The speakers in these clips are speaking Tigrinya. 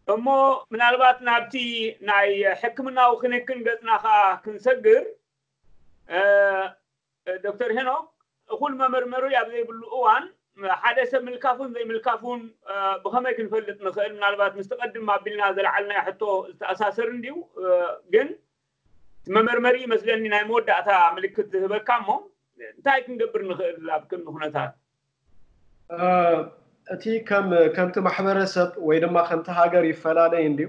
እሞ ምናልባት ናብቲ ናይ ሕክምናዊ ክንክን ገጽና ከኣ ክንሰግር፣ ዶክተር ሄኖክ፣ እኹል መመርመሪ ኣብ ዘይብሉ እዋን ሓደ ሰብ ምልካፉን ዘይምልካፉን ብኸመይ ክንፈልጥ ንኽእል? ምናልባት ምስ ትቐድም ኣቢልና ዘልዓልናዮ ሕቶ ዝተኣሳሰር እንድዩ። ግን እቲ መመርመሪ ይመስለኒ ናይ መወዳእታ ምልክት ዝህበካ እሞ እንታይ ክንገብር ንኽእል ኣብ ከምዚ ኩነታት? እቲ ከም ከምቲ ማሕበረሰብ ወይ ድማ ከምቲ ሃገር ይፈላለይ እንድዩ።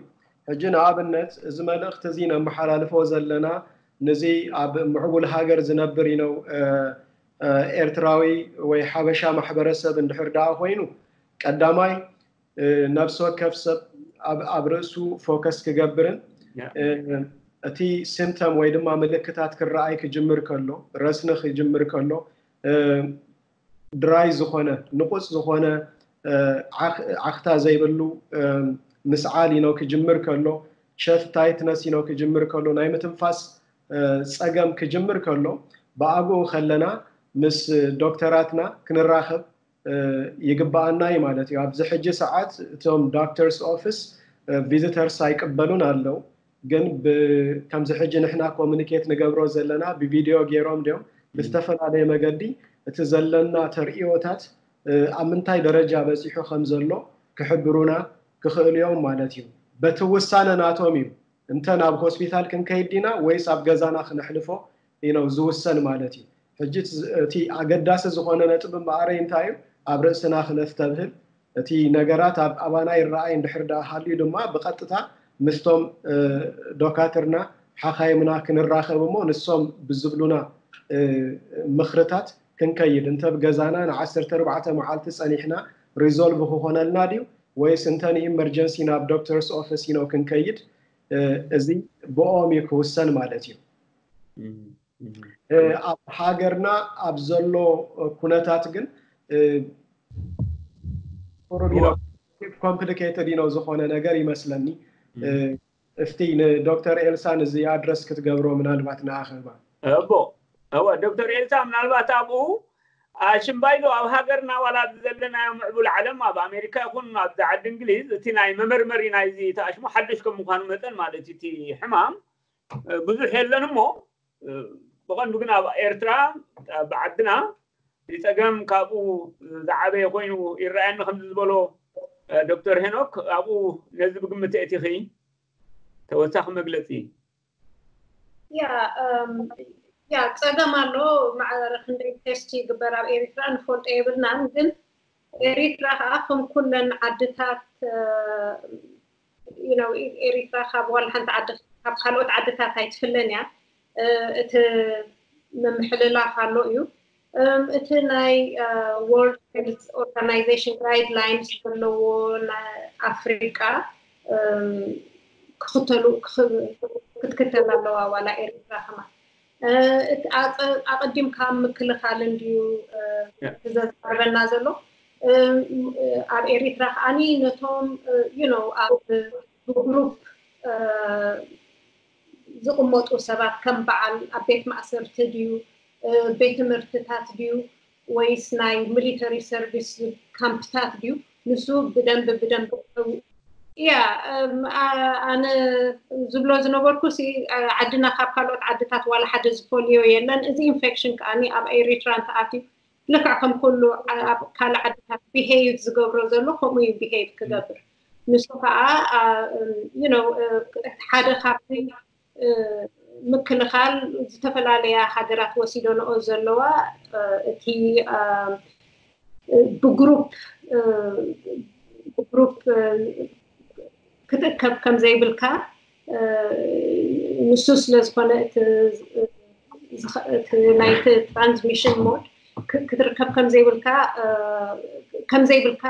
ሕጂ ንኣብነት እዚ መልእኽቲ እዚ ነመሓላልፎ ዘለና ንዚ ኣብ ምዕቡል ሃገር ዝነብር ኢነው ኤርትራዊ ወይ ሓበሻ ማሕበረሰብ እንድሕር ደኣ ኮይኑ ቀዳማይ ነብሲ ወከፍ ሰብ ኣብ ርእሱ ፎከስ ክገብርን እቲ ሲምተም ወይ ድማ ምልክታት ክረኣይ ክጅምር ከሎ ረስኒ ክጅምር ከሎ ድራይ ዝኾነ ንቁፅ ዝኾነ ዓኽታ ዘይብሉ ምስዓል ኢኖ ክጅምር ከሎ ቸስት ታይትነስ ኢኖ ክጅምር ከሎ ናይ ምትንፋስ ፀገም ክጅምር ከሎ ብኣግኡ ከለና ምስ ዶክተራትና ክንራኸብ ይግበኣና እዩ ማለት እዩ። ኣብዚ ሕጂ ሰዓት እቶም ዶክተርስ ኦፊስ ቪዚተርስ ኣይቅበሉን ኣለው። ግን ከምዚ ሕጂ ንሕና ኮሙኒኬት ንገብሮ ዘለና ብቪድዮ ገይሮም ድዮም ብዝተፈላለየ መገዲ እቲ ዘለና ተርእዮታት ኣብ ምንታይ ደረጃ በፂሑ ከም ዘሎ ክሕብሩና ክኽእሉ እዮም ማለት እዩ። በቲ ውሳነ ናቶም እዩ። እንተ ናብ ሆስፒታል ክንከይድ ዲና ወይስ ኣብ ገዛና ክነሕልፎ ኢነው ዝውሰን ማለት እዩ። ሕጂ እቲ ኣገዳሲ ዝኾነ ነጥቢ እምበኣረይ እንታይ እዩ ኣብ ርእስና ክነስተብህል እቲ ነገራት ኣብ ኣባና ይረኣይ እንድሕር ደኣ ሃልዩ ድማ ብቐጥታ ምስቶም ዶካትርና ሓኻይምና ክንራኸብ እሞ ንሶም ብዝብሉና ምኽርታት ክንከይድ እንተ ብገዛና ንዓሰርተ ኣርባዕተ መዓልቲ ጸኒሕና ሪዞልቭ ክኾነልና ድዩ ወይስ እንተ ንኢመርጀንሲ ናብ ዶክተርስ ኦፊስ ኢኖ ክንከይድ እዚ ብኦም እዩ ክውሰን ማለት እዩ። ኣብ ሃገርና ኣብ ዘሎ ኩነታት ግን ኮምፕሊኬትድ ኢኖ ዝኾነ ነገር ይመስለኒ። እስቲ ንዶክተር ኤልሳ ንዚ ኣድረስ ክትገብሮ ምናልባት ንኣኸባ እቦ እወ ዶክተር ኤልሳ ምናልባት ኣብኡ ኣሽምባይዶ ኣብ ሃገርና ዋላ ዘለናዮ ምዕቡል ዓለም ኣብ ኣሜሪካ ይኹን ኣብዚ ዓዲ እንግሊዝ እቲ ናይ መመርመሪ ናይዚ ተኣሽሙ ሓድሽ ከም ምዃኑ መጠን ማለት እቲ ሕማም ብዙሕ የለን እሞ ብቐንዱ ግን ኣብ ኤርትራ ብዓድና ጸገም ካብኡ ዝዓበየ ኮይኑ ይረኣየኒ ከምዚ ዝበሎ ዶክተር ሄኖክ ኣብኡ ነዚ ብግምት እቲኺ ተወሳኺ መግለፂ ያ ያ ጸገም ኣሎ። ማዕረ ክንደይ ቴስት ይግበር ኣብ ኤሪትራ ንፈልጦ የብልናን። ግን ኤሪትራ ከዓ ከም ኩለን ዓድታት ኤሪትራ ካብ ዋላ ሓንቲ ዓዲ ካብ ካልኦት ዓድታት ኣይትፍለን እያ። እቲ ምምሕልላፍ ኣሎ እዩ። እቲ ናይ ወርልድ ሄልት ኦርጋናይዜሽን ጋይድላይንስ ዘለዎ ናይ ኣፍሪቃ ክኽተሉ ክትክተል ኣለዋ ዋላ ኤርትራ ከማ ኣቀዲምካ ምክልኻል እንድዩ ዘዛርበና ዘሎ ኣብ ኤሪትራ ከዓኒ ነቶም you know ኣብ ብግሩፕ ዝቕመጡ ሰባት ከም በዓል ኣብ ቤት ማእሰርቲ ድዩ ቤት ትምህርትታት ድዩ ወይስ ናይ ሚሊተሪ ሰርቪስ ካምፕታት ድዩ ንሱ ብደንብ ብደንብ ያ ኣነ ዝብሎ ዝነበርኩ ዓድና ካብ ካልኦት ዓድታት ዋላ ሓደ ዝፈልዮ የለን። እዚ ኢንፌክሽን ከዓኒ ኣብ ኤሪትራ እንተኣትዩ ልክዕ ከም ኩሉ ኣብ ካልእ ዓድታት ቢሄይቭ ዝገብሮ ዘሎ ከምኡ እዩ ቢሄይቭ ክገብር። ንሱ ከዓ ሓደ ካብቲ ምክልኻል ዝተፈላለያ ሃገራት ወሲደንኦ ዘለዋ እቲ ብግሩፕ ብግሩፕ ክትእከብ ከም ዘይብልካ ንሱ ስለ ዝኾነ እቲ ናይቲ ትራንስሚሽን ሞድ ክትርከብ ከም ዘይብልካ ከም ዘይብልካ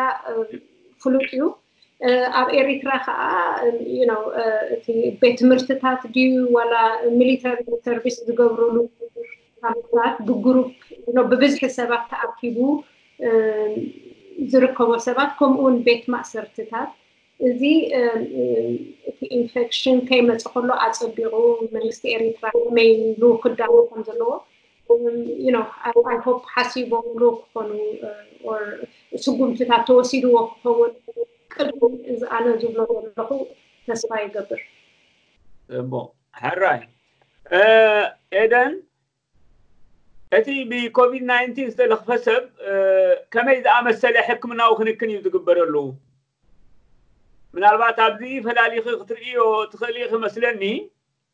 ፍሉጥ እዩ። ኣብ ኤሪትራ ከዓ እቲ ቤት ትምህርትታት ድዩ ዋላ ሚሊተሪ ሰርቪስ ዝገብርሉ ካምፕታት ብግሩፕ ብብዝሒ ሰባት ተኣኪቡ ዝርከቦ ሰባት ከምኡውን ቤት ማእሰርትታት እዚ እቲ ኢንፌክሽን ከይመፀ ከሎ ኣፀቢቑ መንግስቲ ኤሪትራ ከመይ ኢሉ ክዳሎ ከም ዘለዎ I hope ሓሲቦምሉ ክኾኑ ስጉምትታት ተወሲድዎ ክኸውን ቅድሚ እዚ ኣነ ዝብሎ ዘለኹ ተስፋ ይገብር። እሞ ሕራይ ኤደን፣ እቲ ብኮቪድ ናይንቲን ዝተለኽፈ ሰብ ከመይ ዝኣመሰለ ሕክምናዊ ክንክን እዩ ዝግበረሉ? ምናልባት ኣብዚ ፈላሊኺ ክትርእዮ ትኽእሊ ኢኺ መስለኒ።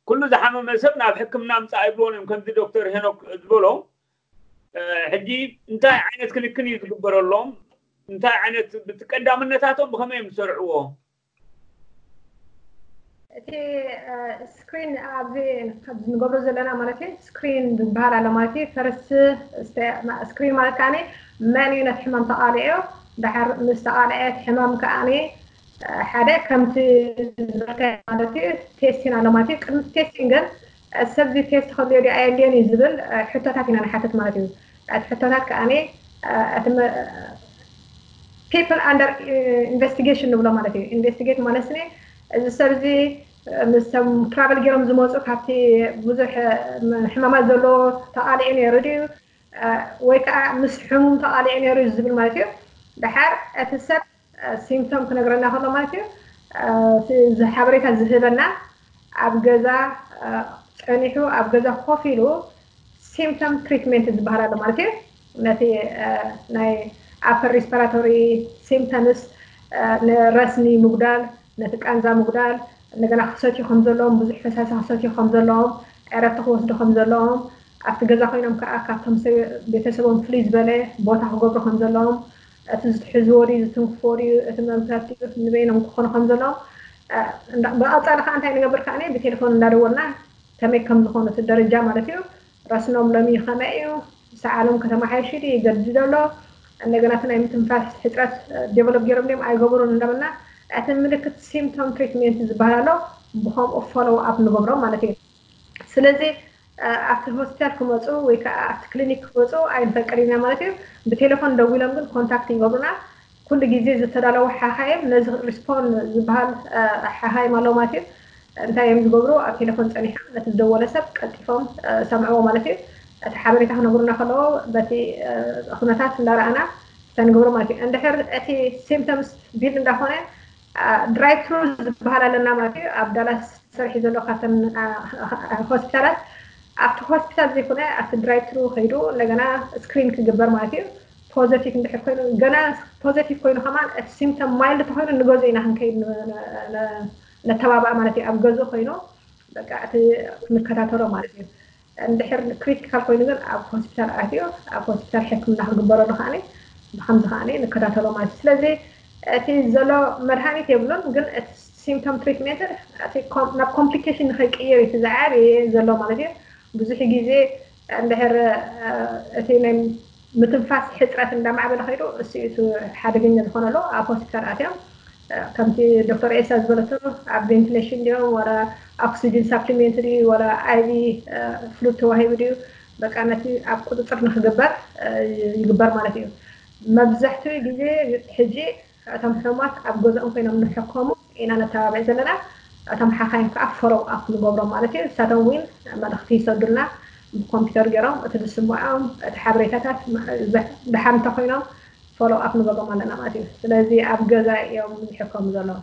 ኩሉ ዝሓመመ ሰብ ናብ ሕክምና ምፃእ ኣይብልዎን እዮም። ከምዚ ዶክተር ሄኖክ ዝበሎ ሕጂ እንታይ ዓይነት ክንክን እዩ ዝግበረሎም? እንታይ ዓይነት ቀዳምነታቶም ብኸመይ እዮም ዝሰርዕዎ? እቲ ስክሪን ኣብዚ ንገብሮ ዘለና ማለት እዩ። ስክሪን ዝበሃል ኣሎ ማለት እዩ። ፈርስት ስክሪን ማለት ከዓ መን እዩ ነቲ ሕማም ተቃሊዑ፣ ድሓር ምስ ተቃልዐ እቲ ሕማም ከዓ ሓደ ከምቲ ዝበልካዮ ማለት እዩ ቴስቲን ኣሎ ማለት እዩ። ቅድሚ ቴስቲን ግን ሰብ እዚ ቴስት ከድልዮ ድዩ ኣየድልዮን እዩ ዝብል ሕቶታት ኢና ንሓትት ማለት እዩ። እቲ ሕቶታት ከዓ እቲ people under investigation ንብሎ ማለት እዩ። ኢንቨስቲጌት ማለት ስኒ እዚ ሰብ እዚ ምስቶም ትራቨል ገይሮም ዝመፁ ካብቲ ብዙሕ ሕማማት ዘለዎ ተቃሊዑ ነይሩ ድዩ ወይ ከዓ ምስ ሕሙም ተቃሊዑ ነይሩ ዝብል ማለት እዩ። ድሓር እቲ ሰብ ሲምፕቶም ክነግረና ከሎ ማለት እዩ እዚ ሓበሬታ ዝህበና ኣብ ገዛ ፀኒሑ ኣብ ገዛ ኮፍ ኢሉ ሲምፕቶም ትሪትመንት ዝበሃል ኣሎ ማለት እዩ። ነቲ ናይ ኣፐር ሪስፓራቶሪ ሲምፕተምስ ንረስኒ ምጉዳል፣ ነቲ ቃንዛ ምጉዳል፣ እንደገና ክሰትዩ ከም ዘለዎም፣ ብዙሕ ፈሳሲ ክሰትዩ ከም ዘለዎም፣ ዕረፍቲ ክወስዱ ከም ዘለዎም፣ ኣብቲ ገዛ ኮይኖም ከዓ ካብቶም ቤተሰቦም ፍልይ ዝበለ ቦታ ክገብሩ ከም ዘለዎም፣ እቲ ዝትሕዝዎ ድዩ ዝትንክፍዎ ድዩ እቲ መምታት ድዩ ንበይኖም ክኾኑ ከም ዘለዎም ብቐፃሊ ከዓ እንታይ ንገብር ከዓ ብቴሌፎን እንዳደወልና ከመይ ከም ዝኾኑ እቲ ደረጃ ማለት እዩ። ረስኖም ሎሚ ከመይ እዩ፣ ሰዓሎም ከተማሓየሽ ድዩ ይገድድ ኣሎ፣ እንደገና እቲ ናይ ምትንፋስ ሕፅረት ዴቨሎፕ ገይሮም ድዮም ኣይገበሩን እንዳበልና እቲ ምልክት ሲምፕቶም ትሪትሜንት ዝበሃል ኣሎ ብከምኡ ፎሎው ኣፕ ንገብሮም ማለት እዩ። ስለዚ ኣብቲ ሆስፒታል ክመፁ ወይ ከዓ ኣብቲ ክሊኒክ ክመፁ ኣይንፈቅድ ኢና ማለት እዩ። ብቴሌፎን ደዊሎም ግን ኮንታክት ይገብሩና። ኩሉ ግዜ ዝተዳለወ ሓኻይም ነዚ ሪስፖን ዝበሃል ሓኻይም ኣለዎ ማለት እዩ። እንታይ እዮም ዝገብሩ? ኣብ ቴሌፎን ፀኒሖም ነቲ ዝደወለ ሰብ ቀልጢፎም ሰምዕዎ ማለት እዩ። እቲ ሓበሬታ ክነግሩና ከለዎ በቲ ኩነታት እንዳረኣና እንታይ ንገብሮ ማለት እዩ። እንድሕር እቲ ሲምፕተምስ ቢልድ እንዳኾነ ድራይቭ ትሩ ዝበሃል ኣለና ማለት እዩ። ኣብ ዳላስ ሰርሒ ዘሎ ካብተን ሆስፒታላት ኣብቲ ሆስፒታል ዘይኮነ ኣብቲ ድራይቭ ትሩ ከይዱ እንደገና ስክሪን ክግበር ማለት እዩ። ፖዘቲቭ እንድሕር ኮይኑ ገና ፖዘቲቭ ኮይኑ ከማን እቲ ሲምፕተም ማይልድ ተኮይኑ ንገዝኡ ኢና ክንከይድ ነተባባዕ ማለት እዩ። ኣብ ገዝኡ ኮይኑ በቃ እቲ ክንከታተሎ ማለት እዩ። እንድሕር ክሪቲካል ኮይኑ ግን ኣብ ሆስፒታል ኣትዮ ኣብ ሆስፒታል ሕክምና ክግበረሉ ከዓ ብከምዚ ከዓ ንከታተሎ ማለት እዩ። ስለዚ እቲ ዘሎ መድሃኒት የብሉን፣ ግን እቲ ሲምፕቶም ትሪትሜንት ናብ ኮምፕሊኬሽን ንከይቅየር እዩ ዝዓበየ ዘሎ ማለት እዩ። ብዙሕ ግዜ እንድሕር እቲ ናይ ምትንፋስ ሕፅረት እንዳማዕበለ ከይዱ እሱ እቲ ሓደገኛ ዝኾነሉ ኣብ ሆስፒታል ኣትዮም ከምቲ ዶክተር ኤሳ ዝበለቶ ኣብ ቬንቲሌሽን ድዮም ወላ ኦክሲጅን ሳፕሊሜንት ድዩ ወላ ኣይቪ ፍሉድ ተዋሂቡ ድዩ በቃ ነቲ ኣብ ቁፅፅር ንክግበር ይግበር ማለት እዩ። መብዛሕትኡ ግዜ ሕጂ እቶም ሕሙማት ኣብ ገዝኦም ኮይኖም ንሕከሙ ኢና ነተባብዕ ዘለና። እቶም ሓኻይም ከዓ ፎሎው ኣፕ ንገብሮም ማለት እዩ። ንሳቶም እውን መልእኽቲ ይሰዱልና ብኮምፒውተር ገይሮም እቲ ዝስምዖም እቲ ሓበሬታታት ድሓር እንተኮይኖም ፎሎው ኣፕ ንገብሮም ኣለና ማለት እዩ። ስለዚ ኣብ ገዛ እዮም ዝሕከሙ ዘለዉ።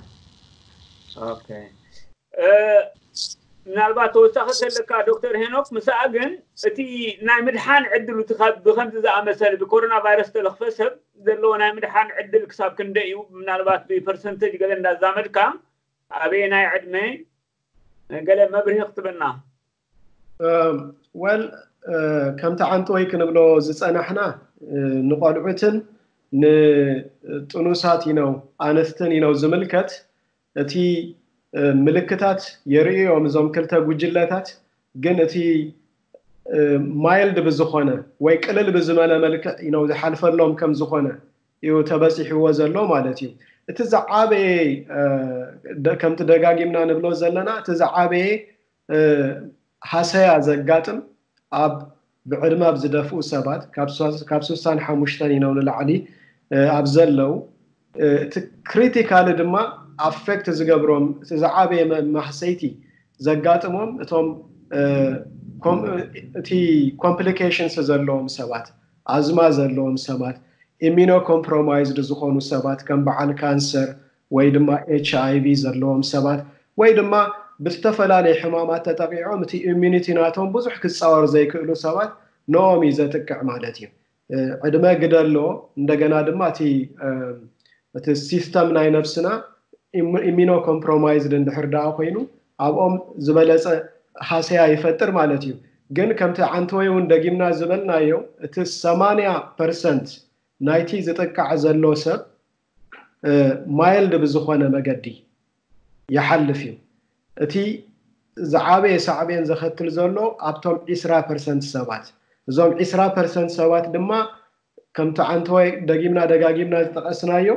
ኦኬ ምናልባት ተወሳኺ ዘለካ ዶክተር ሄኖክ ምስኣ ግን እቲ ናይ ምድሓን ዕድሉ እቲ ካብ ብከምዚ ዝኣመሰለ ብኮሮና ቫይረስ ተለኽፈ ሰብ ዘለዎ ናይ ምድሓን ዕድል ክሳብ ክንደይ እዩ? ምናልባት ብፐርሰንተጅ ገለ እንዳዛመድካ ኣበየናይ ዕድመ ገለ መብርሂ ክትበና። ወል ከምቲ ዓንተወይ ክንብሎ ዝፀናሕና ንቆልዑትን ንጥኑሳት ኢነው ኣንስትን ኢነው ዝምልከት እቲ ምልክታት የርእዮም እዞም ክልተ ጉጅለታት ግን እቲ ማይልድ ብዝኾነ ወይ ቅልል ብዝመለ መልክዕ ኢነው ዝሓልፈሎም ከም ዝኾነ እዩ ተበፂሕዎ ዘሎ ማለት እዩ። እቲ ዝዓበየ ከምቲ ደጋጊምና ንብሎ ዘለና እቲ ዝዓበየ ሃሰያ ዘጋጥም ኣብ ብዕድመ ኣብ ዝደፍኡ ሰባት ካብ ስሳን ሓሙሽተን ኢነው ንላዕሊ ኣብ ዘለው እቲ ክሪቲካሊ ድማ ኣፌክት ዝገብሮም እቲ ዝዓበየ ማህሰይቲ ዘጋጥሞም እቶም እቲ ኮምፕሊኬሽንስ ዘለዎም ሰባት ኣዝማ ዘለዎም ሰባት ኢሚኖ ኮምፕሮማይዝድ ዝኾኑ ሰባት ከም በዓል ካንሰር ወይ ድማ ኤች ኣይ ቪ ዘለዎም ሰባት ወይ ድማ ብዝተፈላለዩ ሕማማት ተጠቂዖም እቲ ኢሚኒቲ ናቶም ብዙሕ ክፃወር ዘይክእሉ ሰባት ንኦም እዩ ዘጥቅዕ ማለት እዩ። ዕድመ ግደሎ እንደገና ድማ እቲ እቲ ሲስተም ናይ ነብስና ኢሚኖ ኮምፕሮማይዝድ እንድሕር ደኣ ኮይኑ ኣብኦም ዝበለፀ ሃሰያ ይፈጥር ማለት እዩ። ግን ከምቲ ዓንተወይ እውን ደጊምና ዝበልናዮ እቲ ሰማንያ ፐርሰንት ናይቲ ዝጥቃዕ ዘሎ ሰብ ማይልድ ብዝኾነ መገዲ ይሓልፍ እዩ። እቲ ዝዓበየ ሳዕቤን ዘኸትል ዘሎ ኣብቶም ዒስራ ፐርሰንት ሰባት። እዞም ዒስራ ፐርሰንት ሰባት ድማ ከምቲ ዓንተወይ ደጊምና ደጋጊምና ዝጠቐስናዮ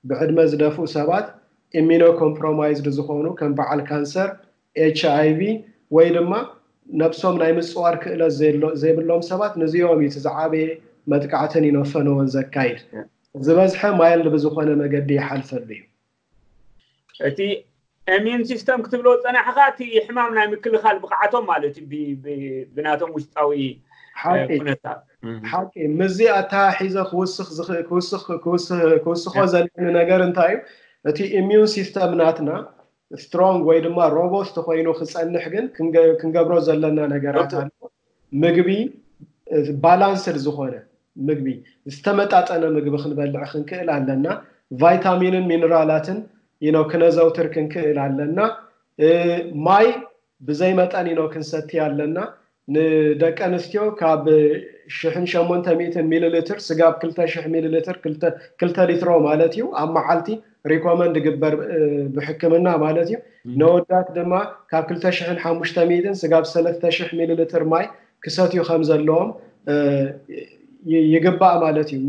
ብዕድመ ዝደፍኡ ሰባት፣ ኢሚኖ ኮምፕሮማይዝድ ዝኾኑ ከም በዓል ካንሰር፣ ኤች ኣይ ቪ ወይ ድማ ነብሶም ናይ ምፅዋር ክእለት ዘይብሎም ሰባት፣ ንዚኦም እዩ እቲ ዝዓበየ መጥቃዕትን ኢኖፈነዎን ዘካይድ። ዝበዝሐ ማይልድ ብዝኾነ መገዲ ይሓልፈሉ እዩ። እቲ ኢሚዩን ሲስተም ክትብሎ ዝፀናሕኻ እቲ ሕማም ናይ ምክልኻል ብቕዓቶም ማለት እዩ ብናቶም ውሽጣዊ ኩነታት። ሓቂ። ምስዚ ኣተሓሒዘ ክውስኽ ክውስኽ ክውስኽ ክውስኾ ዘለኒ ነገር እንታይ እዩ? እቲ ኢሚዩን ሲስተም ናትና ስትሮንግ ወይ ድማ ሮቦስት ኮይኑ ክፀንሕ ግን ክንገብሮ ዘለና ነገራት ኣሎ። ምግቢ ባላንስድ ዝኾነ ምግቢ ዝተመጣጠነ ምግቢ ክንበልዕ ክንክእል ኣለና። ቫይታሚንን ሚነራላትን ኢኖ ክነዘውትር ክንክእል ኣለና። ማይ ብዘይ መጠን ኢኖ ክንሰቲ ኣለና። ንደቂ ኣንስትዮ ካብ ሽሕን ሸሞንተ ሚእትን ሚሊ ሊትር ስጋብ ክልተ ሽሕ ሚሊ ሊትር ክልተ ሊትሮ ማለት እዩ ኣብ መዓልቲ ሪኮመንድ ግበር ብሕክምና ማለት እዩ። ነወዳት ድማ ካብ ክልተ ሽሕን ሓሙሽተ ሚእትን ስጋብ ሰለስተ ሽሕ ሚሊ ሊትር ማይ ክሰትዩ ከም ዘለዎም ይግባእ ማለት እዩ።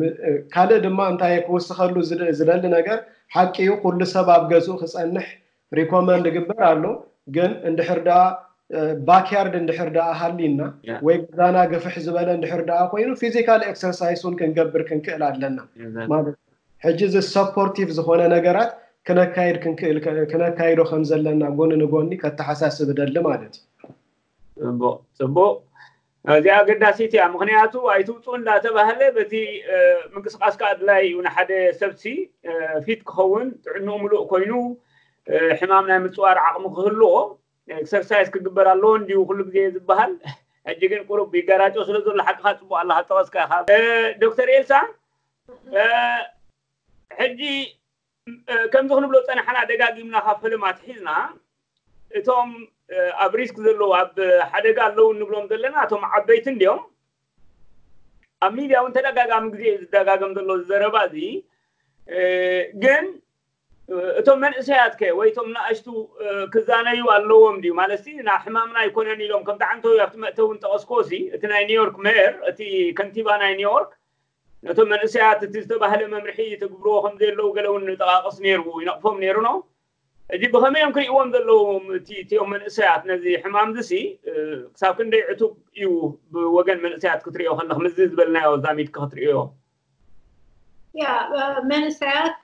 ካልእ ድማ እንታይ ክውስኸሉ ዝደሊ ነገር ሓቂ እዩ ኩሉ ሰብ ኣብ ገዝኡ ክፀንሕ ሪኮመንድ ግበር ኣሎ። ግን እንድሕር ደኣ ባክያርድ እንድሕር ደኣ ሃሊና ወይ ገዛና ግፍሕ ዝበለ እንድሕር ደኣ ኮይኑ ፊዚካል ኤክሰርሳይስ እውን ክንገብር ክንክእል ኣለና ማለት ሕጂ እዚ ሰፖርቲቭ ዝኾነ ነገራት ክነካይድ ክንክእል ክነካይዶ ከም ዘለና ጎኒ ንጎኒ ከተሓሳስብ እደሊ ማለት እዩ። ጽቡቅ ጽቡቅ። እዚኣ ኣገዳሲት እያ። ምኽንያቱ ኣይትውፅኡ እንዳተባህለ በዚ ምንቅስቃስካ ኣድላይ እዩ። ንሓደ ሰብሲ ፊት ክኸውን ጥዕንኡ ምሉእ ኮይኑ ሕማም ናይ ምፅዋር ዓቕሚ ክህልዎ ኤክሰርሳይዝ ክግበር ኣለዎ እንዲዩ ኩሉ ግዜ ዝበሃል። ሕጂ ግን ቁሩብ ይገራጮ ስለ ዘሎ ሓቅኻ ፅቡቅ ኣለካ ጠቐስካ ኢኻ። ዶክተር ኤልሳ ሕጂ ከምዚ ክንብሎ ፀናሕና ደጋጊምና ካብ ፈለማት ሒዝና እቶም ኣብ ሪስክ ዘለዉ ኣብ ሓደጋ ኣለዉ እንብሎም ዘለና እቶም ዓበይቲ እንዲዮም። ኣብ ሚድያ እውን ተደጋጋሚ ግዜ እዩ ዝደጋገም ዘሎ ዘረባ እዚ። ግን እቶም መንእሰያት ከ ወይ እቶም ንኣሽቱ ክዛነዩ ኣለዎም ድዩ ማለት ና ሕማምና ኣይኮነን ኢሎም ከምቲ ዓንተው ኣብቲ መእተዊ እውን ጠቐስኮ ሲ እቲ ናይ ኒውዮርክ ሜየር እቲ ከንቲባ ናይ ኒውዮርክ ነቶም መንእሰያት እቲ ዝተባህለ መምርሒ ትግብርዎ ከም ዘየለዉ ገለ እውን ጠቓቕስ ነይሩ ይነቕፎም ነይሩ ነው። እዚ ብኸመይ እዮም ክርእዎም ዘለዎም እቲኦም መንእሰያት ነዚ ሕማም ዝሲ ክሳብ ክንደይ ዕቱብ እዩ ብወገን መንእሰያት ክትርእዮ ከለኽ ምዚ ዝበልናዮ ዛሚድካ ክትርእዮ? ያ መንእሰያት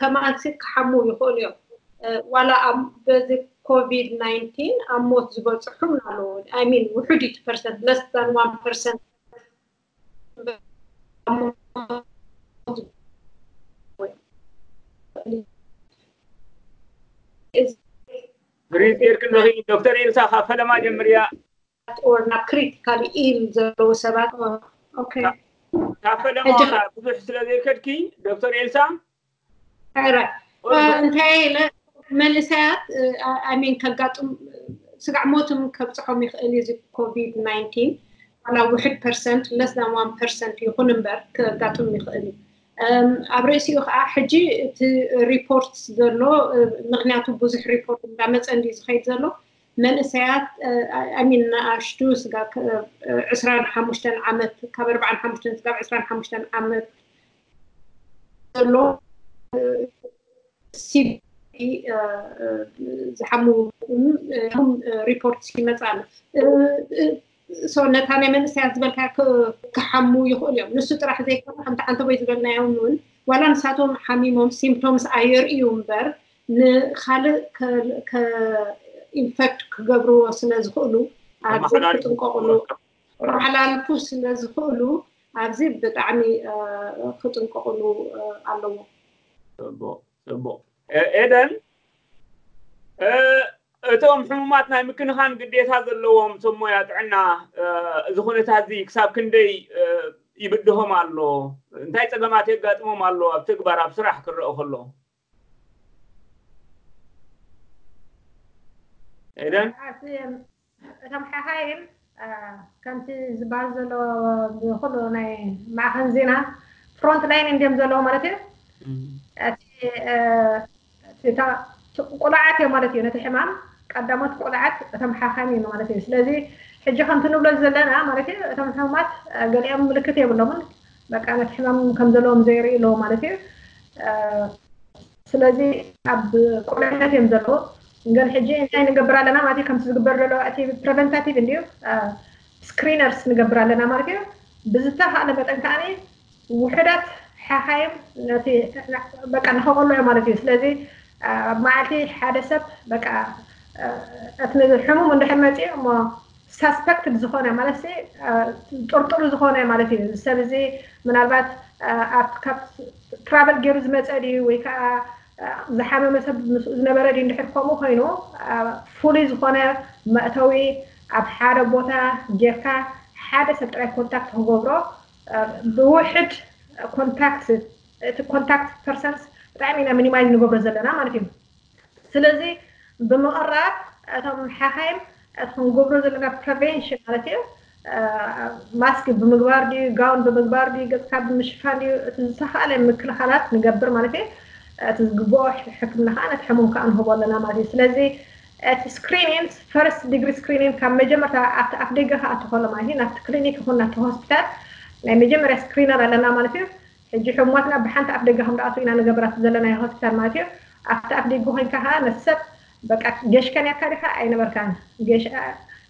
ከማንሲ ክሓሙ ይኽእሉ እዮም። ዋላ በዚ ኮቪድ ናይንቲን ኣብ ሞት ዝበፅሑም ኣለዉ። ሚን ውሑድ እቲ ፐርሰንት ለስ ዛን ዋን ፐርሰንት ሪዝ ጌርክ ኣለኺ ዶክተር ኤልሳ ካብ ፈለማ ጀምርያ። ኦር ናብ ክሪቲካሊ ኢል ዘለዉ ሰባት ካብ ፈለማ ብዙሕ ስለ ዘይከድኪ ዶክተር ኤልሳ እንታይ ኢለ መንእሰያት ኣሚን ከጋጥም ስጋዕ ሞትም ከብፅሖም ይኽእል እዩ እዚ ኮቪድ ናይንቲን ዋላ ውሕድ ፐርሰንት ለስ ዛን ዋን ፐርሰንት ይኹን እምበር ከጋጥም ይኽእል እዩ። ኣብ ርእሲኡ ከዓ ሕጂ እቲ ሪፖርት ዘሎ ምክንያቱ ብዙሕ ሪፖርት እንዳመፀ እንዲ ዝኸይድ ዘሎ መንእሰያት ኣሚን ንኣሽቱ ስጋ ዕስራን ሓሙሽተን ዓመት ካብ ኣርባዓን ሓሙሽተን ስጋብ ዕስራን ሓሙሽተን ዓመት ዘሎ ሲቢ ዝሓሙ ሪፖርት ይመፃ ኣሎ። ነታ ናይ መንእሰያት ዝበልካ ክሓሙ ይኽእሉ እዮም። ንሱ ጥራሕ ዘይኮነ ከምቲ ዓንተቦይ ዝበልናዮም እውን ዋላ ንሳቶም ሓሚሞም ሲምፕቶምስ ኣየርእዩ እምበር ንካልእ ኢንፌክት ክገብርዎ ስለ ዝኽእሉ ኣብዚ ክጥንቀቕሉ መሓላልፉ ስለ ዝኽእሉ ኣብዚ ብጣዕሚ ክጥንቀቕሉ ኣለዎም። ጽቡቅ። ኤደን፣ እቶም ሕሙማት ናይ ምክንኻን ግዴታ ዘለዎም ሰብ ሞያ ጥዕና፣ እዚ ኩነታት እዚ ክሳብ ክንደይ ይብድሆም ኣሎ? እንታይ ጸገማት የጋጥሞም ኣሎ ኣብ ተግባር፣ ኣብ ስራሕ ክረአ ከሎ? ኤደን? እቶም ሓኻይም ከምቲ ዝበሃል ዘሎ ብኩሉ ናይ ማዕኸን ዜና ፍሮንት ላይን እንዲዮም ዘለዎ ማለት እዩ። እቲ ቁሉዓት እዮም ማለት እዩ። ነቲ ሕማም ቀዳሞት ቁሉዓት እቶም ሓኻይም እዮም ማለት እዩ። ስለዚ ሕጂ ከምቲ ንብሎ ዘለና ማለት እዩ፣ እቶም ሕሙማት ገሊኦም ምልክት የብሎምን፣ በቃ ነቲ ሕማም ከም ዘለዎም ዘየርእዩ ኣለዉ ማለት እዩ። ስለዚ ኣብ ቁልዕነት እዮም ዘለዉ። ግን ሕጂ እንታይ ንገብር ኣለና ማለት እዩ፣ ከምቲ ዝግበር ዘሎ እቲ ፕሪቨንታቲቭ እንድዩ፣ ስክሪነርስ ንገብር ኣለና ማለት እዩ። ብዝተኻእለ መጠን ከዓኒ ውሑዳት ሓኻይም ነቲ በቃ ንኸቆልዑ ማለት እዩ። ስለዚ ኣብ መዓልቲ ሓደ ሰብ በቃ እቲ ሕሙም እንድሕር መፅኡ እሞ ሳስፐክትድ ዝኾነ ማለት ጥርጥሩ ዝኾነ ማለት እዩ። ሰብ እዚ ምናልባት ካብ ትራቨል ገይሩ ዝመፀ ድዩ ወይ ከዓ ዝሓመመ ሰብ ምስኡ ዝነበረ ድዩ? እንድሕር ከምኡ ኮይኑ ፍሉይ ዝኾነ መእተዊ ኣብ ሓደ ቦታ ጌርካ ሓደ ሰብ ጥራይ ኮንታክት ክገብሮ ብውሕድ ኮንታክት እቲ ኮንታክት ፐርሰንስ ብጣዕሚ ኢና ሚኒማይዝ ንገብሮ ዘለና ማለት እዩ። ስለዚ ብምቕራብ እቶም ሓኻይም እቲ ክንገብሮ ዘለና ፕሪቨንሽን ማለት እዩ፣ ማስክ ብምግባር ድዩ፣ ጋውን ብምግባር ድዩ፣ ገፅካ ብምሽፋን ድዩ፣ እቲ ዝተኻእለ ምክልኻላት ንገብር ማለት እዩ። እቲ ዝግብኦ ሕክምና ከዓ ነቲ ሕሙም ከዓ ንህቦ ኣለና ማለት እዩ። ስለዚ እቲ ስክሪኒንግ ፈርስት ዲግሪ ስክሪኒንግ ካብ መጀመርታ ኣብቲ ኣፍ ደገ ክኣቱ ከሎ ማለት እዩ፣ ናብቲ ክሊኒክ ይኹን ናብቲ ሆስፒታል ናይ መጀመርያ ስክሪነር ኣለና ማለት እዩ። ሕጂ ሕሙማትና ብሓንቲ ኣፍ ደገ ከም ዝኣትዉ ኢና ንገብራት ዘለናዮ ሆስፒታል ማለት እዩ። ኣብቲ ኣፍ ደገ ኮይንካ ከዓ ነቲ ሰብ በቃ ገሽካ ነርካ ዲኻ ኣይነበርካን፣ ገሽ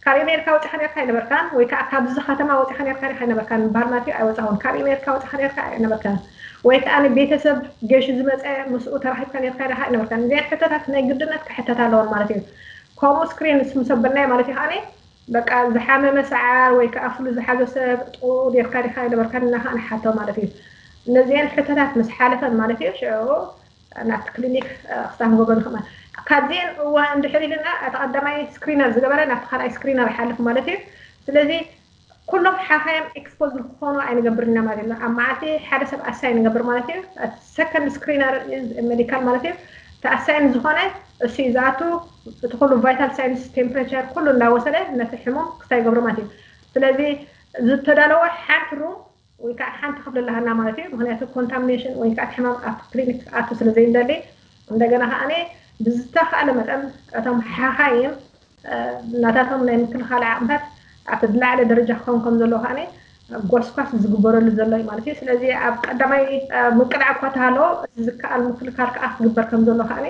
ካብ ኣሜሪካ ወፂኻ ነርካ ኣይነበርካን፣ ወይ ከዓ ካብዚ ከተማ ወፂኻ ነርካ ዲኻ ኣይነበርካን ምባል ማለት እዩ። ኣይወፃኹን። ካብ ኣሜሪካ ወፂኻ ነርካ ኣይነበርካን፣ ወይ ከዓ ንቤተሰብ ገሹ ዝመፀ ምስኡ ተራኺብካ ነርካ ዲኻ ኣይነበርካን። እዚኣን ሕቶታት ናይ ግድነት ክሕተት ኣለዎን ማለት እዩ። ከምኡ ስክሪን ምስ ኣበልናዮ ማለት እዩ ከዓ በቃ ዝሓመመ ሰዓር ወይ ከዓ ፍሉ ዝሓዞ ሰብ ጥቕኡ ኔርካ ዲኻ ኣይነበርካን እና ከዓ ንሓቶ ማለት እዩ። እነዚአን ሕቶታት ምስ ሓለፈን ማለት እዩ ሽዑ ናብቲ ክሊኒክ ክሳብ ንገብሮ ንኽእል። ካብዚአን እዋ እንድሕር ኢልና እቲ ቀዳማይ ስክሪነር ዝገበረ ናብቲ ካልኣይ ስክሪነር ይሓልፍ ማለት እዩ። ስለዚ ኩሎም ሓኻይም ኤክስፖዝ ንክኾኑ ኣይንገብርን ኢና ማለት እዩ። ኣብ መዓልቲ ሓደ ሰብ ኣሳይ ንገብር ማለት እዩ። ሰከንድ ስክሪነር ሜዲካል ማለት እዩ። እቲ ኣሳይን ዝኾነ እሱ እዩ ዝኣቱ። እቲ ኩሉ ቫይታል ሳይንስ ቴምፕሬቸር ኩሉ እንዳወሰደ ነቲ ሕሙም ክስታይ ይገብሮ ማለት እዩ። ስለዚ ዝተዳለወ ሓንቲ ሩም ወይ ከዓ ሓንቲ ክፍሊ ኣለሃና ማለት እዩ። ምክንያቱ ኮንታሚኔሽን ወይ ከዓ እቲ ሕማም ኣብ ክሊኒክ ክኣቱ ስለ ዘይንደሊ እንደገና ከዓ ብዝተኻእለ መጠን እቶም ሓኻይም ናታቶም ናይ ምክልኻል ዓቕምታት ኣብቲ ዝለዓለ ደረጃ ክኸውን ከም ዘለዎ ከዓ ጎስኳስ ዝግበረሉ ዘሎ እዩ ማለት እዩ። ስለዚ ኣብ ቀዳማይ ምቅላዕ እኳ ተሃለዎ እቲ ዝከኣል ምክልኻል ከዓ ክግበር ከም ዘሎ ከዓ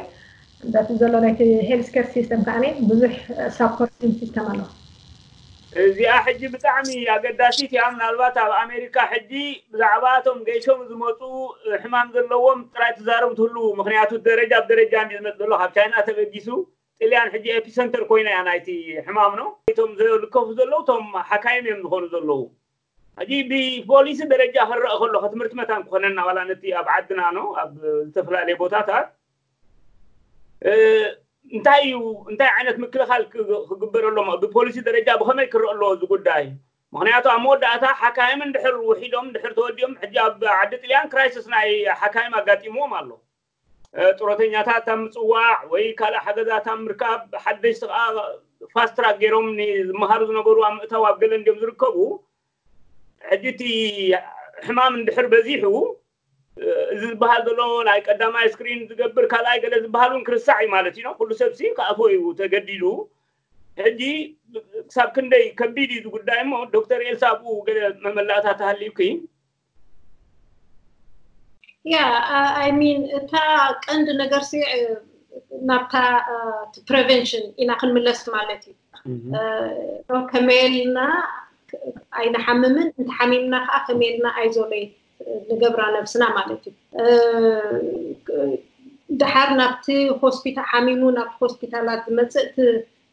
በቲ ዘሎ ናይቲ ሄልስ ኬር ሲስተም ከዓ ብዙሕ ሳፖርቲንግ ሲስተም ኣሎ። እዚኣ ሕጂ ብጣዕሚ ኣገዳሲት እያ። ምናልባት ኣብ ኣሜሪካ ሕጂ ብዛዕባ እቶም ገይሾም ዝመፁ ሕማም ዘለዎም ጥራይ ትዛረቡ ትህልዉ፣ ምክንያቱ ደረጃ ብደረጃ እንዲ ዝመፅ ዘሎ ካብ ቻይና ተበጊሱ ጥልያን ሕጂ ኤፒሰንተር ኮይና እያ ናይቲ ሕማም ነው። እቶም ዝልከፉ ዘለዉ እቶም ሓካይም እዮም ዝኾኑ ዘለዉ። ሕጂ ብፖሊሲ ደረጃ ክረአ ከሎ ከትምህርቲ መታን ክኾነና ዋላ ነቲ ኣብ ዓድና ነው ኣብ ዝተፈላለዩ ቦታታት እንታይ እዩ እንታይ ዓይነት ምክልኻል ክግበር ኣሎ ብፖሊሲ ደረጃ ብኸመይ ክረአ ኣለዎ እዚ ጉዳይ? ምክንያቱ ኣብ መወዳእታ ሓካይም እንድሕር ውሒዶም እንድሕር ተወዲኦም ሕጂ ኣብ ዓዲ ጥልያን ክራይሲስ ናይ ሓካይም ኣጋጢምዎም ኣሎ። ጥሮተኛታት ኣብ ምፅዋዕ ወይ ካልእ ሓገዛት ኣብ ምርካብ ሓደሽቲ ከዓ ፋስትራክ ገይሮም ዝመሃሩ ዝነበሩ ኣብ ምእታው ኣብ ገለ እንዲዮም ዝርከቡ። ሕጂ እቲ ሕማም እንድሕር በዚሑ እዚ ዝበሃል ዘሎ ናይ ቀዳማይ ስክሪን ዝገብር ካልኣይ ገለ ዝበሃል እውን ክርስዕ እዩ ማለት እዩ። ኩሉ ሰብ ሲ ክኣፎ እዩ ተገዲዱ። ሕጂ ክሳብ ክንደይ ከቢድ እዩ ጉዳይ እሞ ዶክተር ኤልሳ ኣብኡ ገለ መመላእታ ተሃልዩኪ? ያ I mean እታ ቀንዲ ነገር ሲ ናብታ ፕሪቨንሽን ኢና ክንምለስ ማለት እዩ። ከመየልና ኣይንሓምምን፣ እንተሓሚምና ከዓ ከመየልና ኣይዞሌት ንገብራ ነብስና ማለት እዩ። ድሓር ናብቲ ሆስፒታል ሓሚሙ ናብቲ ሆስፒታላት ዝመፅእ እቲ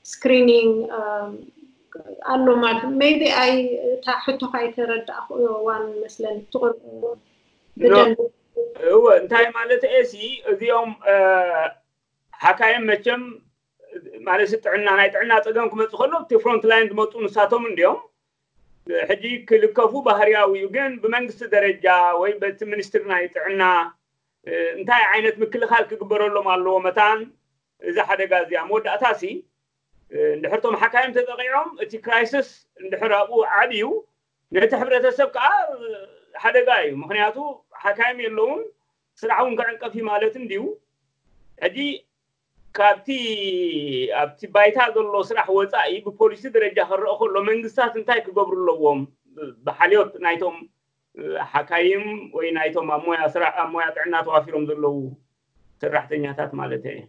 ስክሪኒንግ ኣሎ ማለት እዩ። maybe ኣይ እታ ሕቶኻ ኣይተረዳእኩዋን መስለኒ ትቕርብ ብደንብ እወ፣ እንታይ ማለት እየ ሲ፣ እዚኦም ሓካይም መቸም ማለት ጥዕና፣ ናይ ጥዕና ፀገም ክመፁ ከሎ እቲ ፍሮንት ላይን ዝመፁ ንሳቶም እንዲዮም። ሕጂ ክልከፉ ባህርያዊ እዩ፣ ግን ብመንግስቲ ደረጃ ወይ በቲ ሚኒስትሪ ናይ ጥዕና እንታይ ዓይነት ምክልኻል ክግበረሎም ኣለዎ? መታን እዚ ሓደጋ እዚ ኣብ መወዳእታ ሲ እንድሕርቶም ሓካይም ተጠቂዖም እቲ ክራይስስ እንድሕር ኣብኡ ዓብዩ ነቲ ሕብረተሰብ ከዓ ሓደጋ እዩ። ምክንያቱ ሓካይም የለውን፣ ስራሕ እውን ክዕንቀፍ እዩ ማለት እንድዩ። ሕጂ ካብቲ ኣብቲ ባይታ ዘሎ ስራሕ ወፃኢ ብፖሊሲ ደረጃ ክረአ ከሎ መንግስታት እንታይ ክገብሩ ኣለዎም? ብሓልዮት ናይቶም ሓካይም ወይ ናይቶም ኣብ ሞያ ስራሕ ኣብ ሞያ ጥዕና ተዋፊሮም ዘለዉ ሰራሕተኛታት ማለት እየ።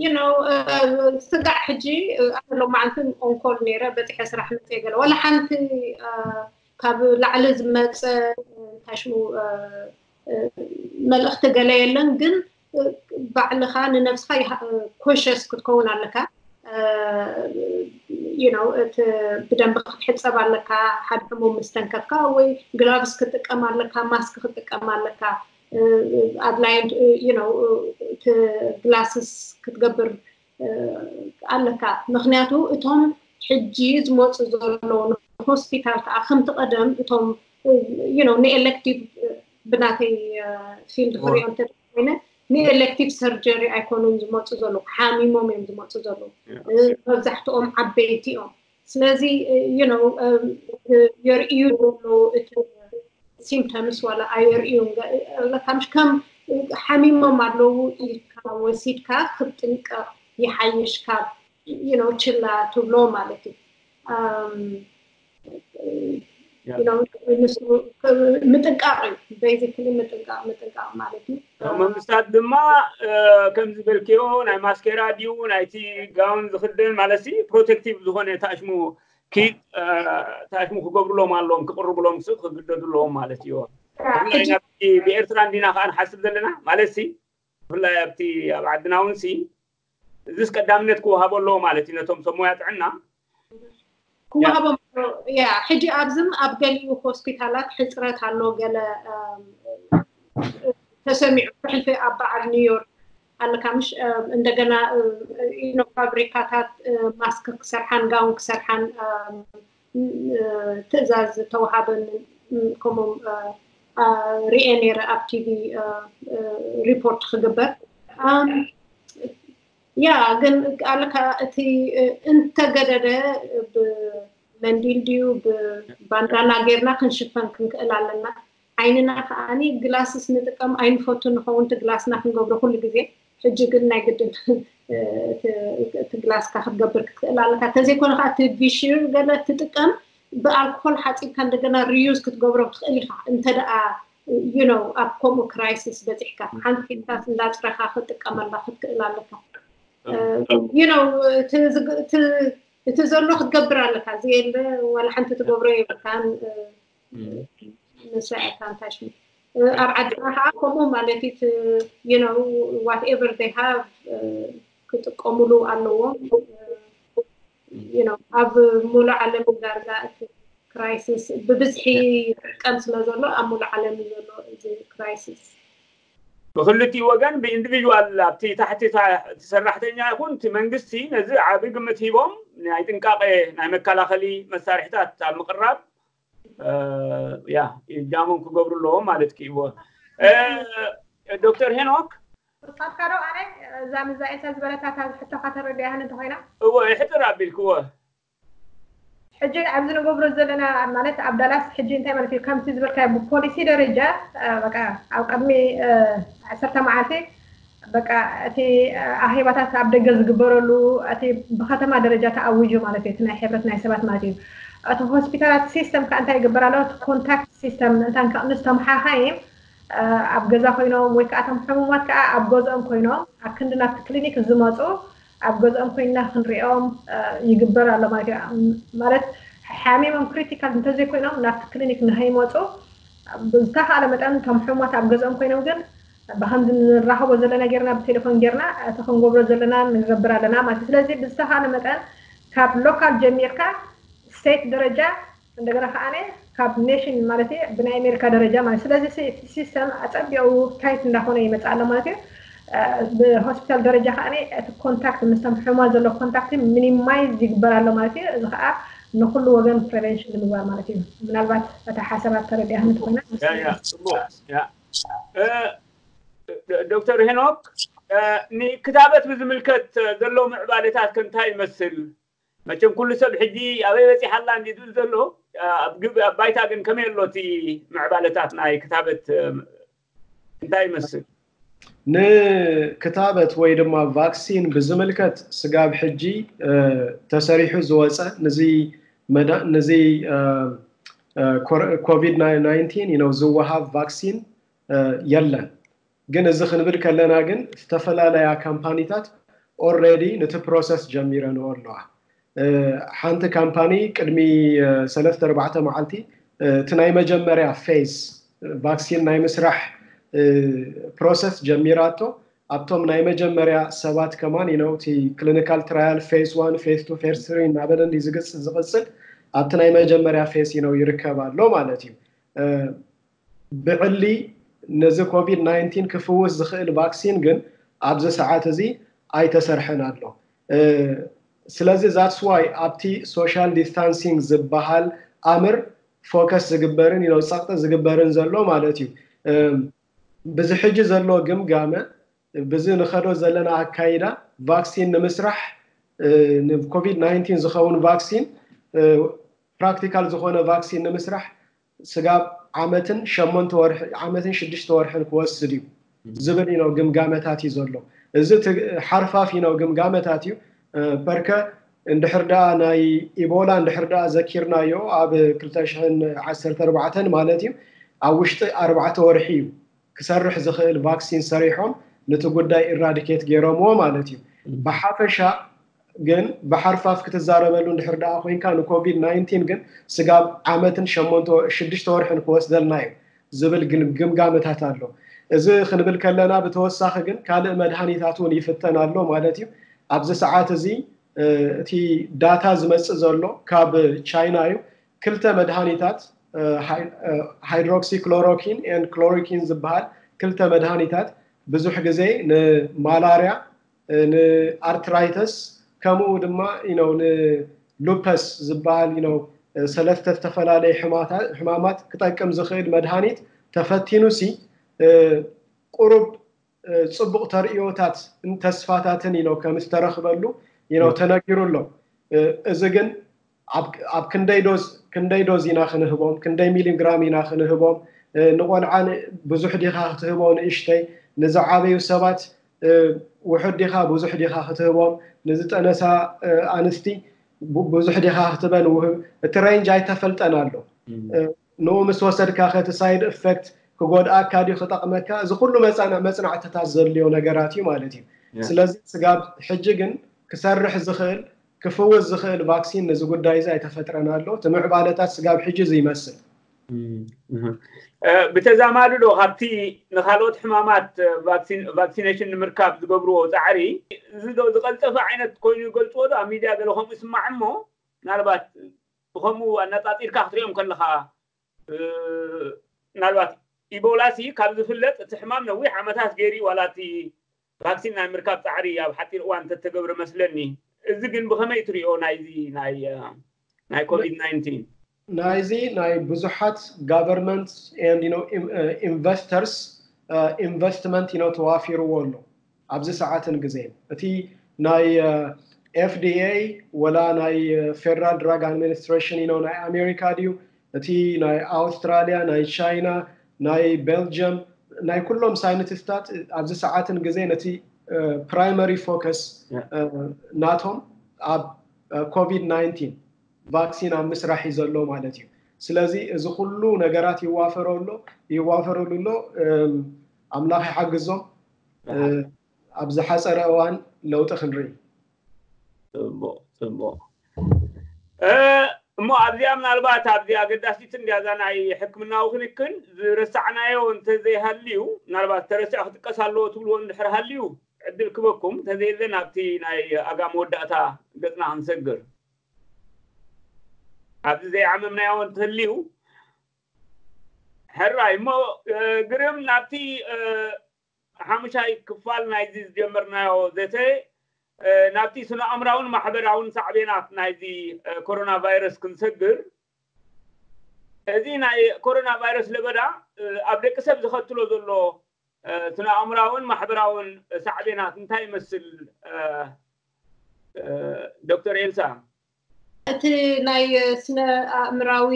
you know ስጋዕ ሕጂ ኣነ ሎማዓንቲ ኦንኮል ነይረ በፂሐ ስራሕ መፅየ ገለ ዋላ ሓንቲ ካብ ላዕሊ ዝመፀ እንታይ ሽሙ መልእኽቲ ገለ የለን ግን ባዕልኻ ንነብስኻ ኮሸስ ክትከውን ኣለካ you know እቲ ብደንብ ክትሕፀብ ኣለካ ሓደ ሕሙም ምስ ተንከፍካ ወይ ግላቭስ ክትጥቀም ኣለካ ማስክ ክትጥቀም ኣለካ ኣድላይ you know እቲ ግላስስ ክትገብር ኣለካ ምክንያቱ እቶም ሕጂ ዝመፁ ዘለዉ ንሆስፒታል ከዓ ከምቲ ቀደም እቶም you know ንኤሌክቲቭ ብናተይ ፊልድ ክሪኦ እንተ ኮይነ ንኤሌክቲቭ ሰርጀሪ ኣይኮኑን ዝመፁ ዘለዉ ሓሚሞም እዮም ዝመፁ ዘለዉ መብዛሕትኦም ዓበይቲ እዮም ስለዚ you know የርእዩ ዘለዉ እቲ ሲምፕተምስ ዋላ ኣየርእዩ ኣለካ ምሽ ከም ሓሚሞም ኣለዉ ኢልካ ወሲድካ ክትጥንቀቕ ይሓይሽ ካብ you know ችላ ትብሎ ማለት እዩ ምጥንቃቕ እዩ basically ምጥንቃቕ ምጥንቃቕ ማለት እዩ መንግስታት ድማ ከም ዝበልክዮ ናይ ማስኬራ ድዩ ናይቲ ጋውን ዝክደን ማለት ፕሮቴክቲቭ ዝኮነ ታሽሙ ኪድ ታሽሙ ክገብሩሎም ኣለዎም ክቅርብሎም ክስብ ክግደዱ ኣለዎም ማለት እዩ ብኤርትራ እንዲና ከዓ ንሓስብ ዘለና ማለት ሲ ብፍላይ ኣብቲ ኣብ ዓድና እውን ሲ እዚስ ቀዳምነት ክወሃቦ ኣለዎ ማለት እዩ ነቶም ሰብ ሞያ ጥዕና ክወሃቦም ያ ሕጂ ኣብዝም ኣብ ገሊኡ ሆስፒታላት ሕፅረት ኣሎ ገለ ተሰሚዑ ሕልፊ ኣብ በዓል ኒውዮርክ ኣለካ ምሽ እንደገና ፋብሪካታት ማስክ ክሰርሓን ጋውን ክሰርሓን ትእዛዝ ተወሃበን ከምኦም ሪኤ ነይረ ኣብ ቲቪ ሪፖርት ክግበር ያ ግን ኣለካ እቲ እንተገደደ ብመንዲል ድዩ ብባንዳና ጌርና ክንሽፈን ክንክእል ኣለና ዓይንና ከዓኒ ግላስስ ንጥቀም ኣይንፈቱ ንኸውን እቲ ግላስና ክንገብሮ ኩሉ ግዜ ሕጂ ግን ናይ ግድን እቲ ግላስካ ክትገብር ክትክእል ኣለካ እንተዘይኮነ ከዓ እቲ ቪሽር ገለ ትጥቀም ብኣልኮል ሓፂብካ እንደገና ሪዩዝ ክትገብሮ ትኽእል ኢካ እንተ ደኣ you know ኣብ ከምኡ ክራይሲስ በፂሕካ ሓንቲ ሒዝካስ እንዳፅረኻ ክትጥቀመላ ክትክእል ኣለካ you know እቲ ዘሎ ክትገብር ኣለካ እዚ የለ ዋላ ሓንቲ ትገብሮ የብልካን ንስዕካ እንታይ ሽሙ ኣብ ዓድና ከዓ ከምኡ ማለት እዩ you know whatever they have ክጥቀሙሉ ኣለዎም you know ኣብ ሙሉእ ዓለም ዳርጋ እቲ ክራይሲስ ብብዝሒ ይጥቀም ስለ ዘሎ ኣብ ሙሉእ ዓለም እዩ ዘሎ እዚ ክራይሲስ ብክልቲኡ ወገን ብኢንዲቪድዋል ኣብቲ ታሕቲ እቲ ሰራሕተኛ ይኹን እቲ መንግስቲ ነዚ ዓቢ ግምት ሂቦም ናይ ጥንቃቄ ናይ መከላኸሊ መሳርሕታት ኣብ ምቅራብ ያ እጃሞም ክገብሩ ኣለዎም ማለት ክኢዎ ዶክተር ሄኖክ ሳካሮ ኣነ እዛ ምዛ ኤልሳ ዝበለታታ ሕቶካ ተረዲኣህን እንተኮይና እዎ ይሕጥር ኣቢልክዎ ሕጂ ኣብዚ ንገብሮ ዘለና ማለት ኣብ ዳላስ ሕጂ እንታይ ማለት እዩ ከምቲ ዝበልካዮ ብፖሊሲ ደረጃ በቃ ኣብ ቅድሚ ዓሰርተ መዓልቲ በቃ እቲ ኣኼባታት ኣብ ደገ ዝግበረሉ እቲ ብከተማ ደረጃ ተኣዊጁ ማለት እዩ እቲ ናይ ሕብረት ናይ ሰባት ማለት እዩ እቲ ሆስፒታላት ሲስተም ከዓ እንታይ ይግበር ኣሎ እቲ ኮንታክት ሲስተም እንታን ምስ ተመሓኻይም ኣብ ገዛ ኮይኖም ወይ ከዓ እቶም ሕሙማት ከዓ ኣብ ገዝኦም ኮይኖም ኣብ ክንዲ ናብቲ ክሊኒክ ዝመፁ ኣብ ገዝኦም ኮይንና ክንሪኦም ይግበር ኣሎ ማለት እዩ ማለት ሓሚሞም ክሪቲካል እንተዘይኮይኖም ናብቲ ክሊኒክ ንከይመፁ ብዝተኻለ መጠን እቶም ሕሙማት ኣብ ገዝኦም ኮይኖም ግን ብከምዚ ንራኸቦ ዘለና ጌርና ብቴሌፎን ጌርና እቲ ክንገብሮ ዘለና ንገብር ኣለና ማለት እዩ ስለዚ ብዝተኻለ መጠን ካብ ሎካል ጀሚርካ ስቴት ደረጃ እንደገና ከዓ ካብ ኔሽን ማለት እዩ ብናይ ኣሜሪካ ደረጃ ማለት ስለዚ ሲስተም ኣፀቢቑ ታይት እንዳኾነ ይመፅእ ኣሎ ማለት እዩ። ብሆስፒታል ደረጃ ከዓ እቲ ኮንታክት ምስቶም ሕሙማት ዘሎ ኮንታክት ሚኒማይዝ ይግበር ኣሎ ማለት እዩ። እዚ ከዓ ንኩሉ ወገን ፕሪቨንሽን ንምግባር ማለት እዩ። ምናልባት እታ ሓሳባት ተረዲኣህኒ ትኾይና ዶክተር ሄኖክ፣ ንክታበት ብዝምልከት ዘሎ ምዕባለታት ከ እንታይ ይመስል? መቸም ኩሉ ሰብ ሕጂ ኣበይ በፂሓ ኣላ እንዲ ዝብል ዘሎ፣ ኣብ ባይታ ግን ከመይ ኣሎ እቲ ምዕባለታት ናይ ክታበት እንታይ ይመስል? ንክታበት ወይ ድማ ቫክሲን ብዝምልከት ስጋብ ሕጂ ተሰሪሑ ዝወፀ ንዚ ኮቪድ ናይንቲን ዝወሃብ ቫክሲን የለን። ግን እዚ ክንብል ከለና ግን ዝተፈላለያ ካምፓኒታት ኦልሬዲ ነቲ ፕሮሰስ ጀሚረንኦ ኣለዋ። ሓንቲ ካምፓኒ ቅድሚ ሰለስተ ኣርባዕተ መዓልቲ እቲ ናይ መጀመርያ ፌዝ ቫክሲን ናይ ምስራሕ ፕሮሰስ ጀሚራቶ። ኣብቶም ናይ መጀመርያ ሰባት ከማን ነው እቲ ክሊኒካል ትራያል ፌዝ ዋን ፌዝ ቱ ፌዝ ትሪ እናበለ ዝግፅ ዝቕፅል ኣብቲ ናይ መጀመርያ ፌዝ ነው ይርከብ ኣሎ ማለት እዩ። ብዕሊ ነዚ ኮቪድ ናይንቲን ክፍውስ ዝኽእል ቫክሲን ግን ኣብዚ ሰዓት እዚ ኣይተሰርሐን ኣሎ። ስለዚ that's why ኣብቲ ሶሻል ዲስታንሲንግ ዝበሃል ኣምር ፎከስ ዝግበርን ነው ፀቕጢ ዝግበርን ዘሎ ማለት እዩ። ብዚ ሕጂ ዘሎ ግምጋመ ብዚ ንኸዶ ዘለና ኣካይዳ ቫክሲን ንምስራሕ ንኮቪድ ናይንቲን ዝኸውን ቫክሲን ፕራክቲካል ዝኾነ ቫክሲን ንምስራሕ ስጋብ ዓመትን ሸሞንተ ወርሒ ዓመትን ሽዱሽተ ወርሕን ክወስድ እዩ ዝብል ነው ግምጋመታት እዩ ዘሎ። እዚ ሓርፋፍ ነው ግምጋመታት እዩ። በርከ እንድሕር ደኣ ናይ ኢቦላ እንድሕር ደኣ ዘኪርናዮ ኣብ ክልተ ሽሕን ዓሰርተ ኣርባዕተን ማለት እዩ ኣብ ውሽጢ ኣርባዕተ ወርሒ እዩ ክሰርሕ ዝኽእል ቫክሲን ሰሪሖም ነቲ ጉዳይ ኢራዲኬት ገይሮምዎ ማለት እዩ። ብሓፈሻ ግን ብሓርፋፍ ክትዛረበሉ እንድሕር ደኣ ኮይንካ ንኮቪድ ናይንቲን ግን ስጋብ ዓመትን ሸሞንተ ሽዱሽተ ወርሕን ክወስደልና እዩ ዝብል ግምጋመታት ኣሎ። እዚ ክንብል ከለና ብተወሳኺ ግን ካልእ መድሃኒታት እውን ይፍተን ኣሎ ማለት እዩ። ኣብዚ ሰዓት እዚ እቲ ዳታ ዝመፅእ ዘሎ ካብ ቻይና እዩ። ክልተ መድሃኒታት ሃይድሮክሲክሎሮኪን ን ክሎሮኪን ዝበሃል ክልተ መድሃኒታት ብዙሕ ግዜ ንማላርያ ንኣርትራይተስ ከምኡ ድማ ነው ንሉፐስ ዝበሃል ነው ሰለስተ ዝተፈላለዩ ሕማማት ክጠቅም ዝኽእል መድሃኒት ተፈቲኑ ሲ ቁሩብ ፅቡቕ ተርእዮታት ተስፋታትን ነው ከም ዝተረኽበሉ ነው ተነጊሩ ኣሎ። እዚ ግን ኣብ ክንደይ ዶዝ ክንደይ ዶዝ ኢና ክንህቦም፣ ክንደይ ሚሊግራም ኢና ክንህቦም፣ ንቆልዓ ብዙሕ ዲኻ ክትህቦ ንእሽተይ፣ ንዝዓበዩ ሰባት ውሑድ ዲኻ ብዙሕ ዲኻ ክትህቦም፣ ንዝጠነሳ ኣንስቲ ብዙሕ ዲኻ ክትበን ውህብ፣ እቲ ሬንጅ ኣይተፈልጠን ኣሎ። ንኡ ምስ ወሰድካ ከቲ ሳይድ ኢፌክት ክጎድኣካ ድዩ ክጠቕመካ፣ እዚ ኩሉ መፅናዕትታት ዘድልዮ ነገራት እዩ ማለት እዩ። ስለዚ ስጋብ ሕጂ ግን ክሰርሕ ዝኽእል ክፍውስ ዝኽእል ቫክሲን ነዚ ጉዳይ እዚ ኣይተፈጥረን ኣሎ። እቲ ምዕባለታት ስጋብ ሕጂ እዚ ይመስል። ብተዛማዱ ዶ ካብቲ ንካልኦት ሕማማት ቫክሲኔሽን ንምርካብ ዝገብርዎ ፃዕሪ እዚ ዶ ዝቐልጠፈ ዓይነት ኮይኑ ይገልፅዎ ዶ? ኣብ ሚድያ ገለ ከምኡ ይስማዕ እሞ ምናልባት ብከምኡ ኣነፃፂርካ ክትሪኦም ከለካ ምናልባት ኢቦላ ሲ ካብ ዝፍለጥ እቲ ሕማም ነዊሕ ዓመታት ገይሩ ዋላ እቲ ቫክሲን ናይ ምርካብ ፃዕሪ ኣብ ሓፂር እዋን እንተተገብረ መስለኒ። እዚ ግን ብኸመይ ትሪኦ ናይዚ ናይ ናይ ኮቪድ ናይንቲን? ናይዚ ናይ ብዙሓት ጋቨርንመንት ኢንቨስተርስ ኢንቨስትመንት ነው ተዋፊርዎ ኣሎ ኣብዚ ሰዓትን ግዜን። እቲ ናይ ኤፍዲኤ ወላ ናይ ፌደራል ድራግ ኣድሚኒስትሬሽን ነው ናይ ኣሜሪካ ድዩ፣ እቲ ናይ ኣውስትራሊያ፣ ናይ ቻይና፣ ናይ ቤልጅየም፣ ናይ ኩሎም ሳይንቲስታት ኣብዚ ሰዓትን ግዜን እቲ ፕራይመሪ ፎከስ ናቶም ኣብ ኮቪድ ናይንቲን ቫክሲን ኣብ ምስራሕ እዩ ዘሎ ማለት እዩ። ስለዚ እዚ ኩሉ ነገራት ይዋፈሮ ኣሎ ይዋፈረሉ ኣሎ። ኣምላኽ ይሓግዞም። ኣብ ዝሓፀረ እዋን ለውጢ ክንርኢ። ፅቡቅ ፅቡቅ። እሞ ኣብዚኣ ምናልባት ኣብዚ ኣገዳሲት እንዲያ እዛ ናይ ሕክምናዊ ክንክን ዝረሳዕናዮ እንተዘይሃልዩ ምናልባት ተረሲዑ ክጥቀስ ኣለዎ ትብልዎ እንድሕር ሃልዩ ዕድል ክበኩም፣ እንተዘየለ ናብቲ ናይ ኣጋ መወዳእታ ገፅና ክንሰግር። ኣብዚ ዘይዓመምናዮ እንትህልዩ ሕራይ እሞ ግርም ናብቲ ሓሙሻይ ክፋል ናይዚ ዝጀመርናዮ ዘተ ናብቲ ስነ ኣእምራውን ማሕበራውን ሳዕቤናት ናይዚ ኮሮና ቫይረስ ክንሰግር፣ እዚ ናይ ኮሮና ቫይረስ ለበዳ ኣብ ደቂ ሰብ ዘኸትሎ ዘሎ ስነ ኣእምራውን ማሕበራውን ሳዕቤናት እንታይ ይመስል? ዶክተር ኤልሳ። እቲ ናይ ስነ ኣእምራዊ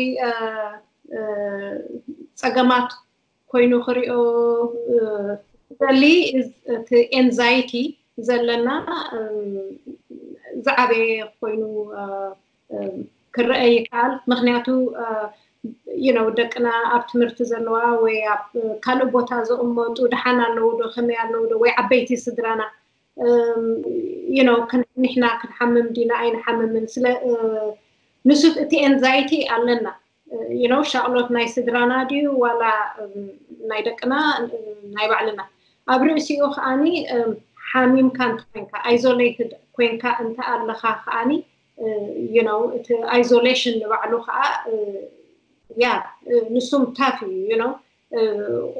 ፀገማት ኮይኑ ክሪኦ ደሊ፣ እቲ ኤንዛይቲ ዘለና ዝዓበየ ኮይኑ ክረአ ይከኣል። ምክንያቱ you know ደቅና ኣብ ትምህርቲ ዘለዋ ወይ ኣብ ካልእ ቦታ ዝቕመጡ ደሓን ኣለዉ ዶ ከመይ ኣለዉ ዶ ወይ ዓበይቲ ስድራና you know ንሕና ክንሓምም ዲና ኣይንሓምምን ስለ ንሱ እቲ ኤንዛይቲ ኣለና you know ሻቕሎት ናይ ስድራና ድዩ ዋላ ናይ ደቅና ናይ ባዕልና ኣብ ርእሲኡ ከዓኒ ሓሚምካ እንተኮይንካ isolated ኮይንካ እንተ ኣለኻ ከዓኒ you know እቲ isolation ንባዕሉ ከዓ ያ ንሱም tough እዩ you know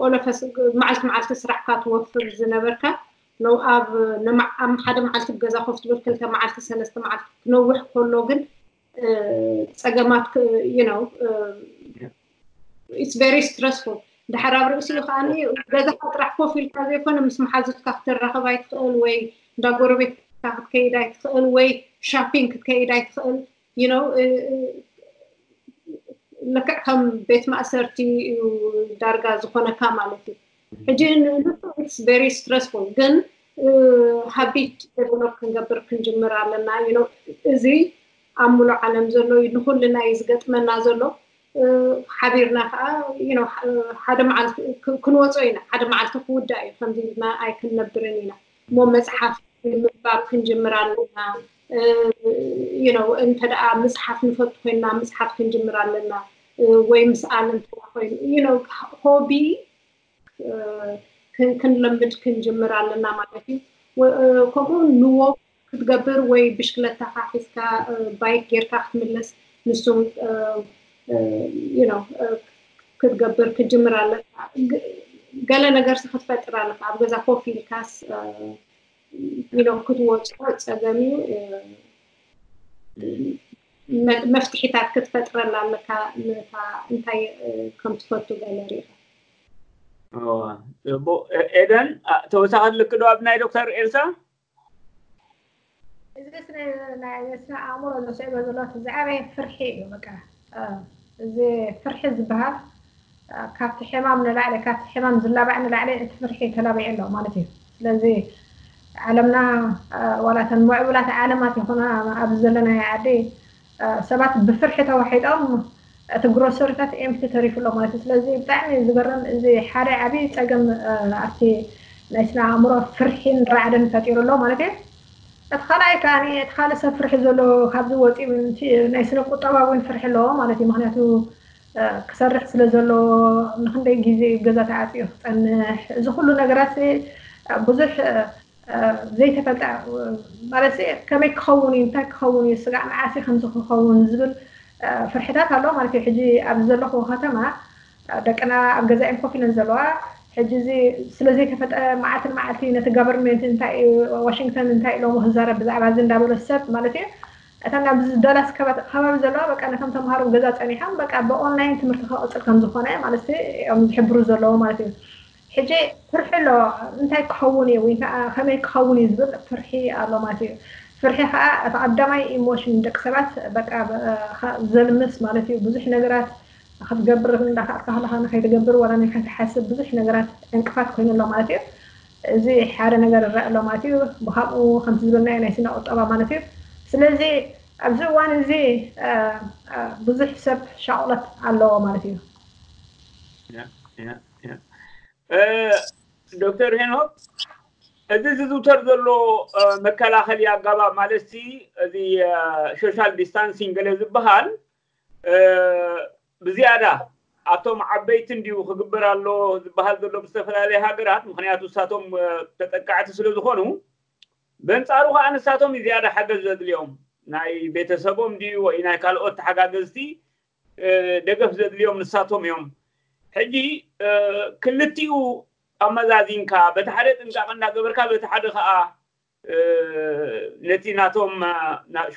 ኦለፈስ መዓልቲ መዓልቲ ስራሕካ ትወፍር ዝነበርካ ነው ኣብ ሓደ መዓልቲ ገዛ ኮፍ ትብል ክልተ መዓልቲ ሰለስተ መዓልቲ ክነውሕ ከሎ ግን ፀገማት you know it's very stressful ድሓር ኣብ ርእሲኡ ከዓኒ ገዛካ ጥራሕ ኮፍ ኢልካ ዘይኮነ ምስ መሓዙትካ ክትራኸብ ኣይትኽእል ወይ እንዳ ጎረቤትካ ክትከይድ ኣይትኽእል ወይ shopping ክትከይድ ኣይትኽእል you know ልክዕ ከም ቤት ማእሰርቲ እዩ ዳርጋ ዝኾነካ ማለት እዩ ሕጂ ንሱ it's very stressful ግን habit develop ክንገብር ክንጅምር ኣለና you know እዚ ኣብ ሙሉእ ዓለም ዘሎ እዩ ንኩልና እዩ ዝገጥመና ዘሎ ሓቢርና ከዓ you know ሓደ መዓልቲ ክንወፆ ኢና ሓደ መዓልቲ ክውዳእ እዩ ከምዚ ኢልና ኣይክንነብርን ኢና እሞ መፅሓፍ ምንባብ ክንጅምር ኣለና you know እንተ ደኣ ምፅሓፍ ንፈቱ ኮይንና ምፅሓፍ ክንጅምር ኣለና ወይ ምስኣል እንተ ኮይኑ you know ሆቢ ክንለምድ ክንጅምር ኣለና ማለት እዩ ከምኡ ንዎ ክትገብር ወይ ብሽክለታካ ሒዝካ ባይክ ጌርካ ክትምለስ ንሱም you know ክትገብር ክትጅምር ኣለካ ገለ ነገር ክትፈጥር ኣለካ ኣብ ገዛ ኮፍ ኢልካስ you know ክትወፅኦ ፀገም እዩ መፍትሒታት ክትፈጥረላ ኣለካ እንታይ ከም ትፈቱ ገለ ሪኢካ ጽቡቅ ኤደን ተወሳኺ ልክ ዶ ኣብ ናይ ዶክተር ኤልሳ እዚ ናይ ስነ ኣእምሮ ዘስዕቦ ዘሎ ዝዓበየ ፍርሒ እዩ በቃ እዚ ፍርሒ ዝበሃል ካብቲ ሕማም ንላዕሊ ካብቲ ሕማም ዝላባዕ ንላዕሊ እቲ ፍርሒ ተላቢዑ ኣሎ ማለት እዩ ስለዚ ዓለምና ዋላ ተን ምዕቡላት ዓለማት ይኹና ኣብዚ ዘለናዮ ዓዲ ሰባት ብፍርሒ ተዋሒጦም እቲ ግሮሰሪታት ኤምቲ ተሪፉ ኣሎ ማለት እዩ ስለዚ ብጣዕሚ ዝገርም እዚ ሓደ ዓብዪ ፀገም ኣብቲ ናይ ስነ ኣእምሮ ፍርሒን ራዕድን ፈጢሩ ኣሎ ማለት እዩ እቲ ካልኣይ ከዓ እቲ ካልእ ሰብ ፍርሒ ዘሎ ካብዚ ወፂኡ ናይ ስነ ቁጠባ እውን ፍርሒ ኣለዎ ማለት እዩ ምክንያቱ ክሰርሕ ስለ ዘሎ ንክንደይ ግዜ ገዛ ተዓፅዩ ክፀንሕ እዚ ኩሉ ነገራት ብዙሕ ዘይተፈልጠ ማለት ከመይ ክኸውን እዩ እንታይ ክኸውን እዩ ስጋዕ መዓስ ከምዚ ክኸውን ዝብል ፍርሕታት ኣሎ ማለት እዩ ሕጂ ኣብዚ ዘለኹ ከተማ ደቅና ኣብ ገዛኦም ኮፍ ኢለን ዘለዋ ሕጂ እዚ ስለዘይተፈጠ መዓልቲ ንመዓልቲ ነቲ ጋቨርንመንት እንታይ ዋሽንግተን እንታይ ኢሎሞ ክዛረብ ብዛዕባ እዚ እንዳበለ ሰብ ማለት እዩ እተን ኣብዚ ዳላስ ከባቢ ዘለዋ በቃ ነቶም ተምሃሮ ገዛ ፀኒሖም በቃ ብኦንላይን ትምህርቲ ክቕፅል ከም ዝኾነ ማለት እዮም ዝሕብሩ ዘለዉ ማለት እዩ ሕጂ ፍርሒ ኣሎ እንታይ ክኸውን እዩ ወይ ከመይ ክኸውን እዩ ዝብል ፍርሒ ኣሎ ማለት እዩ ፍርሒ ከዓ እቲ ቀዳማይ ኢሞሽን ደቂ ሰባት በቃ ዘልምስ ማለት እዩ ብዙሕ ነገራት ክትገብር እንዳካኣልካ ከለካ ንከይትገብር ዋላ ንከይትሓስብ ብዙሕ ነገራት ዕንቅፋት ኮይኑ ኣሎ ማለት እዩ እዚ ሓደ ነገር ይረአ ኣሎ ማለት እዩ ብካምኡ ከምቲ ዝበልናዮ ናይ ስነ ቁጠባ ማለት እዩ ስለዚ ኣብዚ እዋን እዚ ብዙሕ ሰብ ሻቁለት ኣለዎ ማለት እዩ ዶክተር ሄኖክ እዚ ዝዝውተር ዘሎ መከላኸሊ ኣጋባብ ማለት እዚ ሶሻል ዲስታንሲንግ ገለ ዝበሃል ብዝያዳ ኣብቶም ዓበይቲ እንዲዩ ክግበር ኣሎ ዝበሃል ዘሎ ብዝተፈላለየ ሃገራት ምክንያቱ እሳቶም ተጠቃዕቲ ስለ ዝኾኑ በንፃሩ ከዓ ንሳቶም ዝያዳ ሓገዝ ዘድልዮም ናይ ቤተሰቦም ድዩ ወይ ናይ ካልኦት ተሓጋገዝቲ ደገፍ ዘድልዮም ንሳቶም እዮም። ሕጂ ክልቲኡ ኣመዛዚንካ በቲ ሓደ ጥንቃቐ እንዳገበርካ በቲ ሓደ ከዓ ነቲ ናቶም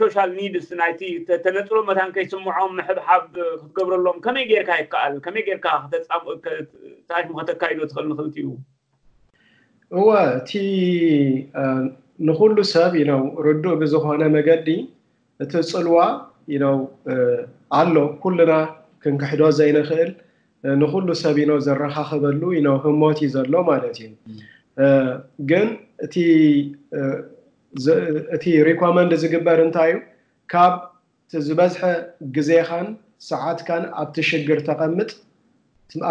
social needs ናይቲ ተነፅሎ መታን ከይስምዖም ምሕብሓብ ክትገብረሎም ከመይ ጌርካ ይከኣል? ከመይ ጌርካ ታሽሙ ከተካይዶ ትኽእል ንክልቲኡ? እወ እቲ ንኩሉ ሰብ ነው ርዱእ ብዝኾነ መገዲ እቲ ፅልዋ ነው ኣሎ። ኩልና ክንክሕዶ ዘይንኽእል ንኩሉ ሰብ ነው ዘረኻኽበሉ ነው ህሞት እዩ ዘሎ ማለት እዩ። ግን እቲ እቲ recommend ዝግበር እንታይ እዩ? ካብ ዝበዝሐ ግዜኻን ሰዓትካን ኣብቲ ሽግር ተቐምጥ፣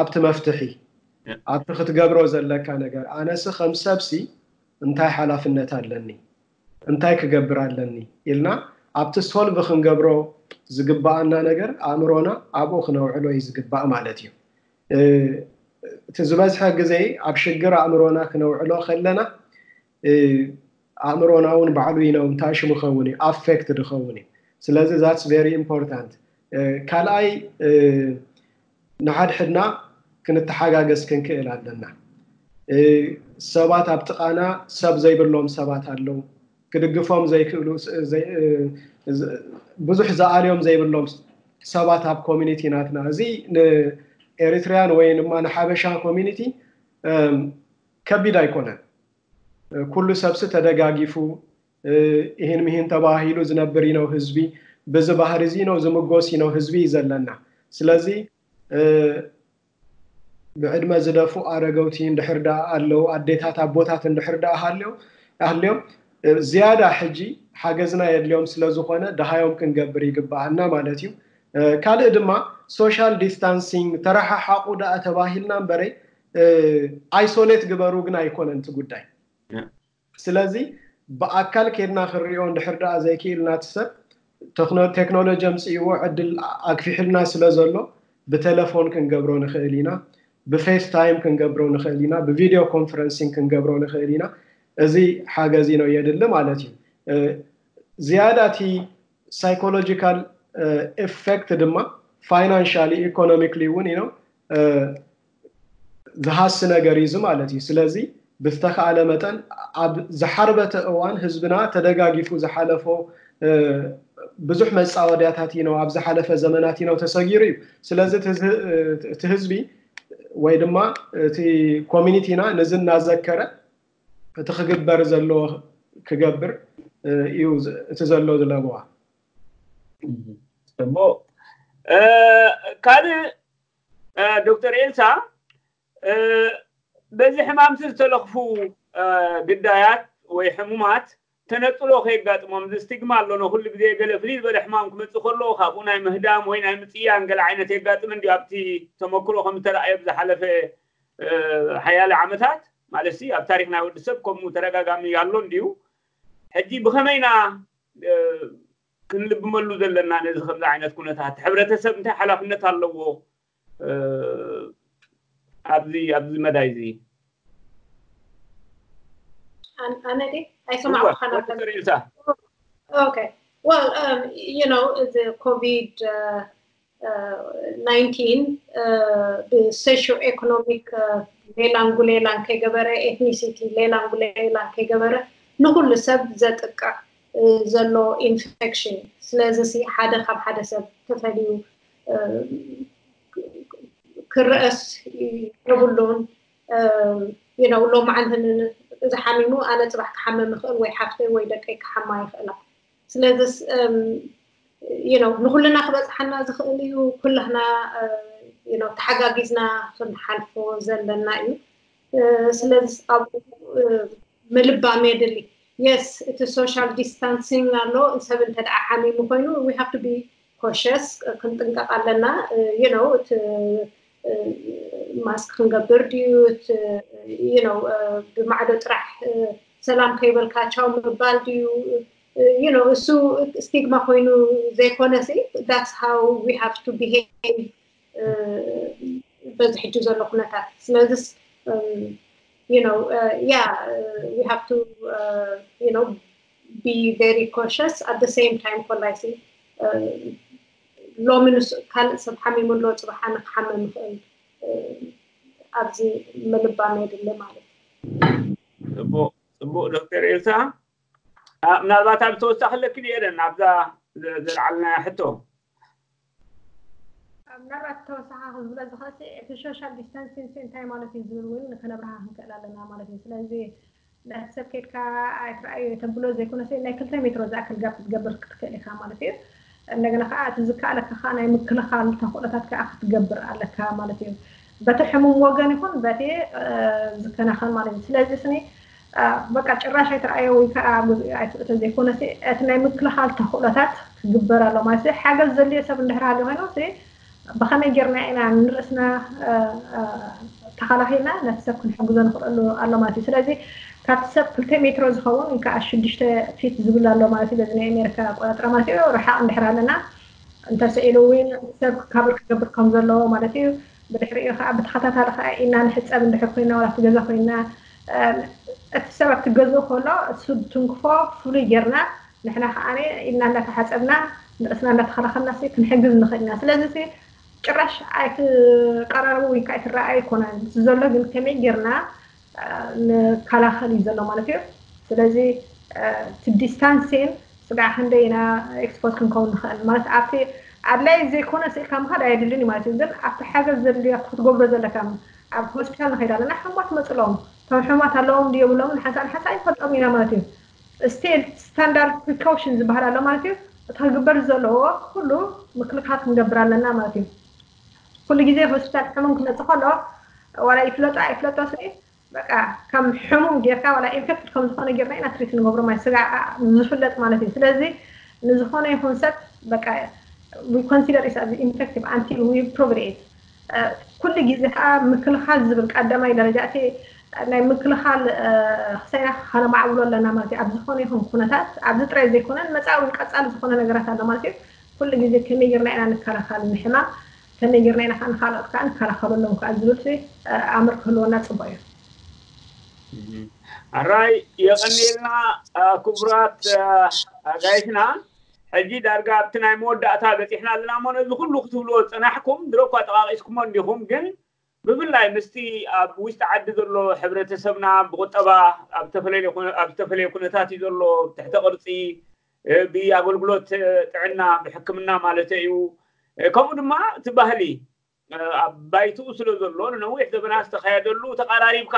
ኣብቲ መፍትሒ፣ ኣብቲ ክትገብሮ ዘለካ ነገር። ኣነሲ ከም ሰብሲ እንታይ ሓላፍነት ኣለኒ፣ እንታይ ክገብር ኣለኒ ኢልና ኣብቲ solve ክንገብሮ ዝግባኣና ነገር ኣእምሮና ኣብኡ ክነውዕሎ እዩ ዝግባእ ማለት እዩ። እቲ ዝበዝሐ ግዜ ኣብ ሽግር ኣእምሮና ክነውዕሎ ከለና ኣእምሮና እውን ባዕሉ ይነው እንታይ ሽሙ ኸውን እዩ affect ድኸውን እዩ። ስለዚ that's very important። ካልኣይ ንሓድሕድና ክንተሓጋገዝ ክንክእል ኣለና። ሰባት ኣብ ጥቓና ሰብ ዘይብሎም ሰባት ኣለዉ። ክድግፎም ዘይክእሉ ብዙሕ ዝኣልዮም ዘይብሎም ሰባት ኣብ community ናትና። እዚ ንኤሪትሪያን ወይ ድማ ንሓበሻ community ከቢድ ኣይኮነን። ኩሉ ሰብሲ ተደጋጊፉ ይህን ምሂን ተባሂሉ ዝነብር ነው ህዝቢ። ብዚ ባህሪ እዚ ነው ዝምጎስ ነው ህዝቢ እዩ ዘለና። ስለዚ ብዕድመ ዝደፉ ኣረገውቲ እንድሕር ደኣ ኣለዉ፣ ኣዴታት ኣቦታት እንድሕር ደኣ ሃልዮም ዝያዳ ሕጂ ሓገዝና የድልዮም ስለዝኾነ ደሃዮም ክንገብር ይግባኣና ማለት እዩ። ካልእ ድማ social distancing ተረሓሓቑ ደኣ ተባሂልና እምበረይ isolate ግበሩ ግን ኣይኮነን እቲ ጉዳይ። ስለዚ ብኣካል ኬድና ክንሪኦ እንድሕር ደኣ ዘይክኢልና እቲ ሰብ ቴክኖሎጂ ኣምፅእዎ ዕድል ኣግፊሕልና ስለ ዘሎ ብቴሌፎን ክንገብሮ ንኽእል ኢና፣ ብፌስ ታይም ክንገብሮ ንኽእል ኢና፣ ብቪድዮ ኮንፈረንሲንግ ክንገብሮ ንኽእል ኢና። እዚ ሓገዚ ነው የድሊ ማለት እዩ። ዝያዳ እቲ ሳይኮሎጂካል ኤፌክት ድማ ፋይናንሻሊ ኢኮኖሚክሊ እውን ነው ዝሃሲ ነገር እዩ ማለት እዩ። ስለዚ ብዝተኻእለ መጠን ኣብ ዝሓርበተ እዋን ህዝብና ተደጋጊፉ ዝሓለፎ ብዙሕ መፃወድያታት ነው ኣብ ዝሓለፈ ዘመናት ነው ተሰጊሩ እዩ። ስለዚ እቲ ህዝቢ ወይ ድማ እቲ ኮሚኒቲና ነዚ እናዘከረ እቲ ክግበር ዘለዎ ክገብር እዩ እቲ ዘሎ ዝለበዋ። እሞ ካልእ ዶክተር ኤልሳ በዚ ሕማምቲ ዝተለኽፉ ግዳያት ወይ ሕሙማት ተነጥሎ ከየጋጥሞም እዚ ስቲግማ ኣሎ። ኩሉ ግዜ ገለ ፍልይ ዝበለ ሕማም ክመፅእ ከሎ ካብኡ ናይ ምህዳም ወይ ናይ ምፅያን ገለ ዓይነት የጋጥም እንዲ ኣብቲ ተመክሮ ከም ዝተረኣየ ብዝሓለፈ ሓያለ ዓመታት ማለት ኣብ ታሪክ ናይ ወዲ ሰብ ከምኡ ተደጋጋሚ ኣሎ እንዲዩ። ሕጂ ብኸመይና ክንልብመሉ ዘለና ነዚ ከምዚ ዓይነት ኩነታት ሕብረተሰብ እንታይ ሓላፍነት ኣለዎ ኣብዚ ኣብዚ መዳይ እዚ? ኣነ ኣይሰማዕኩኻን። ዶክተር ኤልሳ Okay. Well, um, you know, the COVID uh, uh, nineteen ብሶሽዮ ኤኮኖሚክ ሌላን ጉሌላን ከይገበረ፣ ኤትኒሲቲ ሌላን ጉሌላን ከይገበረ ንኩሉ ሰብ ዘጥቅዕ ዘሎ ኢንፌክሽን። ስለዚ ሓደ ካብ ሓደ ሰብ ተፈልዩ ክረአስ የብሉን። ሎማዓንቲ ዝሓሚሙ ኣነ ፅባሕ ክሓመም ይኽእል ወይ ሓፍተይ ወይ ደቀይ ክሓማ ይኽእላ። ስለዚስ ንኩልና ክበፅሓና ዝኽእል እዩ። ኩላህና ተሓጋጊዝና ክንሓልፎ ዘለና እዩ። ስለዚ ኣብኡ ምልባም የድሊ። የስ እቲ ሶሻል ዲስታንሲንግ ኣሎ። ሰብ እንተ ደኣ ሓሚሙ ኮይኑ we have to be cautious፣ ክንጥንቀቕ ኣለና። You know እቲ ማስክ ክንገብር ድዩ፣ you know ብማዕዶ ጥራሕ ሰላም ከይበልካ ቻው ምባል ድዩ፣ you know እሱ ስቲግማ ኮይኑ ዘይኮነ፣ that's how we have to behave በዚ ሕጂ ዘሎ ኩነታት። ስለዚስ you know yeah we have to you know be very cautious at the same time ኮላይ ሲ ሎሚ ንሱ ካልእ ሰብ ሓሚሙ ኣሎ፣ ፅባሕ ኣነ ክሓመም ይኽእል። ኣብዚ ምልባም የድሊ ማለት እዩ። ፅቡቅ ፅቡቅ ዶክተር ኤልሳ፣ ምናልባት ኣብ ተወሳኺ ኣለኪ ድየለን ኣብዛ ዘልዓልና ሕቶ? ምናልባት ተወሳኺ ክዝብለ ዝኽእል እቲ social distancing እንታይ ማለት እዩ ዝብል እውን ከነብርሃ ክንክእል ኣለና ማለት እዩ። ስለዚ ነቲ ሰብ ከድካ ኣይትረኣዮ ተብሎ ዘይኮነስ ናይ ክልተ ሜትሮ ዝኣክል ጋፕ ክትገብር ክትክእል ኢኻ ማለት እዩ። እንደገና ከዓ እቲ ዝከኣለካ ከዓ ናይ ምክልኻል ተኽእሎታት ከዓ ክትገብር ኣለካ ማለት እዩ። በቲ ሕሙም ወገን ይኹን በቲ ዝከናኸን ማለት እዩ። ስለዚ ስኒ በቃ ጭራሽ ኣይትረኣዮ ወይ ከዓ ተዘይኮነ እቲ ናይ ምክልኻል ተኽእሎታት ክግበር ኣሎ ማለት እዩ። ሓገዝ ዘድልዮ ሰብ እንድሕር ሃልዩ ኮይኑ ብኸመይ ጌርና ኢና ንርእስና ተኸላኺልና ነቲ ሰብ ክንሕግዞ ንኽእለሉ ኣሎ ማለት እዩ። ስለዚ ካብቲ ሰብ ክልተ ሜትሮ ዝኸውን ወይ ከዓ ሽዱሽተ ፊት ዝብል ኣሎ ማለት እዩ። በዚ ናይ ኣሜሪካ ኣቆጣጥራ ማለት እዩ። ርሓቕ እንድሕር ኣለና እንተስኢሉ እውን ሰብ ክካብር ክገብር ከም ዘለዎ ማለት እዩ። ብድሕሪኡ ከዓ ብተኸታታሊ ከዓ ኢና ንሕፀብ እንድሕር ኮይና ወላ ኣብቲ ገዛ ኮይና እቲ ሰብ ኣብቲ ገዝኡ ከሎ እሱ ትንክፎ ፍሉይ ጌርና ንሕና ከዓ ኢና እንዳተሓፀብና ንርእስና እንዳተኸላኸልና ክንሕግዝ ንኽእል ኢና። ስለዚ ጭራሽ ኣይትቀራረቡ ወይ ከዓ ኣይትረኣዩ ኣይኮነን ዘሎ፣ ግን ከመይ ጌርና ንከላኸል እዩ ዘሎ ማለት እዩ። ስለዚ እቲ distancing ስጋዕ ክንደይ ኢና expose ክንከውን ንኽእል ማለት ኣብቲ ኣድላይ ዘይኮነ ስኢልካ ምኻድ ኣየድልን እዩ ማለት እዩ። ግን ኣብቲ ሓገዝ ዘድልዮ ኣብቲ ክትገብሮ ዘለካ ኣብ ሆስፒታል ንኸይድ ኣለና ሕሙማት መፅሎም እቶም ሕሙማት ኣለዎም ድዮ ብሎም ንሓንሳእ ንሓንሳእ ይፈልጦም ኢና ማለት እዩ። Still standard precaution ዝበሃል ኣሎ ማለት እዩ። እቲ ክግበር ዘለዎ ኩሉ ምክልኻል ክንገብር ኣለና ማለት እዩ። ኩሉ ግዜ ሆስፒታል ሕሙም ክመፅእ ከሎ ዋላ ይፍለጦ ኣይፍለጦ ስኒ በቃ ከም ሕሙም ጌርካ ዋላ ኢንፌክትድ ከም ዝኾነ ጌርና ኢና ትሪት ንገብሮ ማለት ስጋ ዝፍለጥ ማለት እዩ። ስለዚ ንዝኾነ ይኹን ሰብ በቃ we consider it as infective until we prove it። ኩሉ ግዜ ከዓ ምክልኻል ዝብል ቀዳማይ ደረጃ እቲ ናይ ምክልኻል ክሳይና ከነማዕብሎ ኣለና ማለት እዩ። ኣብ ዝኾነ ይኹን ኩነታት ኣብዚ ጥራይ ዘይኮነን መፃእ እውን ቀፃሊ ዝኾነ ነገራት ኣሎ ማለት እዩ። ኩሉ ግዜ ከመይ ጌርና ኢና ንከላኸል ንሕማም ከመይ ጌርና ኢና ከዓ ንካልኦት ከዓ ንከላኸለሎም ከዓ ዝብል ኣምር ክህልወና ፅቡቅ እዩ። ኣራይ የቐንየልና ክቡራት ኣጋይሽና። ሕጂ ዳርጋ ኣብቲ ናይ መወዳእታ በፂሕና ኣለና እሞ ነዚ ኩሉ ክትብልዎ ዝፀናሕኩም ድሮ እኳ ጠቃቂስኩሞ እንዲኹም ግን ብፍላይ ምስቲ ኣብ ውሽጢ ዓዲ ዘሎ ሕብረተሰብና ብቁጠባ ኣብ ዝተፈለየ ኩነታት እዩ ዘሎ፣ ትሕተ ቅርፂ ብኣገልግሎት ጥዕና ብሕክምና ማለት እዩ። ከምኡ ድማ እቲ ባህሊ ኣብ ባይትኡ ስለ ዘሎ ንነዊሕ ዘበናት ዝተኸየደሉ ተቐራሪብካ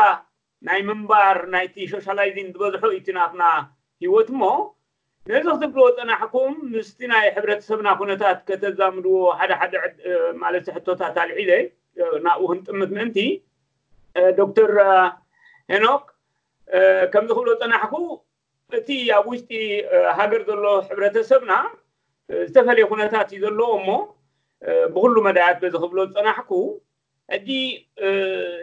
ናይ ምንባር ናይቲ ሶሻላይዚንግ ዝበዝሖ እቲ ናትና ህይወት እሞ ነዚ ክትብልዎ ፀናሕኩም ምስቲ ናይ ሕብረተሰብና ኩነታት ከተዛምድዎ ሓደ ሓደ ማለት ሕቶታት ኣልዒለ ናብኡ ክንጥምት ምእንቲ ዶክተር ሄኖክ ከምዚ ክብሎ ፀናሕኩ እቲ ኣብ ውሽጢ ሃገር ዘሎ ሕብረተሰብና ዝተፈለየ ኩነታት እዩ ዘለዎ እሞ ብኩሉ መዳያት በዚ ክብሎ ዝፀናሕኩ ሕጂ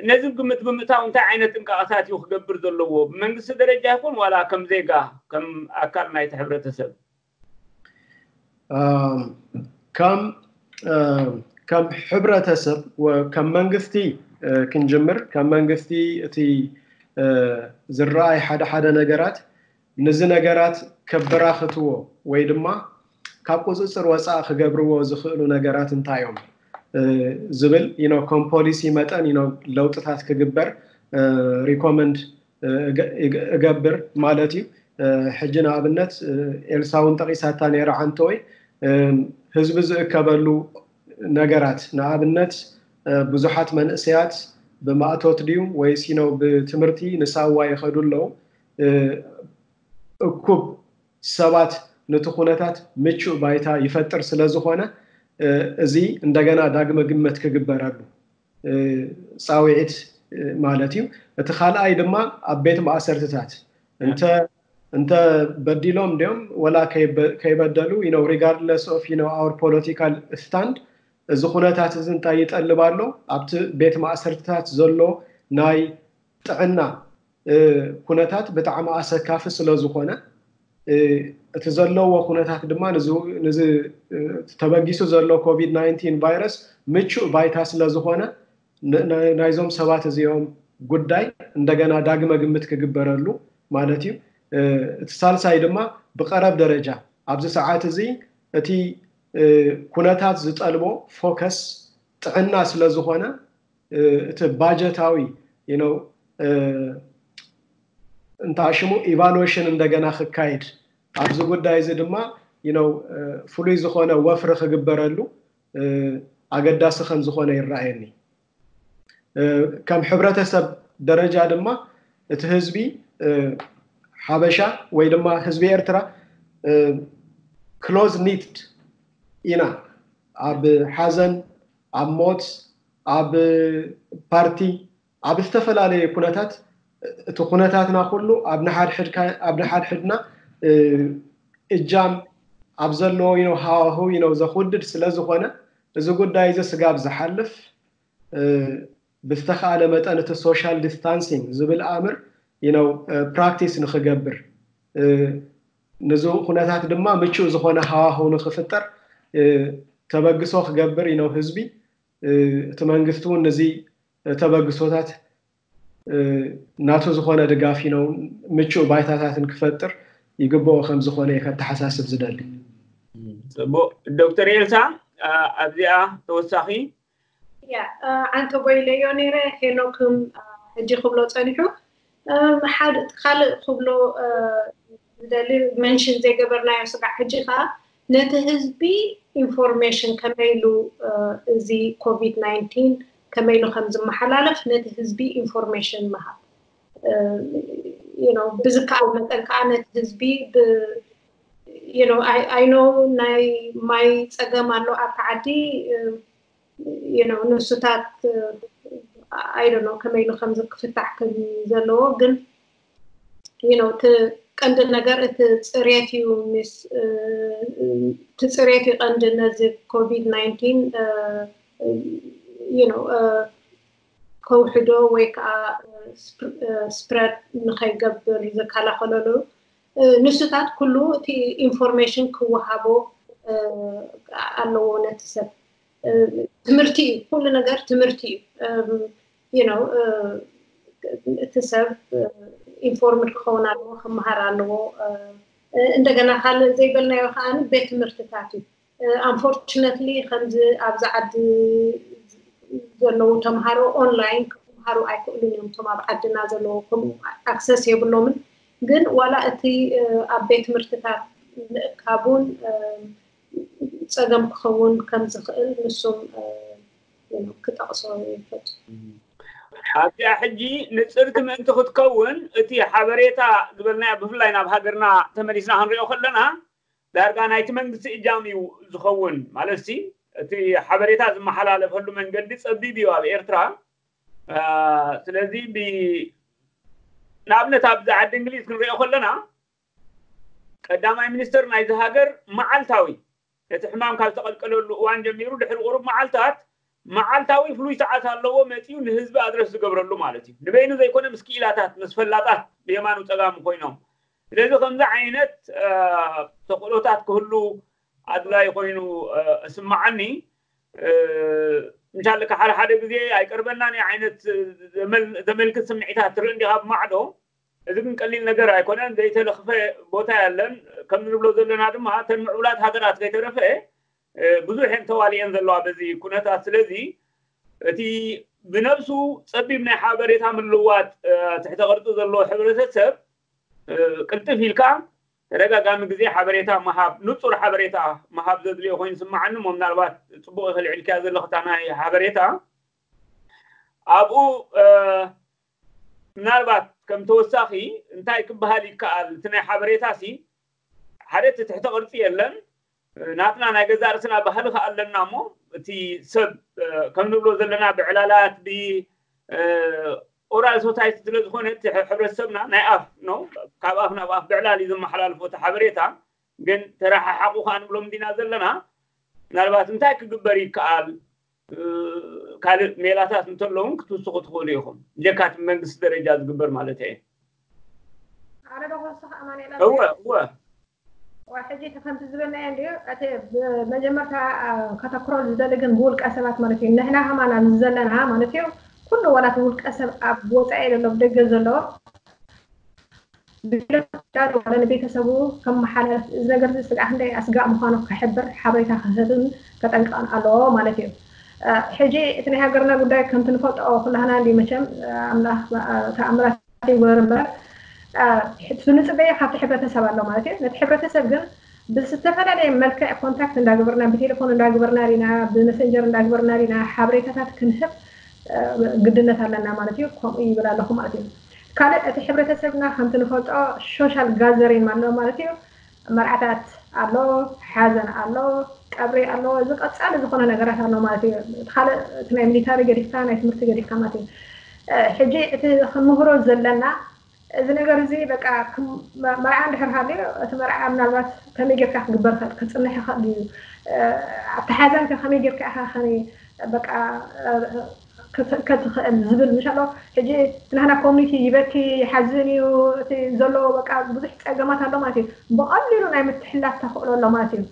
ነዚ ግምት ብምእታው እንታይ ዓይነት ጥንቃቐታት እዩ ክገብር ዘለዎ ብመንግስቲ ደረጃ ይኹን ዋላ ከም ዜጋ ከም ኣካል ናይቲ ሕብረተሰብ? ከም ከም ሕብረተሰብ ከም መንግስቲ ክንጅምር ከም መንግስቲ እቲ ዝረኣይ ሓደ ሓደ ነገራት ንዚ ነገራት ከበራኽትዎ ወይ ድማ ካብ ቁፅፅር ወፃእ ክገብርዎ ዝኽእሉ ነገራት እንታይ እዮም ዝብል ከም ፖሊሲ መጠን ለውጥታት ክግበር ሪኮመንድ እገብር ማለት እዩ። ሕጂ ንኣብነት ኤልሳ እውን ጠቒሳታ ነይራ ሓንተወይ ህዝቢ ዝእከበሉ ነገራት ንኣብነት ብዙሓት መንእሰያት ብማእቶት ድዩ ወይስ ብትምህርቲ ንሳዋ ይኸዱ ኣለዉ። እኩብ ሰባት ነቲ ኩነታት ምቹእ ባይታ ይፈጥር ስለ ዝኾነ እዚ እንደገና ዳግመ ግምት ክግበረሉ ፃውዒት ማለት እዩ። እቲ ካልኣይ ድማ ኣብ ቤት ማእሰርትታት እንተ እንተ በዲሎም ድዮም ወላ ከይበደሉ regardless of our political stand እዚ ኩነታት እዚ እንታይ ይጠልብ ኣሎ ኣብቲ ቤት ማእሰርትታት ዘሎ ናይ ጥዕና ኩነታት ብጣዕሚ ኣሰካፊ ስለ ዝኾነ እቲ ዘለዎ ኩነታት ድማ ንዚ ተበጊሱ ዘሎ ኮቪድ ናይንቲን ቫይረስ ምቹእ ባይታ ስለ ዝኾነ ናይዞም ሰባት እዚኦም ጉዳይ እንደገና ዳግመ ግምት ክግበረሉ ማለት እዩ። እቲ ሳልሳይ ድማ ብቀረብ ደረጃ ኣብዚ ሰዓት እዚ እቲ ኩነታት ዝጠልቦ ፎከስ ጥዕና ስለ ዝኾነ እቲ ባጀታዊ እንታይ ሽሙ ኢቫሉዌሽን እንደገና ክካየድ ኣብዚ ጉዳይ እዚ ድማ ፍሉይ ዝኾነ ወፍሪ ክግበረሉ ኣገዳሲ ከም ዝኾነ ይረኣየኒ። ከም ሕብረተሰብ ደረጃ ድማ እቲ ህዝቢ ሓበሻ ወይ ድማ ህዝቢ ኤርትራ ክሎዝ ኒትድ ኢና። ኣብ ሓዘን፣ ኣብ ሞት፣ ኣብ ፓርቲ፣ ኣብ ዝተፈላለየ ኩነታት እቲ ኩነታትና ኩሉ ኣብ ንሓድሕድና እጃም ኣብ ዘለዎ ሃዋህው ዘኹድድ ስለ ዝኾነ እዚ ጉዳይ እዚ ስጋብ ዝሓልፍ ብዝተኻእለ መጠን እቲ ሶሻል ዲስታንሲንግ ዝብል ኣምር ፕራክቲስ ንክገብር፣ ንዚ ኩነታት ድማ ምቹእ ዝኾነ ሃዋህው ንክፍጠር ተበግሶ ክገብር ነው ህዝቢ። እቲ መንግስቲ እውን ንዚ ተበግሶታት ናቱ ዝኾነ ድጋፍ ነው ምቹእ ባይታታትን ክፈጥር ይግብኦ ከም ዝኾነ እየ ከተሓሳስብ ዝደሊ። ፅቡቅ ዶክተር ኤልሳ፣ ኣብዚኣ ተወሳኺ ያ ዓንተ ቦይለዮ ነይረ። ሄኖክም ሕጂ ክብሎ ፀኒሑ ሓደ ካልእ ክብሎ ዝደሊ መንሽን ዘይገበርናዮ ስጋዕ ሕጂ ከዓ ነቲ ህዝቢ ኢንፎርሜሽን ከመይ ኢሉ እዚ ኮቪድ ናይንቲን ከመይ ኢሉ ከም ዝመሓላለፍ ነቲ ህዝቢ ኢንፎርሜሽን ምሃብ ብዝከኣል መጠን ከዓ ነቲ ህዝቢ I know ናይ ማይ ፀገም ኣሎ ኣብቲ ዓዲ ንሱታት I don't know ከመይ ኢሉ ከምዚ ክፍታሕ ከም ዘለዎ ግን እቲ ቀንዲ ነገር እቲ ፅሬት እዩ ምስ እቲ ፅሬት እዩ ቀንዲ ነዚ ኮቪድ ናይንቲን ከውሕዶ ወይ ከዓ ስፕረድ ንኸይገብር ዝከላኸለሉ ንሱታት ኩሉ እቲ ኢንፎርሜሽን ክወሃቦ ኣለዎ ነቲ ሰብ ትምህርቲ እዩ ኩሉ ነገር ትምህርቲ እዩ you know እቲ ሰብ ኢንፎርምድ ክኸውን ኣለዎ ክመሃር ኣለዎ እንደገና ካልእ ዘይበልናዮ ከዓ ቤት ትምህርትታት እዩ unfortunately ከምዚ ኣብዚ ዓዲ ዘለዉ ተምሃሮ ኦንላይን ክምሃሩ ኣይክእሉን እዮም እቶም ኣብ ዓድና ዘለዉ ከምኡ ኣክሰስ የብሎምን ግን ዋላ እቲ ኣብ ቤት ትምህርትታት ምእካቡን ፀገም ክኸውን ከም ዝኽእል ንሱም ክጠቕሶ ይፈቱ ኣብዚኣ ሕጂ ንፅርቲ ምእንቲ ክትከውን እቲ ሓበሬታ ዝበልናዮ ብፍላይ ናብ ሃገርና ተመሊስና ክንሪኦ ከለና ዳርጋ ናይቲ መንግስቲ እጃም እዩ ዝኸውን ማለት ሲ እቲ ሓበሬታ ዝመሓላለፈሉ መንገዲ ፀቢብ እዩ ኣብ ኤርትራ ስለዚ ንኣብነት ኣብዚ ዓዲ እንግሊዝ ክንሪኦ ከለና ቀዳማይ ሚኒስተር ናይዚ ሃገር መዓልታዊ እቲ ሕማም ካብ ዝተቐልቀለሉ እዋን ጀሚሩ ድሕሪ ቁሩብ መዓልታት መዓልታዊ ፍሉይ ሰዓት ኣለዎ መፂኡ ንህዝቢ ኣድረስ ዝገብረሉ ማለት እዩ ንበይኑ ዘይኮነ ምስ ክኢላታት ምስ ፈላጣት ብየማኑ ፀጋሙ ኮይኖም ስለዚ ከምዚ ዓይነት ተኽእሎታት ክህሉ ኣድላይ ኮይኑ እስማዓኒ እንሻለካ ሓደ ሓደ ግዜ ኣይቀርበናን ዓይነት ዘመልክት ስምዒታት ትርኢ እንዲኻ ብማዕዶ እዚ ግን ቀሊል ነገር ኣይኮነን ዘይተለኽፈ ቦታ ያለን ከም ንብሎ ዘለና ድማ እተን ምዕቡላት ሃገራት ከይተረፈ ብዙሕ እየን ተዋሊአን ዘለዋ በዚ ኩነታት ስለዚ እቲ ብነብሱ ፀቢብ ናይ ሓበሬታ ምልዋጥ ትሕተ ቅርፂ ዘለዎ ሕብረተሰብ ቅልጥፍ ኢልካ ተደጋጋሚ ግዜ ሓበሬታ ምሃብ ንፁር ሓበሬታ ምሃብ ዘድልዮ ኮይኑ ስማዓኒ ሞ ምናልባት ፅቡቅ ይኽልዕልክያ ዘለኽታ ናይ ሓበሬታ ኣብኡ ምናልባት ከም ተወሳኺ እንታይ ክበሃል ይከኣል እቲ ናይ ሓበሬታ ሲ ሓደ እቲ ትሕተ ቅርፂ የለን ናትና ናይ ገዛእ ርእስና ባህሊ ከ ኣለና እሞ እቲ ሰብ ከም ንብሎ ዘለና ብዕላላት ብ ኦራል ሶሳይቲ ስለ ዝኾነ እቲ ሕብረተሰብና ናይ ኣፍ ነው ካብ ኣፍ ናብ ኣፍ ብዕላል እዩ ዘመሓላልፎ እቲ ሓበሬታ ግን ተረሓሓቑ ከኣ ንብሎም እንዲና ዘለና ምናልባት እንታይ ክግበር ይከኣል ካልእ ሜላታት እንተለውን ክትውስኹ ትኽእሉ ኢኹም ብጀካ እቲ መንግስቲ ደረጃ ዝግበር ማለት እየ ኣነ ዶ ክወስኽ ኣማኑኤል እወ እወ ሕጂ እቲ ከምቲ ዝበልናዮ እንድዩ እቲ መጀመርታ ከተክሮ ዝደሊ ግን ብውልቀ ሰባት ማለት እዩ ንሕና ከማን ኣብዚ ዘለና ማለት እዩ ኩሉ ዋላ እቲ ውልቀ ሰብ ኣብ ወፃኢ ዘሎ ብደገ ዘሎ ንቤተሰቡ ከመሓላልፍ፣ እዚ ነገር እዚ ስጋዕ ክንደይ ኣስጋእ ምዃኑ ክሕብር ሓበሬታ ክህብን ከጠንቅቕን ኣለዎ ማለት እዩ። ሕጂ እቲ ናይ ሃገርና ጉዳይ ከምቲ ንፈልጦ ኩላህና እንዲ መቸም ኣምላኽ ተኣምራት ይግበር እምበር፣ እቲ ንፅበየ ካብቲ ሕብረተሰብ ኣሎ ማለት እዩ። ነቲ ሕብረተሰብ ግን ብዝተፈላለየ መልክዕ ኮንታክት እንዳግበርና፣ ብቴሌፎን እንዳግበርና ዲና፣ ብመሰንጀር እንዳግበርና ዲና ሓበሬታታት ክንህብ ግድነት ኣለና ማለት እዩ። ከምኡ ይብል ኣለኹ ማለት እዩ። ካልእ እቲ ሕብረተሰብና ከምቲ ንፈልጦ ሶሻል ጋዘሪን ኣሎ ማለት እዩ። መርዓታት ኣሎ፣ ሓዘን ኣሎ፣ ቀብሪ ኣሎ፣ እዚ ቀጻሊ ዝኾነ ነገራት ኣሎ ማለት እዩ። እቲ ካልእ እቲ ናይ ሚሊታሪ ገዲፍካ ናይ ትምህርቲ ገዲፍካ ማለት እዩ። ሕጂ እቲ ክምህሮ ዘለና እዚ ነገር እዚ በቃ መርዓ እንድሕር ሃልዩ እቲ መርዓ ምናልባት ከመይ ጌርካ ክግበር ክእል ክጽንሕ ይኽእል እዩ። ኣብቲ ሓዘን ከ ከመይ ጌርካ ኢኻ ከ በቃ ከትኽእል ዝብል ምሻሎ። ሕጂ ናህና ኮሚኒቲ ይበኪ ይሓዝን እዩ እቲ ዘሎ በቃ ብዙሕ ፀገማት ኣሎ ማለት እዩ። ብቐሊሉ ናይ ምትሕላፍ ተኽእሎ ኣሎ ማለት እዩ።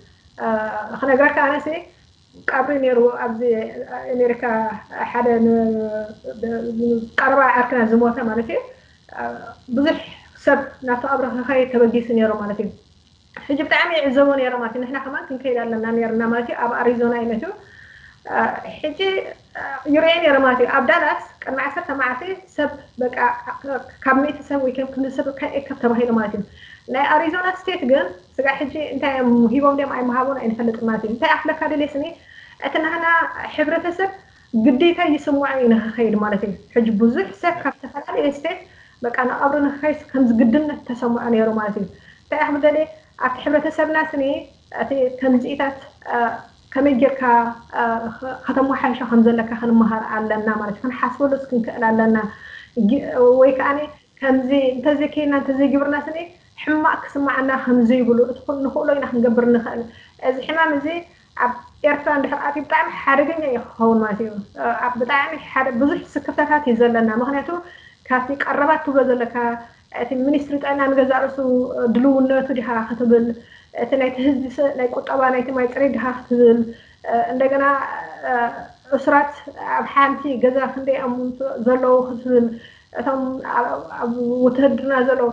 ክነግረካ ኣነሲ ቀብሪ ነይሩ ኣብዚ ኣሜሪካ ሓደ ቀረባ ዓርክና ዝሞተ ማለት እዩ። ብዙሕ ሰብ ናብቲ ቀብሪ ክኸይድ ተበጊሱ ነይሩ ማለት እዩ። ሕጂ ብጣዕሚ ይዕዘቦ ነይረ ማለት እዩ። ንሕና ከማን ክንከይድ ኣለና ነርና ማለት እዩ። ኣብ ኣሪዞና እዩ መትዩ። ሕጂ ይርኤ ነይረ ማለት እዩ። ኣብ ዳላስ ቅድሚ ዓሰርተ መዓልቲ ሰብ በቃ ካብ ሚእቲ ሰብ ወይ ከም ክንዲ ሰብ ከይእከብ ተባሂሉ ማለት እዩ። ናይ ኣሪዞና ስቴት ግን ስጋዕ ሕጂ እንታይ እዮም ሂቦም ድዮም ኣይምሃቦን ኣይንፈልጥን ማለት እዩ። እንታይ ኣፍለካ ደልየ ስኒ እቲ ናህና ሕብረተሰብ ግዴታ ይስምዖ እዩ ንክኸይድ ማለት እዩ። ሕጂ ብዙሕ ሰብ ካብ ዝተፈላለየ ስቴት በቃ ንቐብሪ ንክኸይድ ከም ዝግድነት ተሰምዖ ነይሩ ማለት እዩ። እንታይ ኣኽብል ደልየ ኣብቲ ሕብረተሰብና ስኒ እቲ ከምዚኢታት ከመይ ጌርካ ከተመሓይሾ ከም ዘለካ ክንመሃር ኣለና ማለት እዩ። ክንሓስበሉስ ክንክእል ኣለና ወይ ከዓ ከምዚ እንተዘይከይና እንተዘይግብርና ስኒ ሕማቅ ክስማዓና ከም ዘይብሉ እቲ ንኽእሎ ኢና ክንገብር ንኽእል። እዚ ሕማም እዚ ኣብ ኤርትራ እንድሕር ኣትዩ ብጣዕሚ ሓደገኛ እዩ ክኸውን ማለት እዩ። ብጣዕሚ ሓደ ብዙሕ ስክፍታታት እዩ ዘለና። ምክንያቱ ካብቲ ቀረባት ትብሎ ዘለካ እቲ ሚኒስትሪ ጥዕና ንገዛእ ርእሱ ድልውነቱ ዲኻ ክትብል እቲ ናይቲ ህዝቢ ናይ ቁጠባ ናይቲ ማይ ፅሬት ዲኻ ክትብል እንደገና እሱራት ኣብ ሓንቲ ገዛ ክንደይ እዮም ዘለዉ ክትብል እቶም ኣብ ውትህድርና ዘለዉ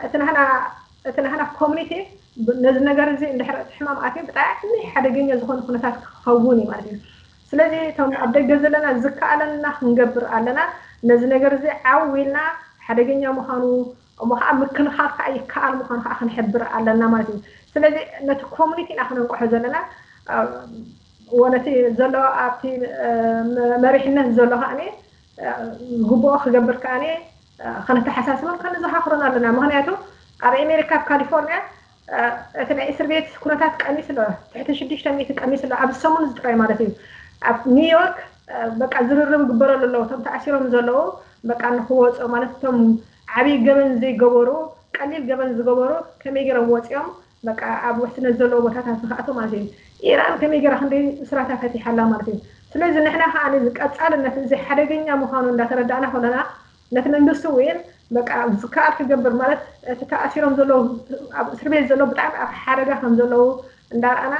እቲ ናህና ኮሚኒቲ ነዚ ነገር እዚ እንድሕር እቲ ሕማም ኣትዩ ብጣዕሚ ሓደገኛ ዝኾነ ኩነታት ክኸውን እዩ ማለት እዩ። ስለዚ እቶም ኣብ ደገ ዘለና ዝከኣለና ክንገብር ኣለና። ነዚ ነገር እዚ ዓው ኢልና ሓደገኛ ምዃኑ እሞ ከዓ ምክልኻል ከዓ ይከኣል ምዃኑ ከዓ ክንሕብር ኣለና ማለት እዩ። ስለዚ ነቲ ኮሚኒቲ ኢና ክነንቅሖ ዘለና ወነቲ ዘሎ ኣብቲ መሪሕነት ዘሎ ከዓ ግቡኦ ክገብር ከዓ ከነተሓሳስበን ከነዘኻኽሮን ኣለና። ምክንያቱ ኣብ ኣሜሪካ ኣብ ካሊፎርኒያ እቲ ናይ እስር ቤት ኩነታት ቀኒስ ኣሎ። ትሕቲ ሽዱሽተ ሚእቲ ቀኒስ ኣሎ። ኣብ ሰሙን ዝጥራይ ማለት እዩ። ኣብ ኒውዮርክ በቃ ዝርርብ ግበረሉ ኣለዉ። እቶም ተኣሲሮም ዘለዉ በቃ ንክወፁ ማለት እቶም ዓብዪ ገበን ዘይገበሩ ቀሊል ገበን ዝገበሩ ከመይ ገይሮም ወፂኦም በቃ ኣብ ውሕስነት ዘለዎ ቦታታት ዝኸኣቱ ማለት እዩ። ኢራን ከመይ ገይራ ክንደይ እስራታ ፈቲሓላ ማለት እዩ። ስለዚ ንሕና ከዓ እዚ ቀፃልነት እዚ ሓደገኛ ምዃኑ እንዳተረዳእና ከለና ነቲ መንግስቲ እውን በቃ ዝከኣል ክገብር ማለት እቲ ተኣሲሮም ዘለዉ ኣብ እስር ቤት ዘለዉ ብጣዕሚ ኣብ ሓደጋ ከም ዘለዉ እንዳረኣና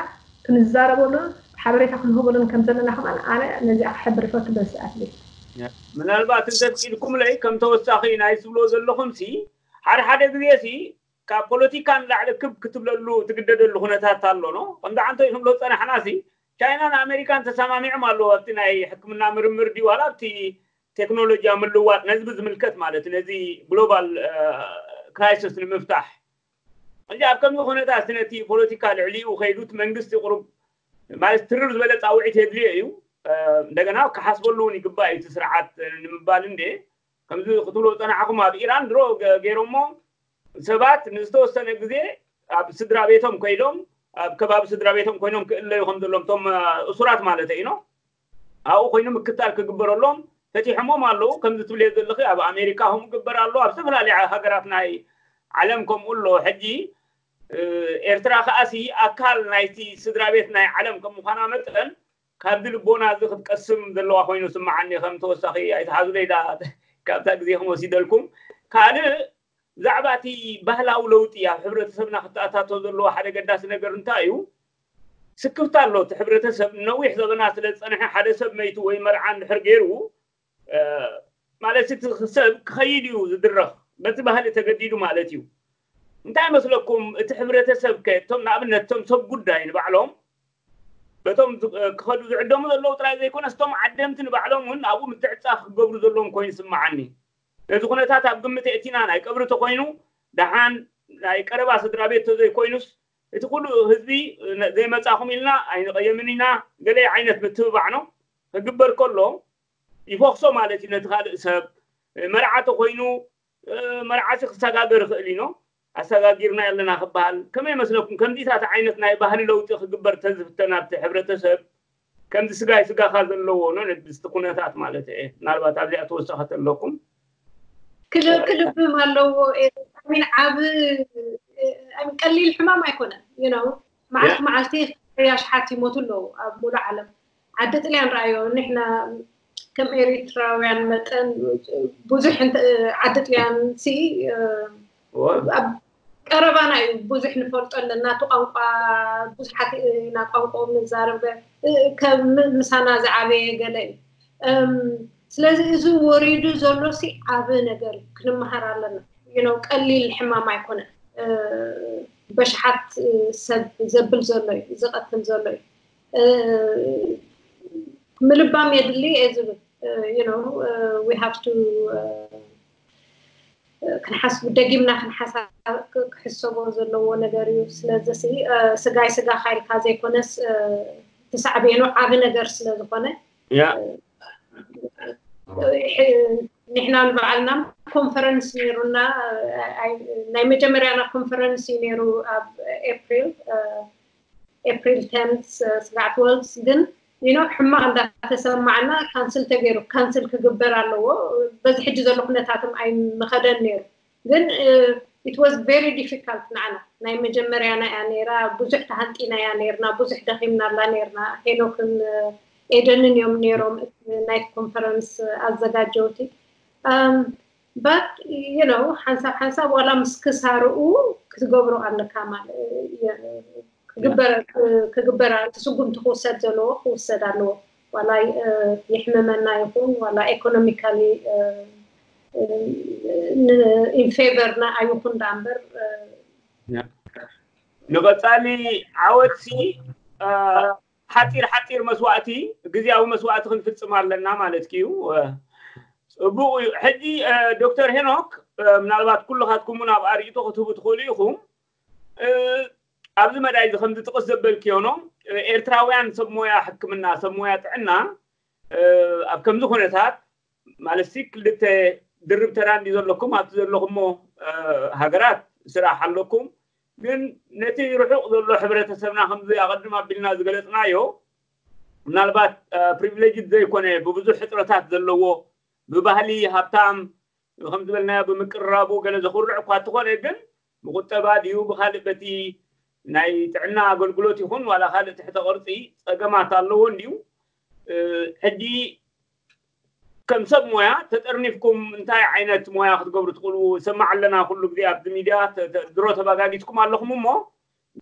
ክንዛረበሉን ሓበሬታ ክንህበሉን ከም ዘለና ከማን ኣነ ነዚኣ ክሕብር ይፈቱ በዚ ሰዓት እዚ። ምናልባት እንተፍቂድኩምለይ ከም ተወሳኺ ናይ ዝብሎ ዘለኹም ሲ ሓደ ሓደ ግዜ ሲ ካብ ፖለቲካ ንላዕሊ ክብ ክትብለሉ ትግደደሉ ኩነታት ኣሎ ኖ ከምዚ ዓንቶ ይክብሎ ዝፀናሕና ሲ ቻይናን ኣሜሪካን ተሰማሚዖም ኣለዉ ኣብቲ ናይ ሕክምና ምርምር ድዩ ዋላ ኣብቲ ቴክኖሎጂ ምልዋጥ ነዚ ብዝምልከት ማለት ነዚ ግሎባል ክራይሲስ ንምፍታሕ እንጂ ኣብ ከምዚ ኩነታት ነቲ ፖለቲካ ልዕሊኡ ከይዱ እቲ መንግስቲ ቁሩብ ማለት ትርር ዝበለ ፃውዒት የድልዮ እዩ እንደገና ክሓስበሉ እውን ይግባእ እዩ እቲ ስርዓት ንምባል እንደ ከምዚ ክትብሎ ዝፀናሕኩም ኣብ ኢራን ድሮ ገይሮሞ ሰባት ንዝተወሰነ ግዜ ኣብ ስድራ ቤቶም ኮይኖም ኣብ ከባቢ ስድራ ቤቶም ኮይኖም ክእለዩ ከም ዘለዎም እቶም እሱራት ማለት እዩ ኣብኡ ኮይኑ ምክታል ክግበረሎም ፈቲሖሞም ኣለዉ ከምዚ ትብልዮ ዘለኺ ኣብ ኣሜሪካ ከምኡ ግበር ኣሎ ኣብ ዝተፈላለዩ ሃገራት ናይ ዓለም ከምኡ ኣሎ ሕጂ ኤርትራ ከዓሲ ኣካል ናይቲ ስድራ ቤት ናይ ዓለም ከም ምዃና መጠን ካብዚ ልቦና እዚ ክትቀስም ዘለዋ ኮይኑ ስምዓኒ ከም ተወሳኺ ኣይትሓዙለይ ዳ ካብታ ግዜኹም ወሲደልኩም ካልእ ብዛዕባ እቲ ባህላዊ ለውጢ ኣብ ሕብረተሰብና ክተኣታቶ ዘለዎ ሓደ ገዳሲ ነገር እንታይ እዩ ስክፍታ ኣሎ እቲ ሕብረተሰብ ነዊሕ ዘበና ስለ ዝፀንሐ ሓደ ሰብ መይቱ ወይ መርዓ እንድሕር ገይሩ ማለት እቲ ሰብ ክኸይድ እዩ ዝድረኽ በቲ ባህሊ ተገዲዱ ማለት እዩ። እንታይ መስለኩም? እቲ ሕብረተሰብ ከ እቶም ንኣብነት እቶም ሰብ ጉዳይ ንባዕሎም በቶም ዝ- ክኸዱ ዝዕደሙ ዘለዉ ጥራይ ዘይኮነስ እቶም ዓደምቲ ንባዕሎም እውን ኣብኡ ምትዕፃ ክገብሩ ዘለዎም ኮይኑ ይስምዓኒ። ነዚ ኩነታት ኣብ ግምት የእቲና ናይ ቀብሪ ተኮይኑ ደሓን ናይ ቀረባ ስድራ ቤት ተዘይኮይኑስ እቲ ኩሉ ህዝቢ ዘይመፃኹም ኢልና ኣይንቐየምን ኢና። ገለ ዓይነት ምትብባዕ ነው ክግበር ከሎ ይፎክሶ ማለት እዩ ነቲ ካልእ ሰብ። መርዓ ተኮይኑ መርዓሲ ክሰጋገር ይኽእል እዩ። ኣሰጋጊርና ኣለና ክበሃል ከመይ መስለኩም? ከምዚታት ዓይነት ናይ ባህሊ ለውጢ ክግበር ተዝፍተን ኣብቲ ሕብረተሰብ ከምዚ ስጋይ ስጋኻ ዘለዎ ነው ነድስቲ ኩነታት ማለት እየ። ምናልባት ኣብዚኣ ተወሰኸት ኣለኩም ክልብም ኣለዎ ሚን ዓብ ቀሊል ሕማም ኣይኮነን you know መዓልቲ መዓልቲ ያሽሓት ይሞቱ ኣለዉ ኣብ ሙሉ ዓለም ዓዲ ጥልያን ረኣዮ ንሕና ከም ኤሪትራውያን መጠን ብዙሕ ዓዲ ጥልያን ሲ ኣብ ቀረባና እዩ ብዙሕ ንፈልጦ ኣለና እቲ ቋንቋ ብዙሓት ኢና ቋንቋኦም ንዛረብ ምሳና ዝዓበየ ገለ እዩ ስለዚ እዚ ወሪዱ ዘሎ ሲ ዓብ ነገር እዩ ክንመሃር ኣለና you know ቀሊል ሕማም ኣይኮነን በሽሓት ሰብ ዘብል ዘሎ እዩ ዝቐትል ዘሎ እዩ ምልባም የድሊ እየ ዝብል you know we have to ክንሓስብ ደጊምና ክንሓሳብ ክሕሰቦ ዘለዎ ነገር እዩ ስለዚ ስጋይ ስጋ ካይልካ ዘይኮነስ ተሳዕቤኑ ዓብ ነገር ስለዝኮነ ያ ንሕና ንባዕልና ኮንፈረንስ ነይሩና ናይ መጀመርያና ኮንፈረንስ እዩ ነይሩ ኣብ ኤፕሪል ኤፕሪል ቴን ስጋዕ ትወልቭ ግን you know ሕማቕ እንዳተሰማዕና ካንስል ተገይሩ ካንስል ክግበር ኣለዎ በዚ ሕጂ ዘሎ ኩነታትም ኣይምኸደን ነይሩ ግን it was very difficult ንዓና ናይ መጀመርያና እያ ነይራ ብዙሕ ተሃንጢና እያ ነይርና ብዙሕ ደኺምናላ ነይርና ሄኖክን ኤደንን እዮም ነይሮም ናይቲ ኮንፈረንስ ኣዘጋጀውቲ but you know ሓንሳብ ሓንሳብ ዋላ ምስ ክሳርኡ ክትገብሮ ኣለካ ማለት ክግበር እቲ ስጉምቲ ክውሰድ ዘለዎ ክውሰድ ኣለዎ ዋላ የሕምመና ይኹን ዋላ economically in favor ና ኣይኹን ደኣ እምበር ንቐፃሊ ዓወትሲ ሓፂር ሓፂር መስዋእቲ ግዜያዊ መስዋእቲ ክንፍፅም ኣለና ማለት እዩ ፅቡቅ እዩ ሕጂ ዶክተር ሄኖክ ምናልባት ኩልኻትኩም እውን ኣብ ኣርእቶ ክትህቡ ትኽእሉ ኢኹም ኣብዚ መዳይ እዚ ከምዚ ጥቕስ ዘበልክዮ ኖ ኤርትራውያን ሰብ ሞያ ሕክምና ሰብ ሞያ ጥዕና ኣብ ከምዚ ኩነታት ማለት ክልተ ድርብ ተራ እንዲ ዘለኩም ኣብቲ ዘለኩሞ ሃገራት ስራሕ ኣለኩም ግን ነቲ ርሑቕ ዘሎ ሕብረተሰብና ከምዚ ኣቐድም ኣቢልና ዝገለፅናዮ ምናልባት ፕሪቪሌጅ ዘይኮነ ብብዙሕ ሕፅረታት ዘለዎ ብባህሊ ሃብታም ከም ዝበልናዮ ብምቅርራቡ ገለ ዘኹርዕ እኳ እንተኾነ ግን ብቁጠባ ድዩ ብካልእ በቲ ናይ ጥዕና ኣገልግሎት ይኹን ዋላ ካልእ ትሕተ ቅርፂ ፀገማት ኣለዎ እንድዩ ሕጂ ከም ሰብ ሞያ ተጠርኒፍኩም እንታይ ዓይነት ሞያ ክትገብሩ ትኽእሉ ሰማዕ ኣለና ኩሉ ግዜ ኣብዚ ሚድያ ድሮ ተባጋጊትኩም ኣለኹም እሞ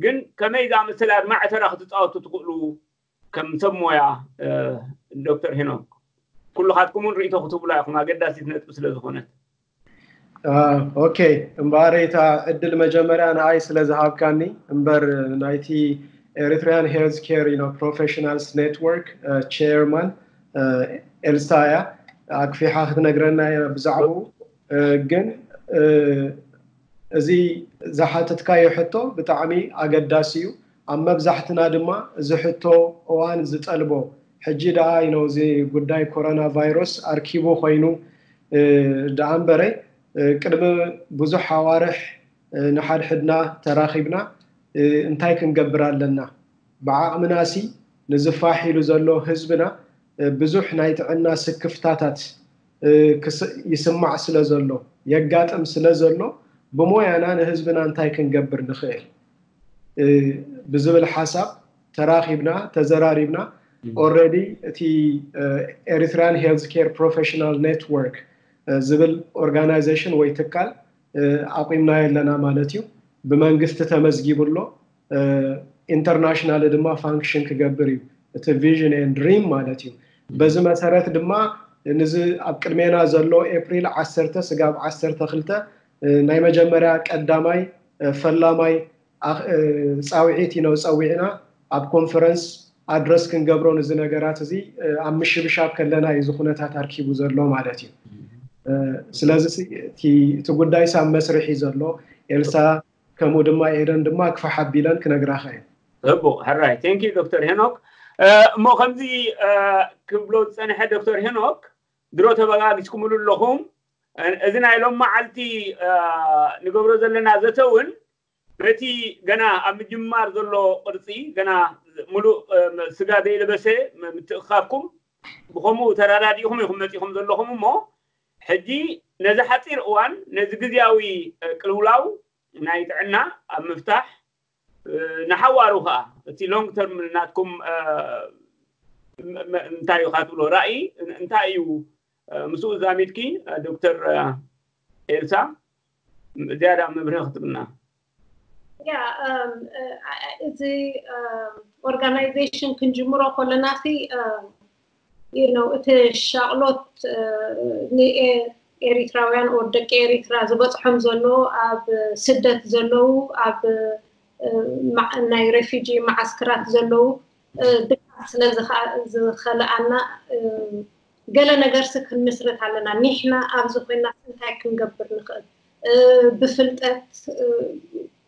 ግን ከመይ ዝኣመሰለ ኣድማዒ ተራ ክትፃወቱ ትኽእሉ ከም ሰብ ሞያ ዶክተር ሄኖክ ኩልኻትኩም እውን ርእቶ ክትብላ ኢኹም ኣገዳሲት ነጥቢ ስለ ዝኾነት ኦኬ እምበኣር እታ ዕድል መጀመርያ ንኣይ ስለ ዝሃብካኒ እምበር ናይቲ Eritrean Healthcare you know Professionals Network chairman ኤልሳ እያ ኣክፊሓ ክትነግረና እያ ብዛዕባኡ ግን እዚ ዝሓተትካዮ ሕቶ ብጣዕሚ ኣገዳሲ እዩ ኣብ መብዛሕትና ድማ እዚ ሕቶ እዋን ዝጠልቦ ሕጂ ደኣ you know እዚ ጉዳይ ኮሮና ቫይረስ ኣርኪቡ ኮይኑ ደኣ እምበረ ቅድሚ ብዙሕ ኣዋርሕ ንሓድሕድና ተራኺብና እንታይ ክንገብር ኣለና ብዓቕምናሲ ንዝፋሕ ኢሉ ዘሎ ህዝብና ብዙሕ ናይ ጥዕና ስክፍታታት ይስማዕ ስለ ዘሎ የጋጥም ስለ ዘሎ ብሞያና ንህዝብና እንታይ ክንገብር ንኽእል ብዝብል ሓሳብ ተራኺብና ተዘራሪብና already እቲ Eritrean Healthcare Professional Network ዝብል organization ወይ ትካል ኣቑምናዮ ኣለና ማለት እዩ ብመንግስቲ ተመዝጊቡ ኣሎ international ድማ function ክገብር እዩ እቲ vision and dream ማለት እዩ በዚ መሰረት ድማ ንዚ ኣብ ቅድሜና ዘሎ ኤፕሪል ዓሰርተ ስጋብ ዓሰርተ ክልተ ናይ መጀመርያ ቀዳማይ ፈላማይ ፃውዒት ኢና ፀዊዕና ኣብ ኮንፈረንስ ኣድረስ ክንገብሮ ንዚ ነገራት እዚ ኣብ ምሽብሻብ ከለና እዩ እዚ ኩነታት ኣርኪቡ ዘሎ ማለት እዩ። ስለዚ እቲ ጉዳይ ሳብ መስርሕ እዩ ዘሎ። ኤልሳ ከምኡ ድማ ኤደን ድማ ክፋሕ ኣቢለን ክነግራኻ እየን። ሕቡቕ ሕራይ። Thank you ዶክተር ሄኖክ። እሞ ከምዚ ክብሎ ዝፀንሐ ዶክተር ሄኖክ ድሮ ተበጋጊስኩምሉ ኣለኹም። እዚ ናይ ሎም መዓልቲ ንገብሮ ዘለና ዘተ እውን በቲ ገና ኣብ ምጅማር ዘሎ ቅርፂ ገና ሙሉእ ስጋ ዘይለበሰ ምትእኻብኩም ብኸምኡ ተረዳዲእኹም ኢኹም መፂኹም ዘለኹም። እሞ ሕጂ ነዚ ሓፂር እዋን ነዚ ግዝያዊ ቅልውላው ናይ ጥዕና ኣብ ምፍታሕ ንሓዋሩ ከዓ እቲ long term ናትኩም እንታይ እዩ ካትብሎ ራእይ እንታይ እዩ? ምስኡ ዛሚድኪ ዶክተር ኤልሳ ዝያዳ መብርሂ ክትብልና። ያ እዚ organization ክንጅምሮ ከለና ሲ you know እቲ ሻቕሎት ንኤሪትራውያን or ደቂ ኤሪትራ ዝበፅሖም ዘሎ ኣብ ስደት ዘለዉ ኣብ ናይ refugee መዓስከራት ዘለዉ ድቃስ ስለ ዝኸልኣና ገለ ነገርሲ ክንምስርት ኣለና። ኒሕና ኣብዚ ኮይና እንታይ ክንገብር ንኽእል? ብፍልጠት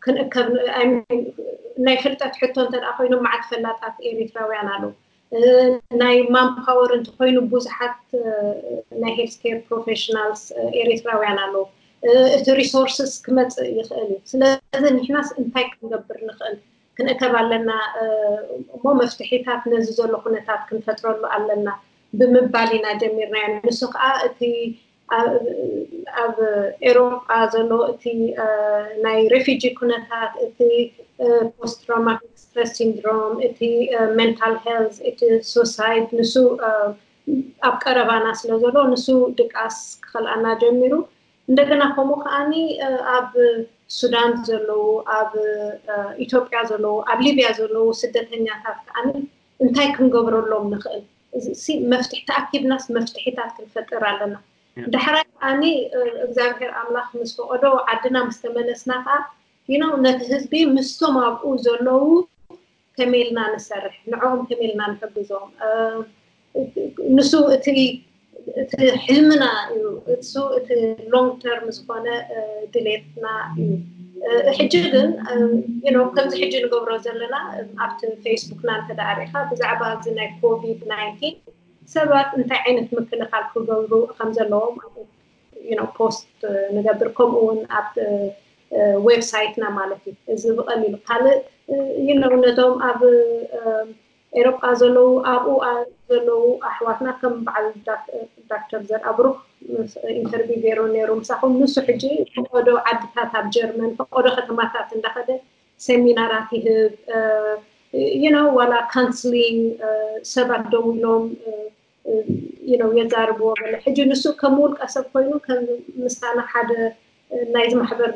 ክንእከብ ናይ ፍልጠት ሕቶ እንተ ኮይኖም መዓት ፈላጣት ኤሪትራውያን ኣለዉ። ናይ ማንፓወር እንተኮይኑ ብዙሓት ናይ health care professionals ኤሪትራውያን ኣለዉ። እቲ resources ክመፅእ ይኽእል እዩ። ስለዚ ንሕናስ እንታይ ክንገብር ንኽእል? ክንእከብ ኣለና እሞ መፍትሒታት ነዚ ዘሎ ኩነታት ክንፈጥረሉ ኣለና ብምባል ኢና ጀሚርናዮ። ንሱ ከዓ እቲ ኣብ ኤሮጳ ዘሎ እቲ ናይ refugee ኩነታት፣ እቲ post traumatic stress syndrome፣ እቲ mental health፣ እቲ suicide ንሱ ኣብ ቀረባና ስለ ዘሎ ንሱ ድቃስ ክኸልኣና ጀሚሩ። እንደገና ከምኡ ከዓኒ ኣብ ሱዳን ዘለዉ፣ ኣብ ኢትዮጵያ ዘለዉ፣ ኣብ ሊብያ ዘለዉ ስደተኛታት ከዓኒ እንታይ ክንገብረሎም ንኽእል? መፍትሒ ተኣኪብናስ መፍትሒታት ክንፈጥር ኣለና። ዳሕራይ ከዓኒ እግዚኣብሔር ኣምላኽ ምስ ፈቐዶ ዓድና ምስ ተመለስና ከዓ you know ነቲ ህዝቢ ምስቶም ኣብኡ ዘለዉ ከመይ ኢልና ንሰርሕ፣ ንዕኦም ከመይ ኢልና ንሕግዞም። ንሱ እቲ እቲ ሕልምና እዩ። እሱ እቲ long term ዝኾነ ድሌትና እዩ። ሕጂ ግን you know ከምዚ ሕጂ ንገብሮ ዘለና ኣብቲ ፌስቡክና እንተደኣ ሪኢኻ ብዛዕባ እዚ ናይ ኮቪድ ናይንቲን ሰባት እንታይ ዓይነት ምክልኻል ክገብሩ ከም ዘለዎም you know post ንገብር። ከምኡ እውን ኣብ ዌብሳይትና ማለት እዩ። እዚ ብቐሊሉ ካልእ you know ነቶም ኣብ ኤሮጳ ዘለዉ ኣብኡ ዘለዉ ኣሕዋትና ከም በዓል ዳክተር ዘርኣብሩክ ኢንተርቪው ገይሩ ነይሩ ምሳኹም። ንሱ ሕጂ ፈቐዶ ዓድታት ኣብ ጀርመን ፈቐዶ ከተማታት እንዳኸደ ሰሚናራት ይህብ you know ዋላ ካንስሊንግ ሰባት ደው ኢሎም you know የዛርብዎ ገለ። ሕጂ ንሱ ከም ውልቀ ሰብ ኮይኑ ከም ምሳና ሓደ ናይዚ ማሕበር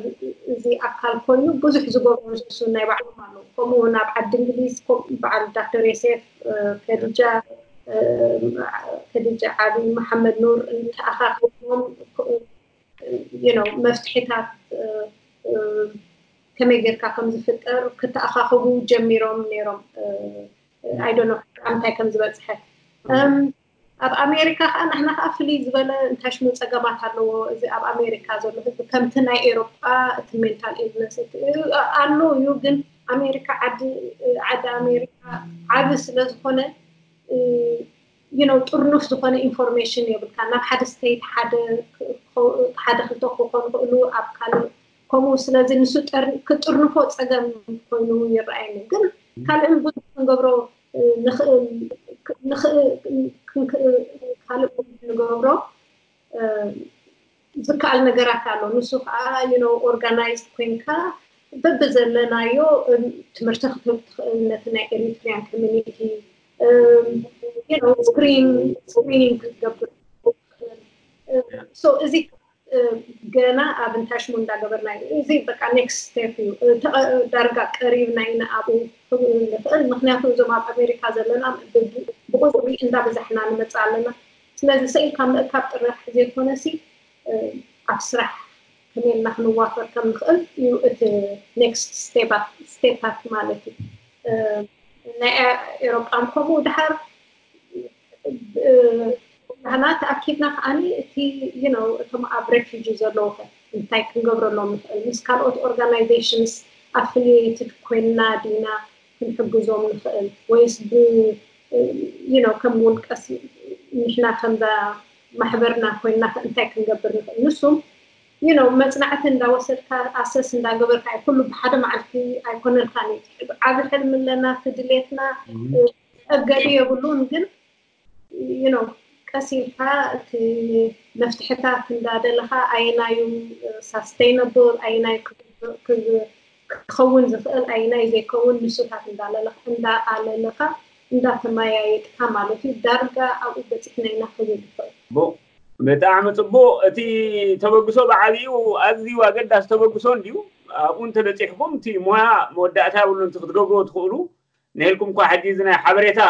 እዚ ኣካል ኮይኑ ብዙሕ ዝገብሩ ንሱ ናይ ባዕሎም ኣለዉ። ከምኡ እውን ኣብ ዓዲ እንግሊዝ በዓል ዳክተር ዮሴፍ ከዲጃ ከዲጃ ዓብይ መሓመድ ኑር ተኣኻኺቦም you know መፍትሒታት ከመይ ጌርካ ከም ዝፍጠር ክተኣኻኽቡ ጀሚሮም ነይሮም። I don't know እንታይ ከም ዝበፅሐ ኣብ ኣሜሪካ ከዓ ንሕና ከዓ ፍልይ ዝበለ እንታይ ሽሙ ፀገማት ኣለዎ። እዚ ኣብ ኣሜሪካ ዘሎ ህዝቢ ከምቲ ናይ ኤሮጳ እቲ mental illness ኣሎ እዩ፣ ግን ኣሜሪካ ዓዲ ዓዲ ኣሜሪካ ዓቢ ስለ ዝኾነ you know ጥርኑፍ ዝኾነ ኢንፎርሜሽን የብልካ። ናብ ሓደ ስቴት ሓደ ሓደ ክልተ ክኾኑ ክእሉ ኣብ ካልእ ከምኡ ስለዚ ንሱ ክጥርንፎ ፀገም ኮይኑ ይረኣየኒ። ግን ካልእን ብዙሕ ክንገብሮ ንኽእል ካልእ ንገብሮ ዝከኣል ነገራት ኣሎ። ንሱ ከዓ you know organized ኮይንካ በብዘለናዮ ትምህርቲ ክትህብ ትኽእል ነቲ ናይ ኤሪትሪያን ኮሚኒቲ you know screen screening ክትገብር so እዚ ገና ኣብ እንታይ ሽሙ እንዳገበርና እዩ። እዚ በቃ next step እዩ። ዳርጋ ቀሪብና ኢና ኣብኡ ንኽእል። ምክንያቱ እዞም ኣብ ኣሜሪካ ዘለና ብቁፅሪ እንዳበዛሕና ንመፅእ ኣለና። ስለዚ ስኢልካ ምእካብ ጥራሕ ዘይኮነሲ ኣብ ስራሕ ከመይ ኢልና ክንዋፈር ከም ንኽእል እዩ እቲ next step ታት ማለት እዩ። ናይ ኤሮጳን ከምኡ ድሓር ናህና ተኣኪብና ከዓኒ እቲ you know እቶም ኣብ refugee ዘለዉ ከ እንታይ ክንገብረሎም ንኽእል? ምስ ካልኦት organizations affiliated ኮይንና ዲና ክንሕግዞም ንኽእል ወይስ ብ you know ከም ውልቀስ ንሕና ከምዛ ማሕበርና ኮይንና እንታይ ክንገብር ንኽእል? ንሱም you know መፅናዕቲ እንዳወሰድካ assess እንዳገበርካ እዩ። ኩሉ ብሓደ መዓልቲ ኣይኮነልካን እዩ። ዓብ ሕልሚ ኣለና፣ እቲ ድሌትና እገዲ የብሉን፣ ግን you know ቀስ ኢልካ እቲ መፍትሕታት እንዳደለኻ ኣየናዩ sustainable ኣየናዩ ክኸውን ዝኽእል ኣየናዩ ዘይከውን ንሱታት እንዳለለኻ እንዳኣለለኻ እንዳተመያየጥካ ማለት እዩ። ዳርጋ ኣብኡ በፂሕና ኢና ክብል ይኽእል። ብጣዕሚ ፅቡቅ። እቲ ተበግሶ ብዓብዩ ኣዝዩ ኣገዳሲ ተበግሶ እንድዩ። ኣብኡ እንተበፂሕኩም እቲ ሞያ መወዳእታ የብሉን። እቲ ክትገብርዎ ትኽእሉ ንልኩም እኳ ሕጂ እዚ ናይ ሓበሬታ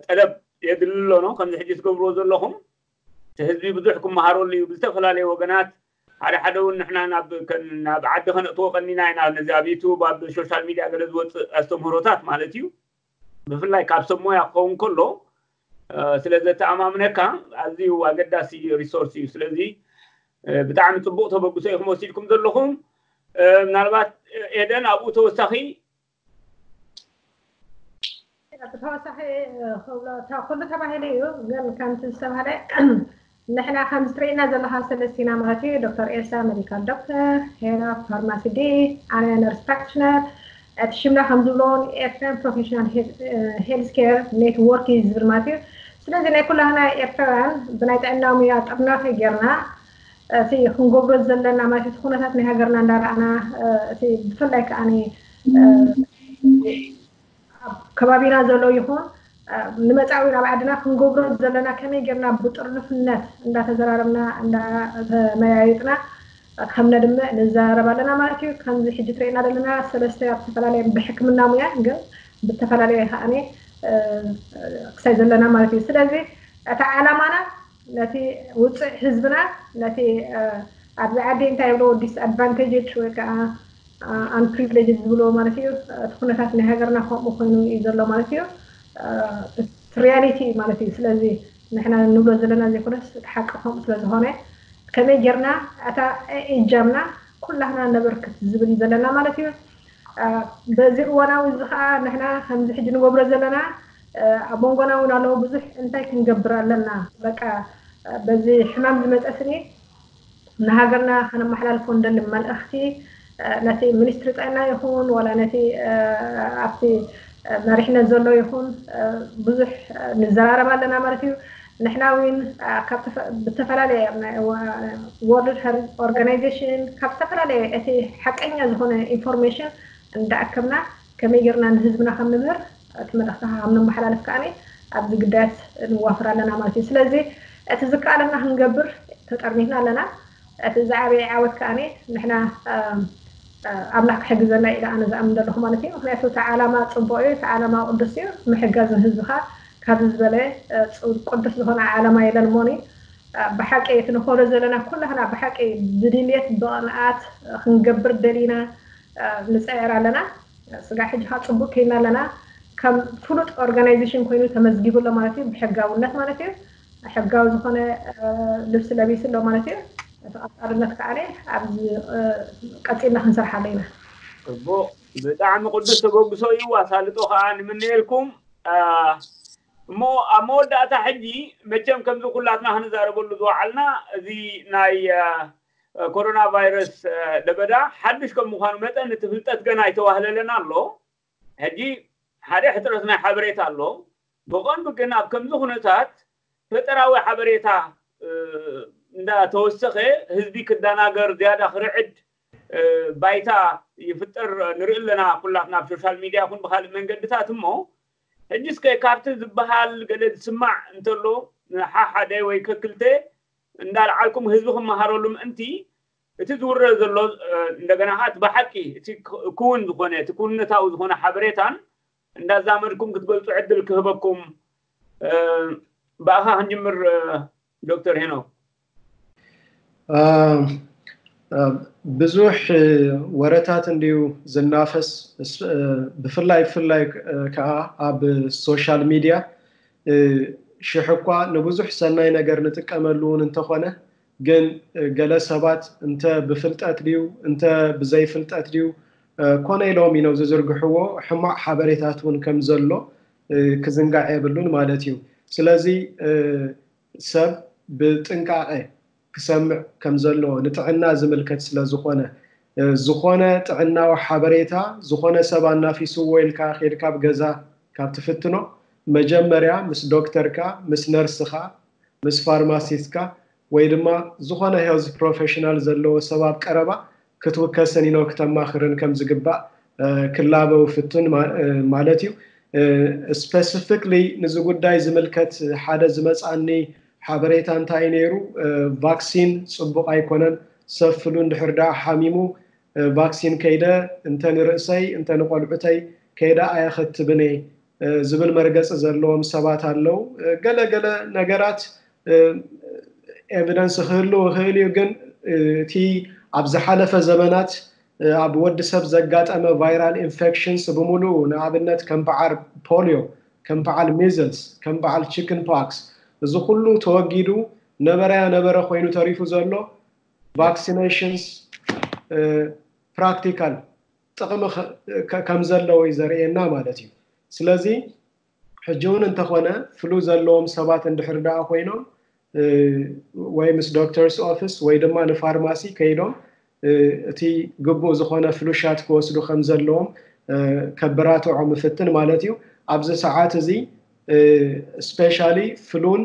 ጠለብ የድሊ ኣሎ ነው። ከምዚ ሕጂ ትገብርዎ ዘለኹም እቲ ህዝቢ ብዙሕ ክመሃረሉ እዩ ብዝተፈላለዩ ወገናት። ሓደ ሓደ እውን ንሕና ናብ ዓዲ ከነእትዎ ቀኒና ኢና። ነዚ ኣብ ዩቱብ ኣብ ሶሻል ሚድያ ገለ ዝወፅእ ኣስተምህሮታት ማለት እዩ። ብፍላይ ካብ ሰብ ሞያ ክኸውን ከሎ ስለ ዘተኣማምነካ ኣዝዩ ኣገዳሲ resource እዩ። ስለዚ ብጣዕሚ ፅቡቅ ተበግሶ ኢኹም ወሲድኩም ዘለኹም። ምናልባት ኤደን ኣብኡ ተወሳኺ ብተወሳኺ ክብሎ ኩሉ ተባሂሉ እዩ፣ ግን ከምቲ ዝተባሃለ ንሕና ከምዚ ትርእይና ዘለኻ ሰለስቲና ማለት እዩ፣ ዶክተር ኤልሳ medical doctor፣ ሄኖክ pharmacy ዲ፣ ኣነ nurse practitioner፣ እቲ ሽምና ከም ዝብሎ ኤርትራን professional health care network እዩ ዝብል ማለት እዩ። ስለዚ ናይ ኩላህና ኤርትራውያን ብናይ ጥዕና ሙያ ጥርናፈ ጌርና እቲ ክንገብሮ ዘለና ማለት እቲ ኩነታት ናይ ሃገርና እንዳረኣና እቲ ብፍላይ ከዓኒ ኣብ ከባቢና ዘሎ ይኹን ንመፃዊ ናብ ዓድና ክንገብሮ ዘለና ከመይ ጌርና ብጥርንፍነት እንዳተዘራረብና እንዳተመያየጥና ከም ነድምዕ ንዘራረብ ኣለና ማለት እዩ። ከምዚ ሕጂ ትርእና ዘለና ሰለስተ ኣብ ዝተፈላለየ ብሕክምና ሙያ ግን ብተፈላለየ ከዓኒ ክሳይ ዘለና ማለት እዩ። ስለዚ እቲ ዓላማና ነቲ ውፅዕ ህዝብና ነቲ ኣብዚ ዓዲ እንታይ ይብልዎ disadvantaged ወይ ከዓ unprivileged ዝብልዎ ማለት እዩ። እቲ ኩነታት ናይ ሃገርና ከምኡ ኮይኑ እዩ ዘሎ ማለት እዩ። reality ማለት እዩ። ስለዚ ንሕና ንብሎ ዘለና ዘይኮነስ እቲ ሓቂ ከምኡ ስለዝኾነ ከመይ ጌርና እታ እጃምና ኩላህና ነበርክት ዝብል እዩ ዘለና ማለት እዩ። በዚ እዋናዊ እዚ ከዓ ንሕና ከምዚ ሕጂ ንገብሮ ዘለና ኣብ መንጎና እውን ኣለዉ ብዙሕ እንታይ ክንገብር ኣለና በቃ በዚ ሕማም ዝመፀ ስኒ ንሃገርና ከነመሓላልፎ እንደሊ መልእኽቲ ነቲ ሚኒስትሪ ጥዕና ይኹን ዋላ ነቲ ኣብቲ መሪሕነት ዘሎ ይኹን ብዙሕ ንዘራረብ ኣለና ማለት እዩ። ንሕና እውን ብተፈላለየ World Health Organization ካብ ዝተፈላለየ እቲ ሓቀኛ ዝኾነ information እንዳኣከብና ከመይ ጌርና ንህዝብና ከም ንምህር እቲ መልእኽቲ ከም ነመሓላልፍ ከዓኒ ኣብዚ ግዳያት ንዋፈር ኣለና ማለት እዩ። ስለዚ እቲ ዝከኣለና ክንገብር ተጠርኒፍና ኣለና። እቲ ዝዓበየ ዓወት ከዓኒ ንሕና ኣምላኽ ክሕግዘና ኢለ ኣነ ዝኣምን ዘለኹ ማለት እዩ። ምክንያቱ እቲ ዓላማ ፅቡቅ እዩ፣ እቲ ዓላማ ቅዱስ እዩ። ምሕጋዝ ንህዝብኻ ካብዚ ዝበለ ቅዱስ ዝኾነ ዓላማ የለን እሞኒ ብሓቂ እቲ ንኸሎ ዘለና ኩላህና ብሓቂ ብድልየት ብቕንኣት ክንገብር ደሊና ንፅዕር ኣለና። ስጋ ሕጂ ከዓ ፅቡቅ ከይና ኣለና። ከም ፍሉጥ organization ኮይኑ ተመዝጊቡ ኣሎ ማለት እዩ፣ ብሕጋውነት ማለት እዩ። ሕጋዊ ዝኾነ ልብሲ ለቢሱ ኣሎ ማለት እዩ። እቲ ቀፃልነት ከዓ ኣብዚ ቀፂልና ክንሰርሓሉ ኢና። ፅቡቅ፣ ብጣዕሚ ቅዱስ ተበግሶ እዩ። ኣሳልጦ ከዓ ንምነየልኩም። እሞ ኣብ መወዳእታ ሕጂ መቸም ከምዚ ኩላትና ክንዛረበሉ ዝወዓልና እዚ ናይ ኮሮና ቫይረስ ለበዳ ሓድሽ ከም ምዃኑ መጠን እቲ ፍልጠት ገና ኣይተዋህለለን ኣሎ። ሕጂ ሓደ ሕፅረት ናይ ሓበሬታ ኣሎ። ብቐንዱ ግን ኣብ ከምዚ ኩነታት ፈጠራዊ ሓበሬታ እንዳተወሰኸ ህዝቢ ክደናገር ዝያዳ ክርዕድ ባይታ ይፍጠር ንርኢ ኣለና ኩላትና ኣብ ሶሻል ሚድያ ይኹን ብካልእ መንገድታት። እሞ ሕጂ እስከ ካብቲ ዝበሃል ገለ ዝስማዕ እንተሎ ሓሓደ ወይ ከክልተ እንዳልዓልኩም ህዝቢ ክመሃረሉ ምእንቲ እቲ ዝውረ ዘሎ እንደገና ከዓ እቲ ብሓቂ እቲ ክውን ዝኾነ እቲ ክውነታዊ ዝኾነ ሓበሬታን እንዳዛመድኩም ክትገልፁ ዕድል ክህበኩም ብኣኻ ክንጅምር። ዶክተር ሄኖክ ብዙሕ ወረታት እንድዩ ዝናፈስ። ብፍላይ ብፍላይ ከዓ ኣብ ሶሻል ሚድያ ሽሕ እኳ ንብዙሕ ሰናይ ነገር ንጥቀመሉ እውን እንተኾነ፣ ግን ገለ ሰባት እንተ ብፍልጠት ድዩ እንተ ብዘይፍልጠት ድዩ ኮነ ኢሎም ኢኖ ዝዝርግሕዎ ሕማቕ ሓበሬታት እውን ከም ዘሎ ክዝንጋዕ የብሉን ማለት እዩ። ስለዚ ሰብ ብጥንቃቐ ክሰምዕ ከም ዘለዎ፣ ንጥዕና ዝምልከት ስለ ዝኾነ፣ ዝኾነ ጥዕናዊ ሓበሬታ ዝኾነ ሰብ ኣናፊስዎ ኢልካ ኬድካ ኣብ ገዛ ካብ ትፍትኖ፣ መጀመርያ ምስ ዶክተርካ፣ ምስ ነርስኻ፣ ምስ ፋርማሲስትካ ወይ ድማ ዝኾነ ሄልዝ ፕሮፌሽናል ዘለዎ ሰብ ኣብ ቀረባ ክትውከስን ኢኖ ክተማኽርን ከም ዝግባእ ክላበው ፍቱን ማለት እዩ። ስፐሲፊክሊ ንዚ ጉዳይ ዝምልከት ሓደ ዝመፃኒ ሓበሬታ እንታይ ነይሩ፣ ቫክሲን ፅቡቕ ኣይኮነን፣ ሰብ ፍሉ እንድሕር ደኣ ሓሚሙ ቫክሲን ከይደ እንተ ንርእሰይ እንተ ንቆልዑተይ ከይደ ኣየኸትብን እየ ዝብል መርገፂ ዘለዎም ሰባት ኣለዉ። ገለገለ ነገራት ኤቪደንስ ክህሉ ይኽእል እዩ፣ ግን እቲ ኣብ ዝሓለፈ ዘመናት ኣብ ወዲ ሰብ ዘጋጠመ ቫይራል ኢንፌክሽንስ ብምሉኡ፣ ንኣብነት ከም በዓል ፖሊዮ፣ ከም በዓል ሚዝልስ፣ ከም በዓል ቺክን ፖክስ፣ እዚ ኩሉ ተወጊዱ ነበረያ ነበረ ኮይኑ ተሪፉ ዘሎ ቫክሲኔሽንስ ፕራክቲካል ጥቕሚ ከም ዘለዎ እዩ ዘርእየና ማለት እዩ። ስለዚ ሕጂ እውን እንተኾነ ፍሉ ዘለዎም ሰባት እንድሕር ደኣ ኮይኖም ወይ ምስ ዶክተርስ ኦፊስ ወይ ድማ ንፋርማሲ ከይዶም እቲ ግቡእ ዝኾነ ፍሉሻት ክወስዱ ከም ዘለዎም ከበራትዖም እፍትን ማለት እዩ። ኣብዚ ሰዓት እዚ ስፔሻሊ ፍሉን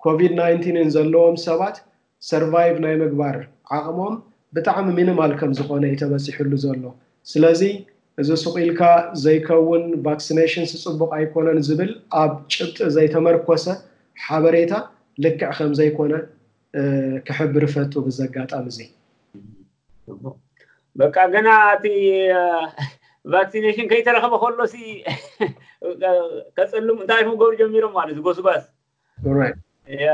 ኮቪድ ናይንቲንን ዘለዎም ሰባት ሰርቫይቭ ናይ ምግባር ዓቕሞም ብጣዕሚ ሚኒማል ከም ዝኾነ እዩ ተበፂሕሉ ዘሎ። ስለዚ እዚ ሱቕ ኢልካ ዘይከውን ቫክሲኔሽንስ ፅቡቕ ኣይኮነን ዝብል ኣብ ጭብጢ ዘይተመርኮሰ ሓበሬታ ልክዕ ከም ዘይኮነ ክሕብር እፈቱ ብዚ ኣጋጣሚ እዚ። በቃ ገና እቲ ቫክሲኔሽን ከይተረኸበ ከሎ ሲ ከፅልም እንታይ ክገብሩ ጀሚሮም ማለት እዩ ጎስጓስ። ያ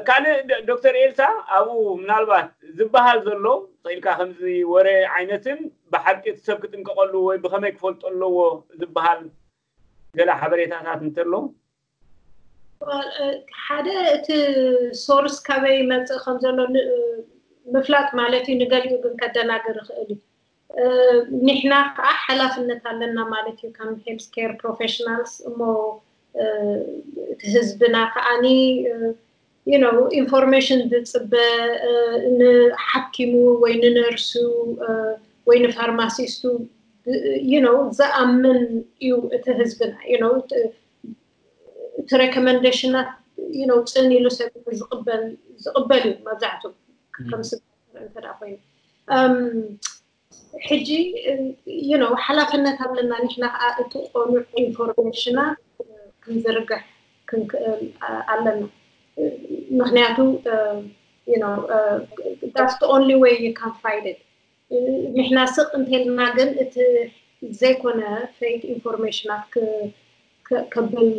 ካልእ ዶክተር ኤልሳ ኣብኡ ምናልባት ዝበሃል ዘሎ ኢልካ ከምዚ ወረ ዓይነትን ብሓቂ እቲ ሰብ ክጥንቀቐሉ ወይ ብኸመይ ክፈልጦ ኣለዎ ዝበሃል ገለ ሓበሬታታት እንተሎ ሓደ እቲ ሶርስ ካበይ ይመፅእ ከም ዘሎ ምፍላጥ ማለት እዩ። ንገሊኡ ግን ከደናግር ይኽእል እዩ። ንሕና ከዓ ሓላፍነት ኣለና ማለት እዩ ከም ሄልስ ኬር ፕሮፌሽናልስ እሞ እቲ ህዝብና ከዓኒ you know ኢንፎርሜሽን ዝፅበ ንሓኪሙ ወይ ንነርሱ ወይ ንፋርማሲስቱ you know ዝኣምን እዩ እቲ ህዝብና you know እቲ ሬኮመንዴሽናት you know ፅን ኢሉ ሰብ ዝቕበል ዝቕበል እዩ መብዛሕትኡ ከም ስብ እንተ ኮይኑ ሕጂ you know ሓላፍነት ኣለና ንሕና ከዓ እቲ ቆኑዕ ኢንፎርሜሽና ክንዝርግሕ ክንክእል ኣለና ምክንያቱ you know that's the only way you can fight it ንሕና ስቕ እንተልና ግን እቲ ዘይኮነ ፌክ ኢንፎርሜሽናት ከብል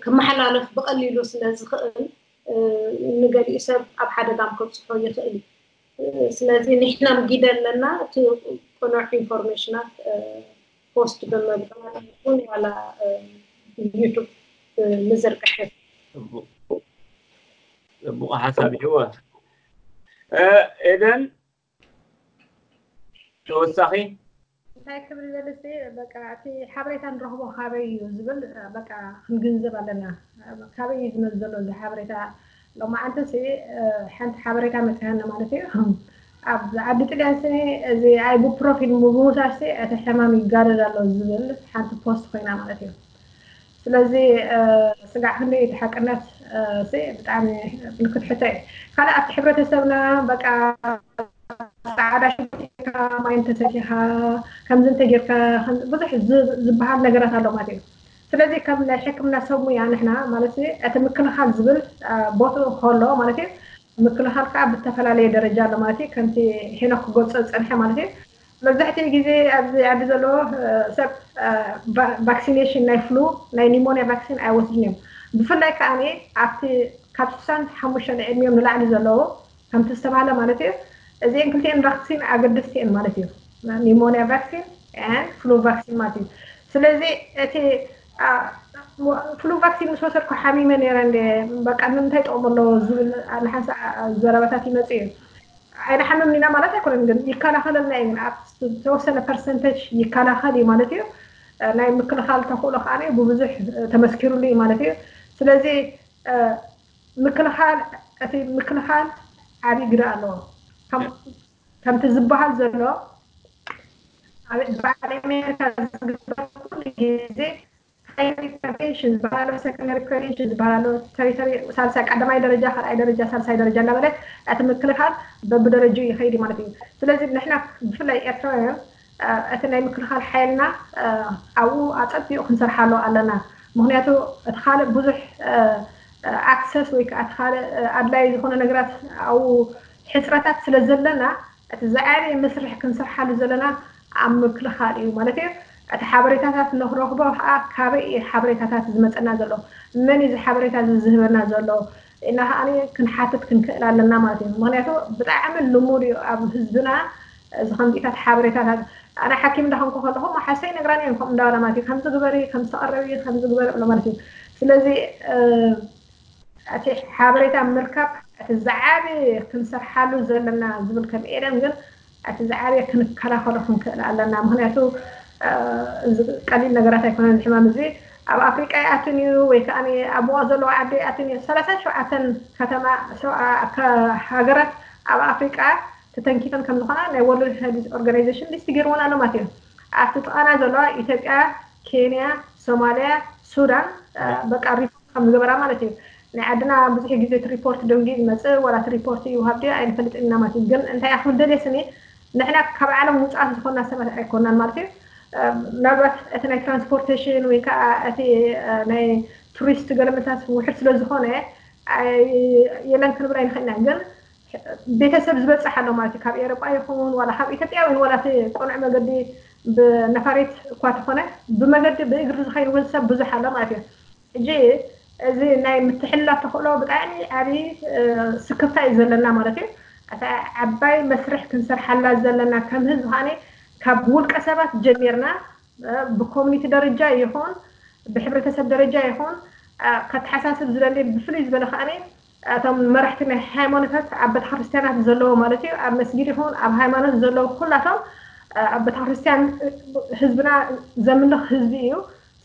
ክመሓላለፍ ብቐሊሉ ስለ ዝኽእል ንገሊኡ ሰብ ኣብ ሓደጋም ከብፅሖ ይኽእል እዩ። ስለዚ ንሕናም ጊደ ኣለና እቲ ቅኑዕ ኢንፎርሜሽናት ፖስት ብምግባር ይኹን ዋላ ዩቱብ ምዝርግሕ ፅቡቕ ሓሳብ እዩ። ኤደን ተወሳኺ እንታይ ክብል ይደልስ በቃ እቲ ሓበሬታ ንረኽቦ ካበይ እዩ ዝብል በቃ ክንግንዘብ ኣለና። ካበይ እዩ ዝመፅ ዘሎ እዚ ሓበሬታ? ሎማዓንቲ ሲ ሓንቲ ሓበሬታ መፅያና ማለት እዩ። ኣብ ዓዲ ጥልያን ሲ እዚ ኣይቡፕሮፊን ብምውሳድ ሲ እቲ ሕማም ይጋደድ ኣሎ ዝብል ሓንቲ ፖስት ኮይና ማለት እዩ። ስለዚ ስጋዕ ክንደይ እቲ ሓቅነት ሲ ብጣዕሚ ምልክት ሕቶ እዩ። ካልእ ኣብቲ ሕብረተሰብና በቃ ፃዕዳ ሽንካ ማይ እንተሰቲኻ ከምዚ እንተጌርካ ብዙሕ ዝበሃል ነገራት ኣሎ ማለት እዩ። ስለዚ ከም ናይ ሕክምና ሰብ ሙያ ንሕና ማለት እቲ ምክልኻል ዝብል ቦትኡ ከሎ ማለት እዩ ምክልኻል ከዓ ብተፈላለየ ደረጃ ኣሎ ማለት እዩ። ከምቲ ሄኖክ ክገልፆ ዝፀንሐ ማለት እዩ መብዛሕትኡ ግዜ ኣብዚ ዓዲ ዘለዎ ሰብ ቫክሲኔሽን ናይ ፍሉ ናይ ኒሞኒያ ቫክሲን ኣይወስድን እዮም። ብፍላይ ከዓ ኣብቲ ካብ ስሳን ሓሙሽተ ዕድሚኦም ንላዕሊ ዘለዉ ከምቲ ዝተባሃለ ማለት እዩ። እዚአን ክልቲአን ቫክሲን ኣገደስቲ እየን ማለት እዩ። ኒሞኒያ ቫክሲን ን ፍሉ ቫክሲን ማለት እዩ። ስለዚ እቲ ፍሉ ቫክሲን ምስ ወሰድኩ ሓሚመ ነረ እንደ በቃ ንምንታይ ጠቕሙ ኣለዎ ዝብል ንሓንሳ ዘረባታት ይመፅእ እዩ። ኣይንሓምም ኢና ማለት ኣይኮነን፣ ግን ይከላኸለልና እዩ። ግን ኣብ ዝተወሰነ ፐርሰንተጅ ይከላኸል እዩ ማለት እዩ። ናይ ምክልኻል ተኽእሎ ከዓ ብብዙሕ ተመስኪሩሉ እዩ ማለት እዩ። ስለዚ ምክልኻል እቲ ምክልኻል ዓብዪ ግደ ኣለዎ። ከምቲ ዝበሃል ዘሎ በዓል ኣሜሪካ ዝግበር ኩሉ ግዜ ፕራይመሪ ፕሪቨንሽን ዝበሃል ኣሎ፣ ሰከንደሪ ፕሪቨንሽን ዝበሃል ኣሎ፣ ተሪተሪ ሳልሳይ ቀዳማይ ደረጃ፣ ካልኣይ ደረጃ፣ ሳልሳይ ደረጃ እናበለ እቲ ምክልኻል በብደረጃኡ ይኸይድ ማለት እዩ። ስለዚ ንሕና ብፍላይ ኤርትራውያን እቲ ናይ ምክልኻል ሓይልና ኣብኡ ኣፀቢቑ ክንሰርሓሉ ኣለና። ምክንያቱ እቲ ካልእ ብዙሕ ኣክሰስ ወይ ከዓ እቲ ካልእ ኣድላይ ዝኾነ ነገራት ኣብኡ ሕፅረታት ስለ ዘለና እቲ ዝዓበየ መስርሕ ክንሰርሓሉ ዘለና ኣብ ምክልኻል እዩ ማለት እዩ። እቲ ሓበሬታታት ንክረኽቦ ከዓ ካበይ እዩ ሓበሬታታት ዝመፀና ዘሎ፣ መን እዩ እዚ ሓበሬታ እዚ ዝህበና ዘሎ እና ከዓ ክንሓትት ክንክእል ኣለና ማለት እዩ። ምክንያቱ ብጣዕሚ ልሙድ እዩ ኣብ ህዝብና እዚ ከምዚታት ሓበሬታታት። ኣነ ሓኪም እንዳኾንኩ ከለኹ ሓሰይ ነግራኒ እዮም ከምኡ እንዳበላ ማለት እዩ። ከምዚ ግበሪ፣ ከምዚ ተቐረቢ፣ ከምዚ ግበሪ ብሎ ማለት እዩ። ስለዚ እቲ ሓበሬታ ምርካብ እቲ ዝዓበየ ክንሰርሓሉ ዘለና ዝብል ከም ኤደን ግን እቲ ዝዓበየ ክንከላኸሎ ክንክእል ኣለና። ምክንያቱ እዚ ቀሊል ነገራት ኣይኮነን። እዚ ሕማም እዚ ኣብ ኣፍሪቃ ይኣትን እዩ ወይ ከዓ ኣብ ሙቐት ዘለዎ ዓዲ ይኣትን እዩ። ሰላሳን ሸውዓተን ከተማ ሃገራት ኣብ ኣፍሪቃ ተተንኪፈን ከም ዝኾና ናይ ወርልድ ሄልዝ ኦርጋናይዜሽን ሊስት ገይርወን ኣሎ ማለት እዩ። ኣብቲ ጥቓና ዘለዋ ኢትዮጵያ፣ ኬንያ፣ ሶማልያ፣ ሱዳን በቃ ሪፖርት ከም ዝገበራ ማለት እዩ። ናይ ዓድና ብዙሕ ግዜ እቲ ሪፖርት ደንጊ ዝመፅእ ዋላ እቲ ሪፖርት ይውሃብ ድዩ ኣይንፈልጥን ኢና ማለት እዩ። ግን እንታይ ክብል ደልየ ስኒ ንሕና ካብ ዓለም ውፃት ዝኾንና ሰባት ኣይኮናን ማለት እዩ። ምናልባት እቲ ናይ ትራንስፖርቴሽን ወይ ከዓ እቲ ናይ ቱሪስት ገለመታት ውሕድ ስለ ዝኾነ የለን ክንብል ኣይንኽእልና። ግን ቤተሰብ ዝበፅሕ ኣሎ ማለት እዩ። ካብ ኤሮጳ ይኹን ዋላ ካብ ኢትዮጵያ ወይ ዋላ እቲ ቅኑዕ መገዲ ብነፋሪት እኳ ተኾነ ብመገዲ ብእግሪ ዝኸይድ እውን ሰብ ብዙሕ ኣሎ ማለት እዩ። ሕጂ እዚ ናይ ምትሕልላፍ ተኽእሎ ብጣዕሚ ዓብዪ ስክፍታ እዩ ዘለና ማለት እዩ። እታ ዓባይ መስርሕ ክንሰርሓላ ዘለና ከም ህዝቢ ከዓኒ ካብ ውልቀ ሰባት ጀሚርና ብኮሚኒቲ ደረጃ ይኹን ብሕብረተሰብ ደረጃ ይኹን ከተሓሳስብ ዝደሊ ብፍሉይ ዝበለ ከዓኒ እቶም መራሕቲ ናይ ሃይማኖታት ኣብ ቤተክርስትያናት ዘለዎ ማለት እዩ ኣብ መስጊድ ይኹን ኣብ ሃይማኖት ዘለዎ ኩላቶም ኣብ ቤተክርስትያን ህዝብና ዘምልኽ ህዝቢ እዩ።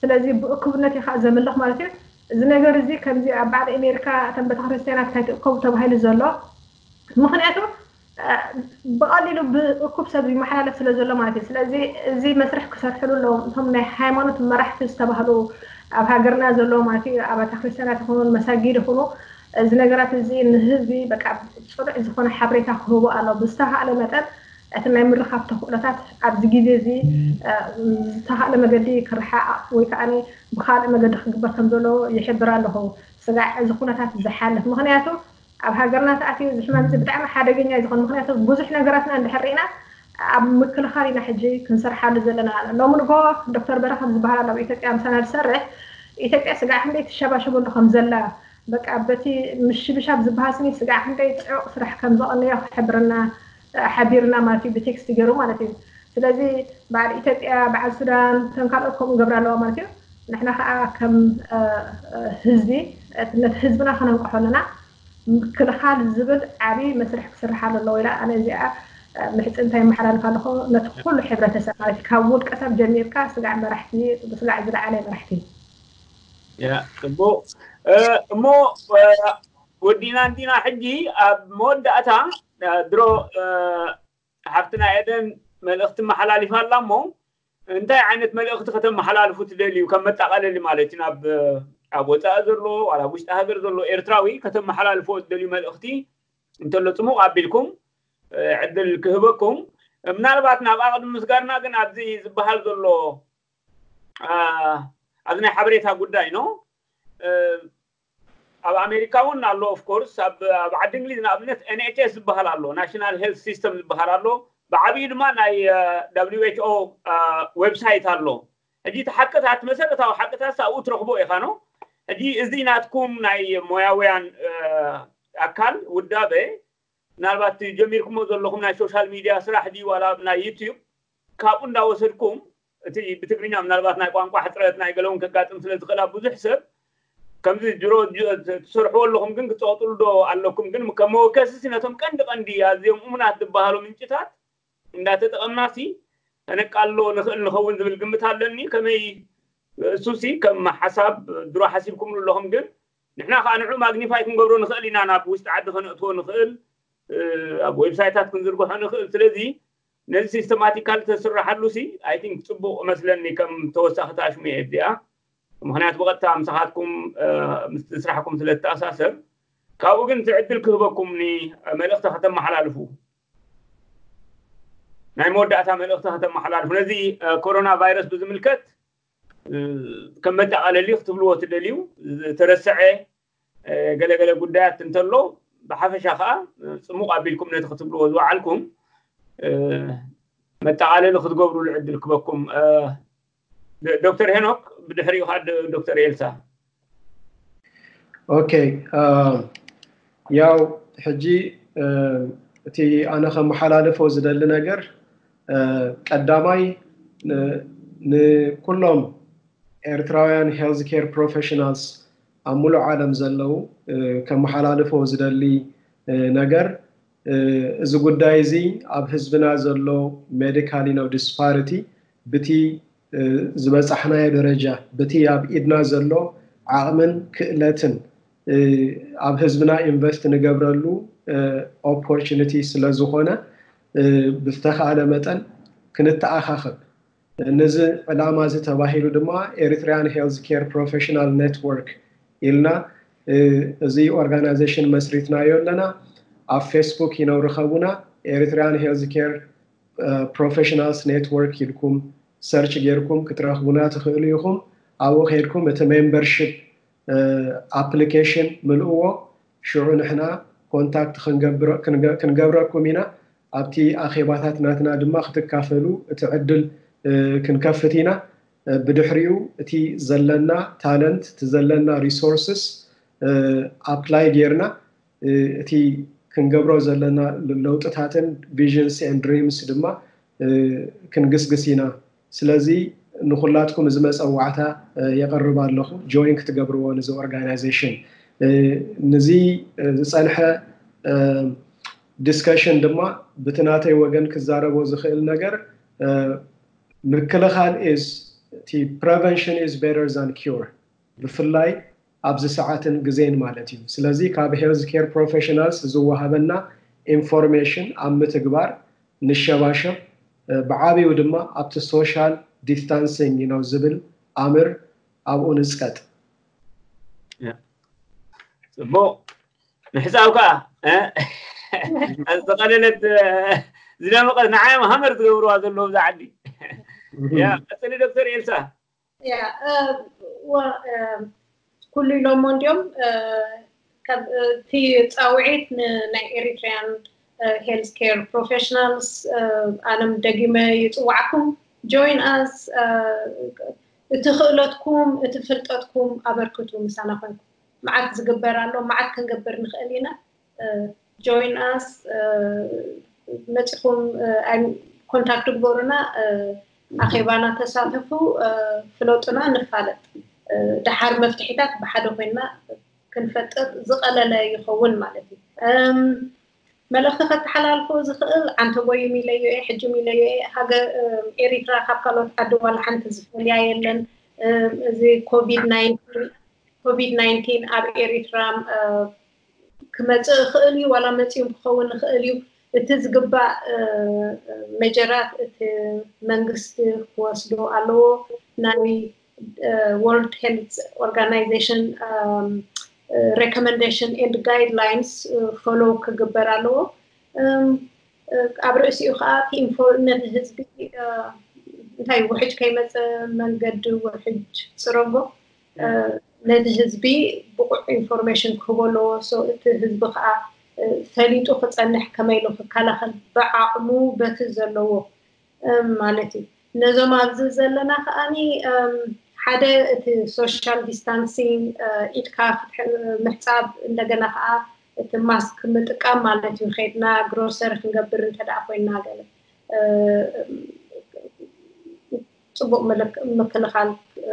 ስለዚ ብእኩብነት እዩ ከዓ ዘምልኽ ማለት እዩ። እዚ ነገር እዚ ከምዚ ኣብ በዓል ኣሜሪካ እተን ቤተክርስትያናት ካይትእከቡ ተባሂሉ ዘሎ ምክንያቱ ብቐሊሉ ብእኩብ ሰብ ይመሓላለፍ ስለ ዘሎ ማለት እዩ። ስለዚ እዚ መስርሕ ክሰርሕሉ ኣለዎም እቶም ናይ ሃይማኖት መራሕቲ ዝተባህሉ ኣብ ሃገርና ዘለዉ ማለት እዩ። ኣብያተ ክርስትያናት ይኹኑ መሳጊድ ይኹኑ እዚ ነገራት እዚ ንህዝቢ በቃ ፅኑዕ ዝኾነ ሓበሬታ ክህቡ ኣሎ። ብዝተኻእለ መጠን እቲ ናይ ምርኻብ ተኽእሎታት ኣብዚ ግዜ እዚ ዝተኻእለ መገዲ ክረሓቕ ወይ ከዓ ብካልእ መገዲ ክግበር ከም ዘለዎ ይሕብር ኣለኹ። ስጋዕ እዚ ኩነታት ዝሓልፍ ምክንያቱ ኣብ ሃገርና ተኣትዩ እዚ ሕማም እዚ ብጣዕሚ ሓደገኛ እዩ ዝኾን። ምክንያቱ ብዙሕ ነገራትና እንድሕር ርኢና ኣብ ምክልኻል ኢና ሕጂ ክንሰርሓሉ ዘለና። ሎሚ ንጎ ዶክተር በረኸት ዝበሃል ኣሎ ኣብ ኢትዮጵያ ምሳና ዝሰርሕ ኢትዮጵያ ስጋዕ ክንደይ ትሸባሸበሉ ከም ዘላ በቃ በቲ ምሽብሻብ ዝበሃል ስኒ ስጋዕ ክንደይ ፅዑቕ ስራሕ ከም ዘቐነዮ ክሕብረና ሓቢርና ማለት እዩ ብቴክስት ገይሩ ማለት እዩ። ስለዚ በዓል ኢትዮጵያ በዓል ሱዳን ከም ካልኦት ከምኡ ገብራ ኣለዋ ማለት እዩ። ንሕና ከዓ ከም ህዝቢ ነቲ ህዝብና ከነንቅሖ ኣለና። ምክልኻል ዝብል ዓብዪ መስርሕ ክስርሓሉ ኣለዎ ኢላ ኣነ እዚኣ ምሕፅንታ ይመሓላልፍ ኣለኹ ነቲ ኩሉ ሕብረተሰብ ማለት እዩ ካብ ውልቀ ሰብ ጀሚርካ ስጋዕ መራሕቲ ስጋዕ ዝለዓለ መራሕቲ። ጽቡቕ እሞ ወዲና እንዲና ሕጂ ኣብ መወዳእታ ድሮ ሓፍትና ኤደን መልእኽቲ መሓላሊፋ ኣላ እሞ እንታይ ዓይነት መልእኽቲ ከተመሓላልፉ ትደልዩ ከም መጣቐለሊ ማለት እዩ ናብ ኣብ ወፃኢ ዘሎ ዋላ ኣብ ውሽጢ ሃገር ዘሎ ኤርትራዊ ከተመሓላልፎ ትደልዩ መልእኽቲ እንተሎ ፅሙቕ ኣቢልኩም ዕድል ክህበኩም ምናልባት ናብ ኣቕድሚ ምስጋርና ግን ኣብዚ ዝበሃል ዘሎ ኣብዚ ናይ ሓበሬታ ጉዳይ ነው ኣብ ኣሜሪካ እውን ኣሎ ኦፍኮርስ ኣብ ዓዲ እንግሊዝ ንኣብነት ኤንኤችኤስ ዝበሃል ኣሎ ናሽናል ሄልት ሲስተም ዝበሃል ኣሎ ብዓብዩ ድማ ናይ ደብሊው ኤች ኦ ዌብሳይት ኣሎ ሕጂ እቲ ሓቅታት መሰረታዊ ሓቅታት ኣብኡ ትረኽቦ ኢኻ ነው ሕጂ እዚ ናትኩም ናይ ሞያውያን ኣካል ውዳበ ምናልባት ጀሚርኩሞ ዘለኹም ናይ ሶሻል ሚድያ ስራሕ ድዩ ዋላ ናይ ዩቲዩብ፣ ካብኡ እንዳወሰድኩም እቲ ብትግርኛ ምናልባት ናይ ቋንቋ ሕፅረት ናይ ገለውን ከጋጥም ስለ ዝኽእል ኣብ ብዙሕ ሰብ ከምዚ ድሮ ትሰርሕዎ ኣለኹም ግን ክትፀቕጥሉ ዶ ኣለኩም ግን ከም መወከሲ ነቶም ቀንዲ ቀንዲ ኣዝዮም እሙናት ዝበሃሉ ምንጭታት እንዳተጠቐምናሲ ከነቃሎ ንኽእል ንኸውን ዝብል ግምት ኣለኒ። ከመይ እሱሲ ከም ሓሳብ ድሮ ሓሲብኩምሉ ኣለኹም ግን ንሕና ከዓ ንዑ ማግኒፋይ ክንገብሮ ንኽእል ኢና ናብ ውሽጢ ዓዲ ከነእትዎ ንኽእል ኣብ ዌብሳይታት ክንዝርግሖ ንኽእል ስለዚ ነዚ ሲስተማቲካል ተስርሓሉ ሲ ኣይ ቲንክ ፅቡቅ መስለኒ ከም ተወሳኺ ታሽሙ እየ እዚኣ ምክንያቱ ብቐጥታ ምሳኻትኩም ምስቲ ስራሕኩም ስለ ተኣሳሰር ካብኡ ግን እቲ ዕድል ክህበኩም ኒ መልእኽቲ ከተመሓላልፉ ናይ መወዳእታ መልእኽቲ ከተመሓላልፉ ነዚ ኮሮና ቫይረስ ብዝምልከት ከም መጠቓለሊ ክትብልዎ ትደልዩ ዝተረስዐ ገለገለ ጉዳያት እንተሎ ብሓፈሻ ከዓ ፅሙቕ ኣቢልኩም ነቲ ክትብልዎ ዝወዓልኩም መጠቓለሊ ክትገብሩሉ ዕድል ክበኩም ዶክተር ሄኖክ ብድሕሪኡ ከዓ ዶክተር ኤልሳ ኦኬ ያው ሕጂ እቲ ኣነ ከመሓላልፎ ዝደሊ ነገር ቀዳማይ ንኩሎም ኤርትራውያን ሄልዝ ኬር ፕሮፌሽናልስ ኣብ ሙሉእ ዓለም ዘለዉ ከመሓላልፎ ዝደሊ ነገር እዚ ጉዳይ እዚ ኣብ ህዝብና ዘሎ ሜዲካል ነው ዲስፓሪቲ ብቲ ዝበፃሕናዮ ደረጃ ብቲ ኣብ ኢድና ዘሎ ዓቕምን ክእለትን ኣብ ህዝብና ኢንቨስት ንገብረሉ ኦፖርቹኒቲ ስለ ዝኾነ ብዝተኻእለ መጠን ክንተኣኻኸብ ነዚ ዕላማ እዚ ተባሂሉ ድማ ኤሪትሪያን ሄልዝ ኬር ፕሮፌሽናል ኔትወርክ ኢልና እዚ ኦርጋናይዜሽን መስሪትናዮ ኣለና ኣብ ፌስቡክ ይነው ርከቡና ኤሪትሪያን ሄልዝ ኬር ፕሮፌሽናልስ ኔትወርክ ኢልኩም ሰርች ጌርኩም ክትረኽቡና ትኽእሉ ኢኹም ኣብኡ ከይድኩም እቲ ሜምበርሽፕ ኣፕሊኬሽን ምልእዎ ሽዑ ንሕና ኮንታክት ክንገብረኩም ኢና ኣብቲ ኣኼባታት ናትና ድማ ክትካፈሉ እቲ ዕድል ክንከፍት ኢና ብድሕሪኡ እቲ ዘለና ታለንት እቲ ዘለና ሪሶርስስ ኣፕላይ ጌርና እቲ ክንገብሮ ዘለና ለውጥታትን ቪዥንስ ን ድሪምስ ድማ ክንግስግስ ኢና ስለዚ ንኩላትኩም እዚ መፀዋዕታ የቅርብ ኣለኹ ጆይን ክትገብርዎ ንዚ ኦርጋናይዜሽን ንዚ ዝፀንሐ ዲስከሽን ድማ ብቲ ናተይ ወገን ክዛረቦ ዝኽእል ነገር ምክልኻል is prevention is better than cure ብፍላይ ኣብዚ ሰዓትን ግዜን ማለት እዩ ስለዚ ካብ ሄልዝ ኬር ፕሮፌሽናልስ ዝወሃበና ኢንፎርሜሽን ኣብ ምትግባር ንሸባሸብ ብዓብዩ ድማ ኣብቲ ሶሻል ዲስታንሲንግ ነው ዝብል ኣምር ኣብኡ ንፅቀጥ ፅቡቅ ምሕፃብ ከዓ ዝቐለለት ዝደመቀት ንዓዮም ሃመር ዝገብርዋ ዘለዉ ብዛ ዓዲ ቀፅሊ ዶክተር ኤልሳ ኩሉ ኢሎሞ እንዲዮም እቲ ፃውዒት ንናይ ኤሪትሪያን ሄልዝ ኬር ፕሮፌሽናልስ ኣነም ደጊመ ይፅዋዕኩም ጆይን ኣስ እቲ ክእለትኩም እቲ ፍልጠትኩም ኣበርክቱ ምሳና ኮንኩም መዓት ዝግበር ኣሎ መዓት ክንገብር ንኽእል ኢና join us መፂኹም ኮንታክት ግበሩና ኣኼባና ተሳተፉ ፍለጡና ንፋለጥ ደሓር መፍትሒታት ብሓደ ኮይና ክንፈጥር ዝቐለለ ይኸውን ማለት እዩ መልእኽቲ ከተሓላልፎ ዝኽእል ዓንተ ቦይ ሚለዮ እየ ሕጂ ሚለዮ እየ ሃገር ኤሪትራ ካብ ካልኦት ዓዲ ዋላ ሓንቲ ዝፈልያ የለን እዚ ኮቪድ ናይንቲን ኮቪድ ናይንቲን ኣብ ኤሪትራ ክመፅእ ይኽእል እዩ ዋላ መፂኡ ክኸውን ይኽእል እዩ እቲ ዝግባእ መጀራት እቲ መንግስቲ ክወስዶ ኣለዎ ናይ ወርልድ ሄልት ኦርጋናይዜሽን recommendation and guidelines follow ክግበር ኣለዎ ኣብ ርእሲኡ ከዓ ነቲ ህዝቢ እንታይ ውሕጅ ከይመፀ መንገዲ ውሕጅ ፅረጎ ነቲ ህዝቢ ብቑዕ ኢንፎርሜሽን ክህቦ ኣለዎ እቲ ህዝቢ ከዓ ፈሊጡ ክፀንሕ ከመይ ኢሉ ክከላኸል ብዓቕሙ በቲ ዘለዎ ማለት እዩ ነዞም ኣብዚ ዘለና ከዓኒ ሓደ እቲ ሶሻል ዲስታንሲንግ ኢድካ ምሕፃብ እንደገና ከዓ እቲ ማስክ ምጥቃም ማለት እዩ። ከይድና ግሮሰሪ ክንገብር እንተ ደኣ ኮይና ገለ፣ እ፣ ጽቡቕ ምልክ-፣ ምክልኻል፣ እ፣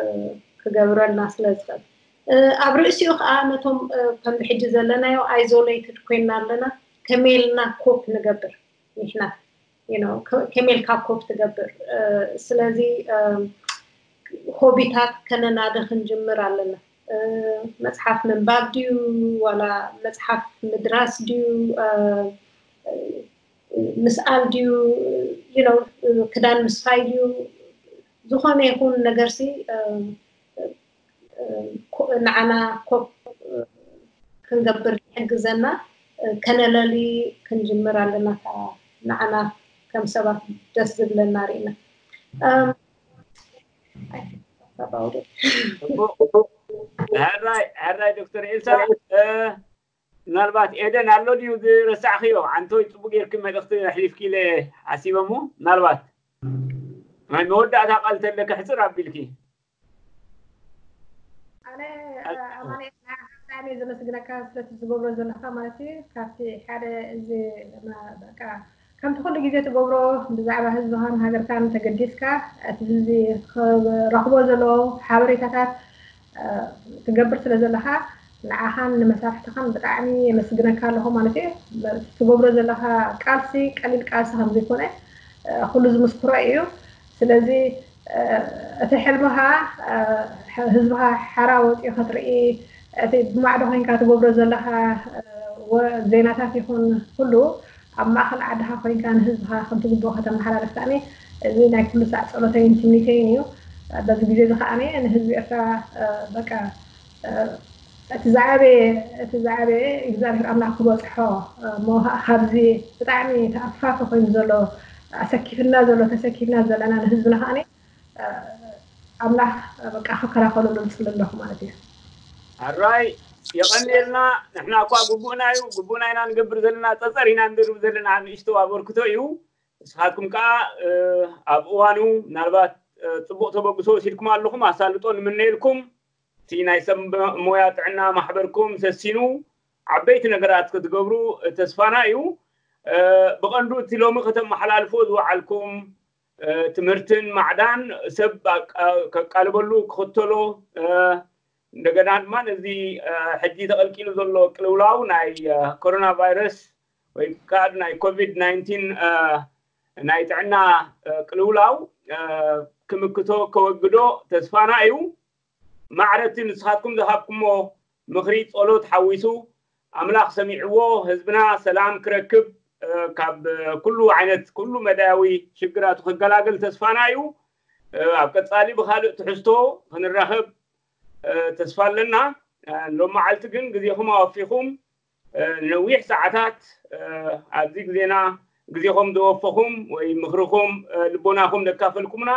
ክገብረልና ስለ ዝኽእል። እ፣ ኣብ ርእሲኡ ከኣ ነቶም፣ እ፣ ከምዚ ሕጂ ዘለናዮ ኣይዞሌትድ ኮይና ኣለና፣ ከመይ ኢልና ኮፕ ንገብር ንሕና፣ you know፣ ከ-፣ ከመይ ኢልካ ኮፕ ትገብር? እ፣ ስለዚ፣ እ፣ ሆቢታት ከነናዲ ክንጅምር ኣለና። እ፣ መጽሓፍ ምንባብ ድዩ፣ ዋላ መጽሓፍ ምድራስ ድዩ፣ እ፣ ምስኣል ድዩ፣ you know፣ ክዳን ምስፋይ ድዩ፣ ዝኾነ ይኹን ነገርሲ፣ እ፣ እ፣ ኮ-፣ ንዓና ኮፕ ክንገብር ዝሕግዘና፣ እ፣ ከነለሊ ክንጅምር ኣለና። ከኣ ንዓና ከም ሰባት ደስ ዝብለና ርኢና። እም፣ I think that's about it። ሕራይ ሕራይ ዶክተር ኤልሳ፣ እ፣ ምናልባት ኤደን ኣሎ ድዩ ዝረሳዕክዮ? ዓንቶይ ጽቡቅ ጌርኪ መልእኽቲ ኣሕሊፍኪ ኢለ ሓሲበ እሞ፣ ምናልባት ናይ መወዳእታ ቃል ተለኪ ሕጽር ኣቢልኪ። ኣነ ኣማኑኤል፣ ብጣዕሚ እየ ዘመስግነካ ስለቲ ዝገብሮ ዘለካ ማለት እዩ። ካብቲ ሓደ እዚ፣ በቃ፣ ከምቲ ኩሉ ግዜ ትገብሮ ብዛዕባ ህዝብኻን ሃገርካን ተገዲስካ እቲ ህዝቢ ክረኽቦ ዘለዎ ሓበሬታታት፣ እ፣ ትገብር ስለ ዘለኻ፣ ንዓኻን ንመሳርሕትኻን ብጣዕሚ የመስግነካ ኣለኹ ማለት እዩ። ትገብሮ ዘለኻ ቃልሲ ቀሊል ቃልሲ ከም ዘይኮነ፣ እ፣ ኩሉ ዝምስክሮ እዩ። ስለዚ፣ እ፣ እቲ ሕልምኻ፣ እ፣ ህዝብኻ ሓራ ወፂኡ ክትርኢ፣ እቲ ብማዕዶ ኮይንካ ትገብሮ ዘለኻ፣ እ፣ ወ-፣ ዜናታት ይኹን ኩሉ ኣብ ማእኸል ዓድኻ ኮይንካ ንህዝብኻ ከም ትግብኦ ከተመሓላልፍ ከኣኒ፣ እዚ ናይ ኩሉ ሳዕ ፀሎተይን ትምኒተይን እዩ። በዚ ግዜ እዚ ከኣኒ ንህዝቢ ኤርትራ፣ እ፣ በቃ፣ እ፣ እቲ ዝዓበየ፣ እቲ ዝዓበየ እግዚኣብሔር ኣምላኽ ክበፅሖ፣ እ፣ እሞ ካብዚ ብጣዕሚ ተኣፋፊ ኮይኑ ዘሎ፣ ኣሰኪፍና ዘሎ፣ ተሰኪፍና ዘለና ንህዝብና ከኣኒ፣ እ፣ ኣምላኽ በቃ ክከላኸለሉ ንፅሊ ኣለኹ ማለት እዩ። ሕራይ የቐንየልና። ንሕና እኳ ግቡእና እዩ፣ ግቡእና ኢና ንገብር ዘለና፣ ፀፀር ኢና ንድርብ ዘለና፣ ንእሽቶ ኣበርክቶ እዩ። ንስኻትኩም ከዓ፣ እ፣ ኣብ እዋኑ ምናልባት፣ እ፣ ፅቡቕ ተበግሶ ወሲድኩም ኣለኹም፣ ኣሳልጦ ንምነየልኩም። እቲ ናይ ሰብ ሞያ ጥዕና ማሕበርኩም ሰሲኑ ዓበይቲ ነገራት ክትገብሩ ተስፋና እዩ። እ፣ ብቐንዱ እቲ ሎሚ ከተመሓላልፎ ዝወዓልኩም፣ እ፣ ትምህርትን ማዕዳን ሰብ ኣቃ-፣ ከቃልበሉ ክኽተሎ፣ እ፣ እንደገና ድማ ነዚ፣ እ፣ ሕጂ ተቐልቂሉ ዘሎ ቅልውላው ናይ፣ እ፣ ኮሮና ቫይረስ ወይ ከዓ ናይ ኮቪድ ናይንቲን፣ እ፣ ናይ ጥዕና፣ እ፣ ቅልውላው፣ እ፣ ክምክቶ ከወግዶ ተስፋና እዩ። ማዕረ እቲ ንስኻትኩም ዝሃብኩሞ ምኽሪ ጸሎት ሓዊሱ ኣምላኽ ሰሚዕዎ ህዝብና ሰላም ክረክብ፣ እ፣ ካብ ኩሉ ዓይነት ኩሉ መዳያዊ ሽግራቱ ክገላገል ተስፋና እዩ። እ፣ ኣብ ቀጻሊ ብኻልእ ትሕዝቶ ክንራኸብ፣ እ፣ ተስፋ ኣለና። እ፣ ሎም መዓልቲ ግን ግዜኹም ኣወፊኹም፣ እ፣ ነዊሕ ሰዓታት፣ እ፣ ኣብዚ ግዜና ግዜኹም ዘወፈኹም ወይ ምኽርኹም፣ እ፣ ልቦናኹም ዘካፈልኩምና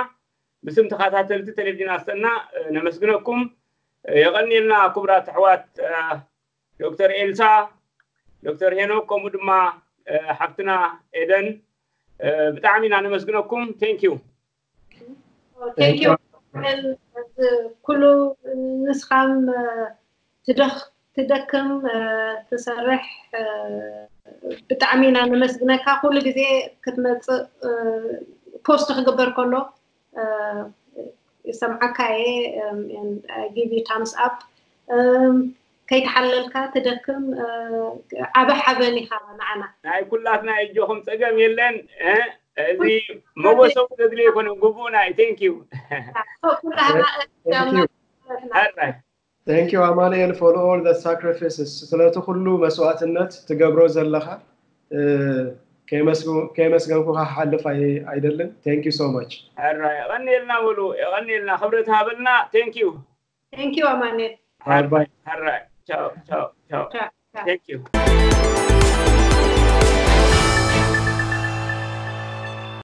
ብስም ተኸታተልቲ ቴሌቪዥን ኣሰና፣ እ፣ ነመስግነኩም። እ፣ የቐንየልና ክቡራት ኣሕዋት፣ እ፣ ዶክተር ኤልሳ፣ ዶክተር ሄኖክ፣ ከምኡ ድማ፣ እ፣ ሓፍትና ኤደን፣ እ፣ ብጣዕሚ ኢና ነመስግነኩም። Thank you። Thank you። ኩሉ ንስኻም፣ እ፣ ትደኽ-፣ ትደክም፣ እ፣ ትሰርሕ፣ እ፣ ብጣዕሚ ኢና ነመስግነካ። ኩሉ ግዜ ክትመጽእ፣ እ፣ ፖስት ክግበር ከሎ፣ እ፣ ይሰምዓካ እየ፣ እም፣ and I give you thumbs up። እም፣ ከይተሓለልካ ትደክም፣ እ፣ ዓቢ ሓበን ኢኻ ንዓና። ናይ ኩላትና እጆኹም ጸገም የለን። እ፣ እዚ መወሰዊ ዘድልዮ ኣይኮነን፣ ግቡእና እዩ። Thank you። ኩላህና Thank you። ሕራይ። Thank you ኣማኑኤል for all the sacrifices፣ ስለቲ ኩሉ መስዋእትነት ትገብሮ ዘለኻ፣ እ፣ ከየመስግ-፣ ከየመስገንኩኻ ክሓልፍ ኣይ-፣ ኣይደልን። Thank you so much። ሕራይ፣ የቐንየልና በሉ፣ የቐንየልና፣ ክብረት ሃበልና። Thank you። Thank you ኣማኑኤል። Bye bye። ሕራይ፣ ቻው፣ ቻው፣ ቻው። ቻው፣ ቻው። Thank you።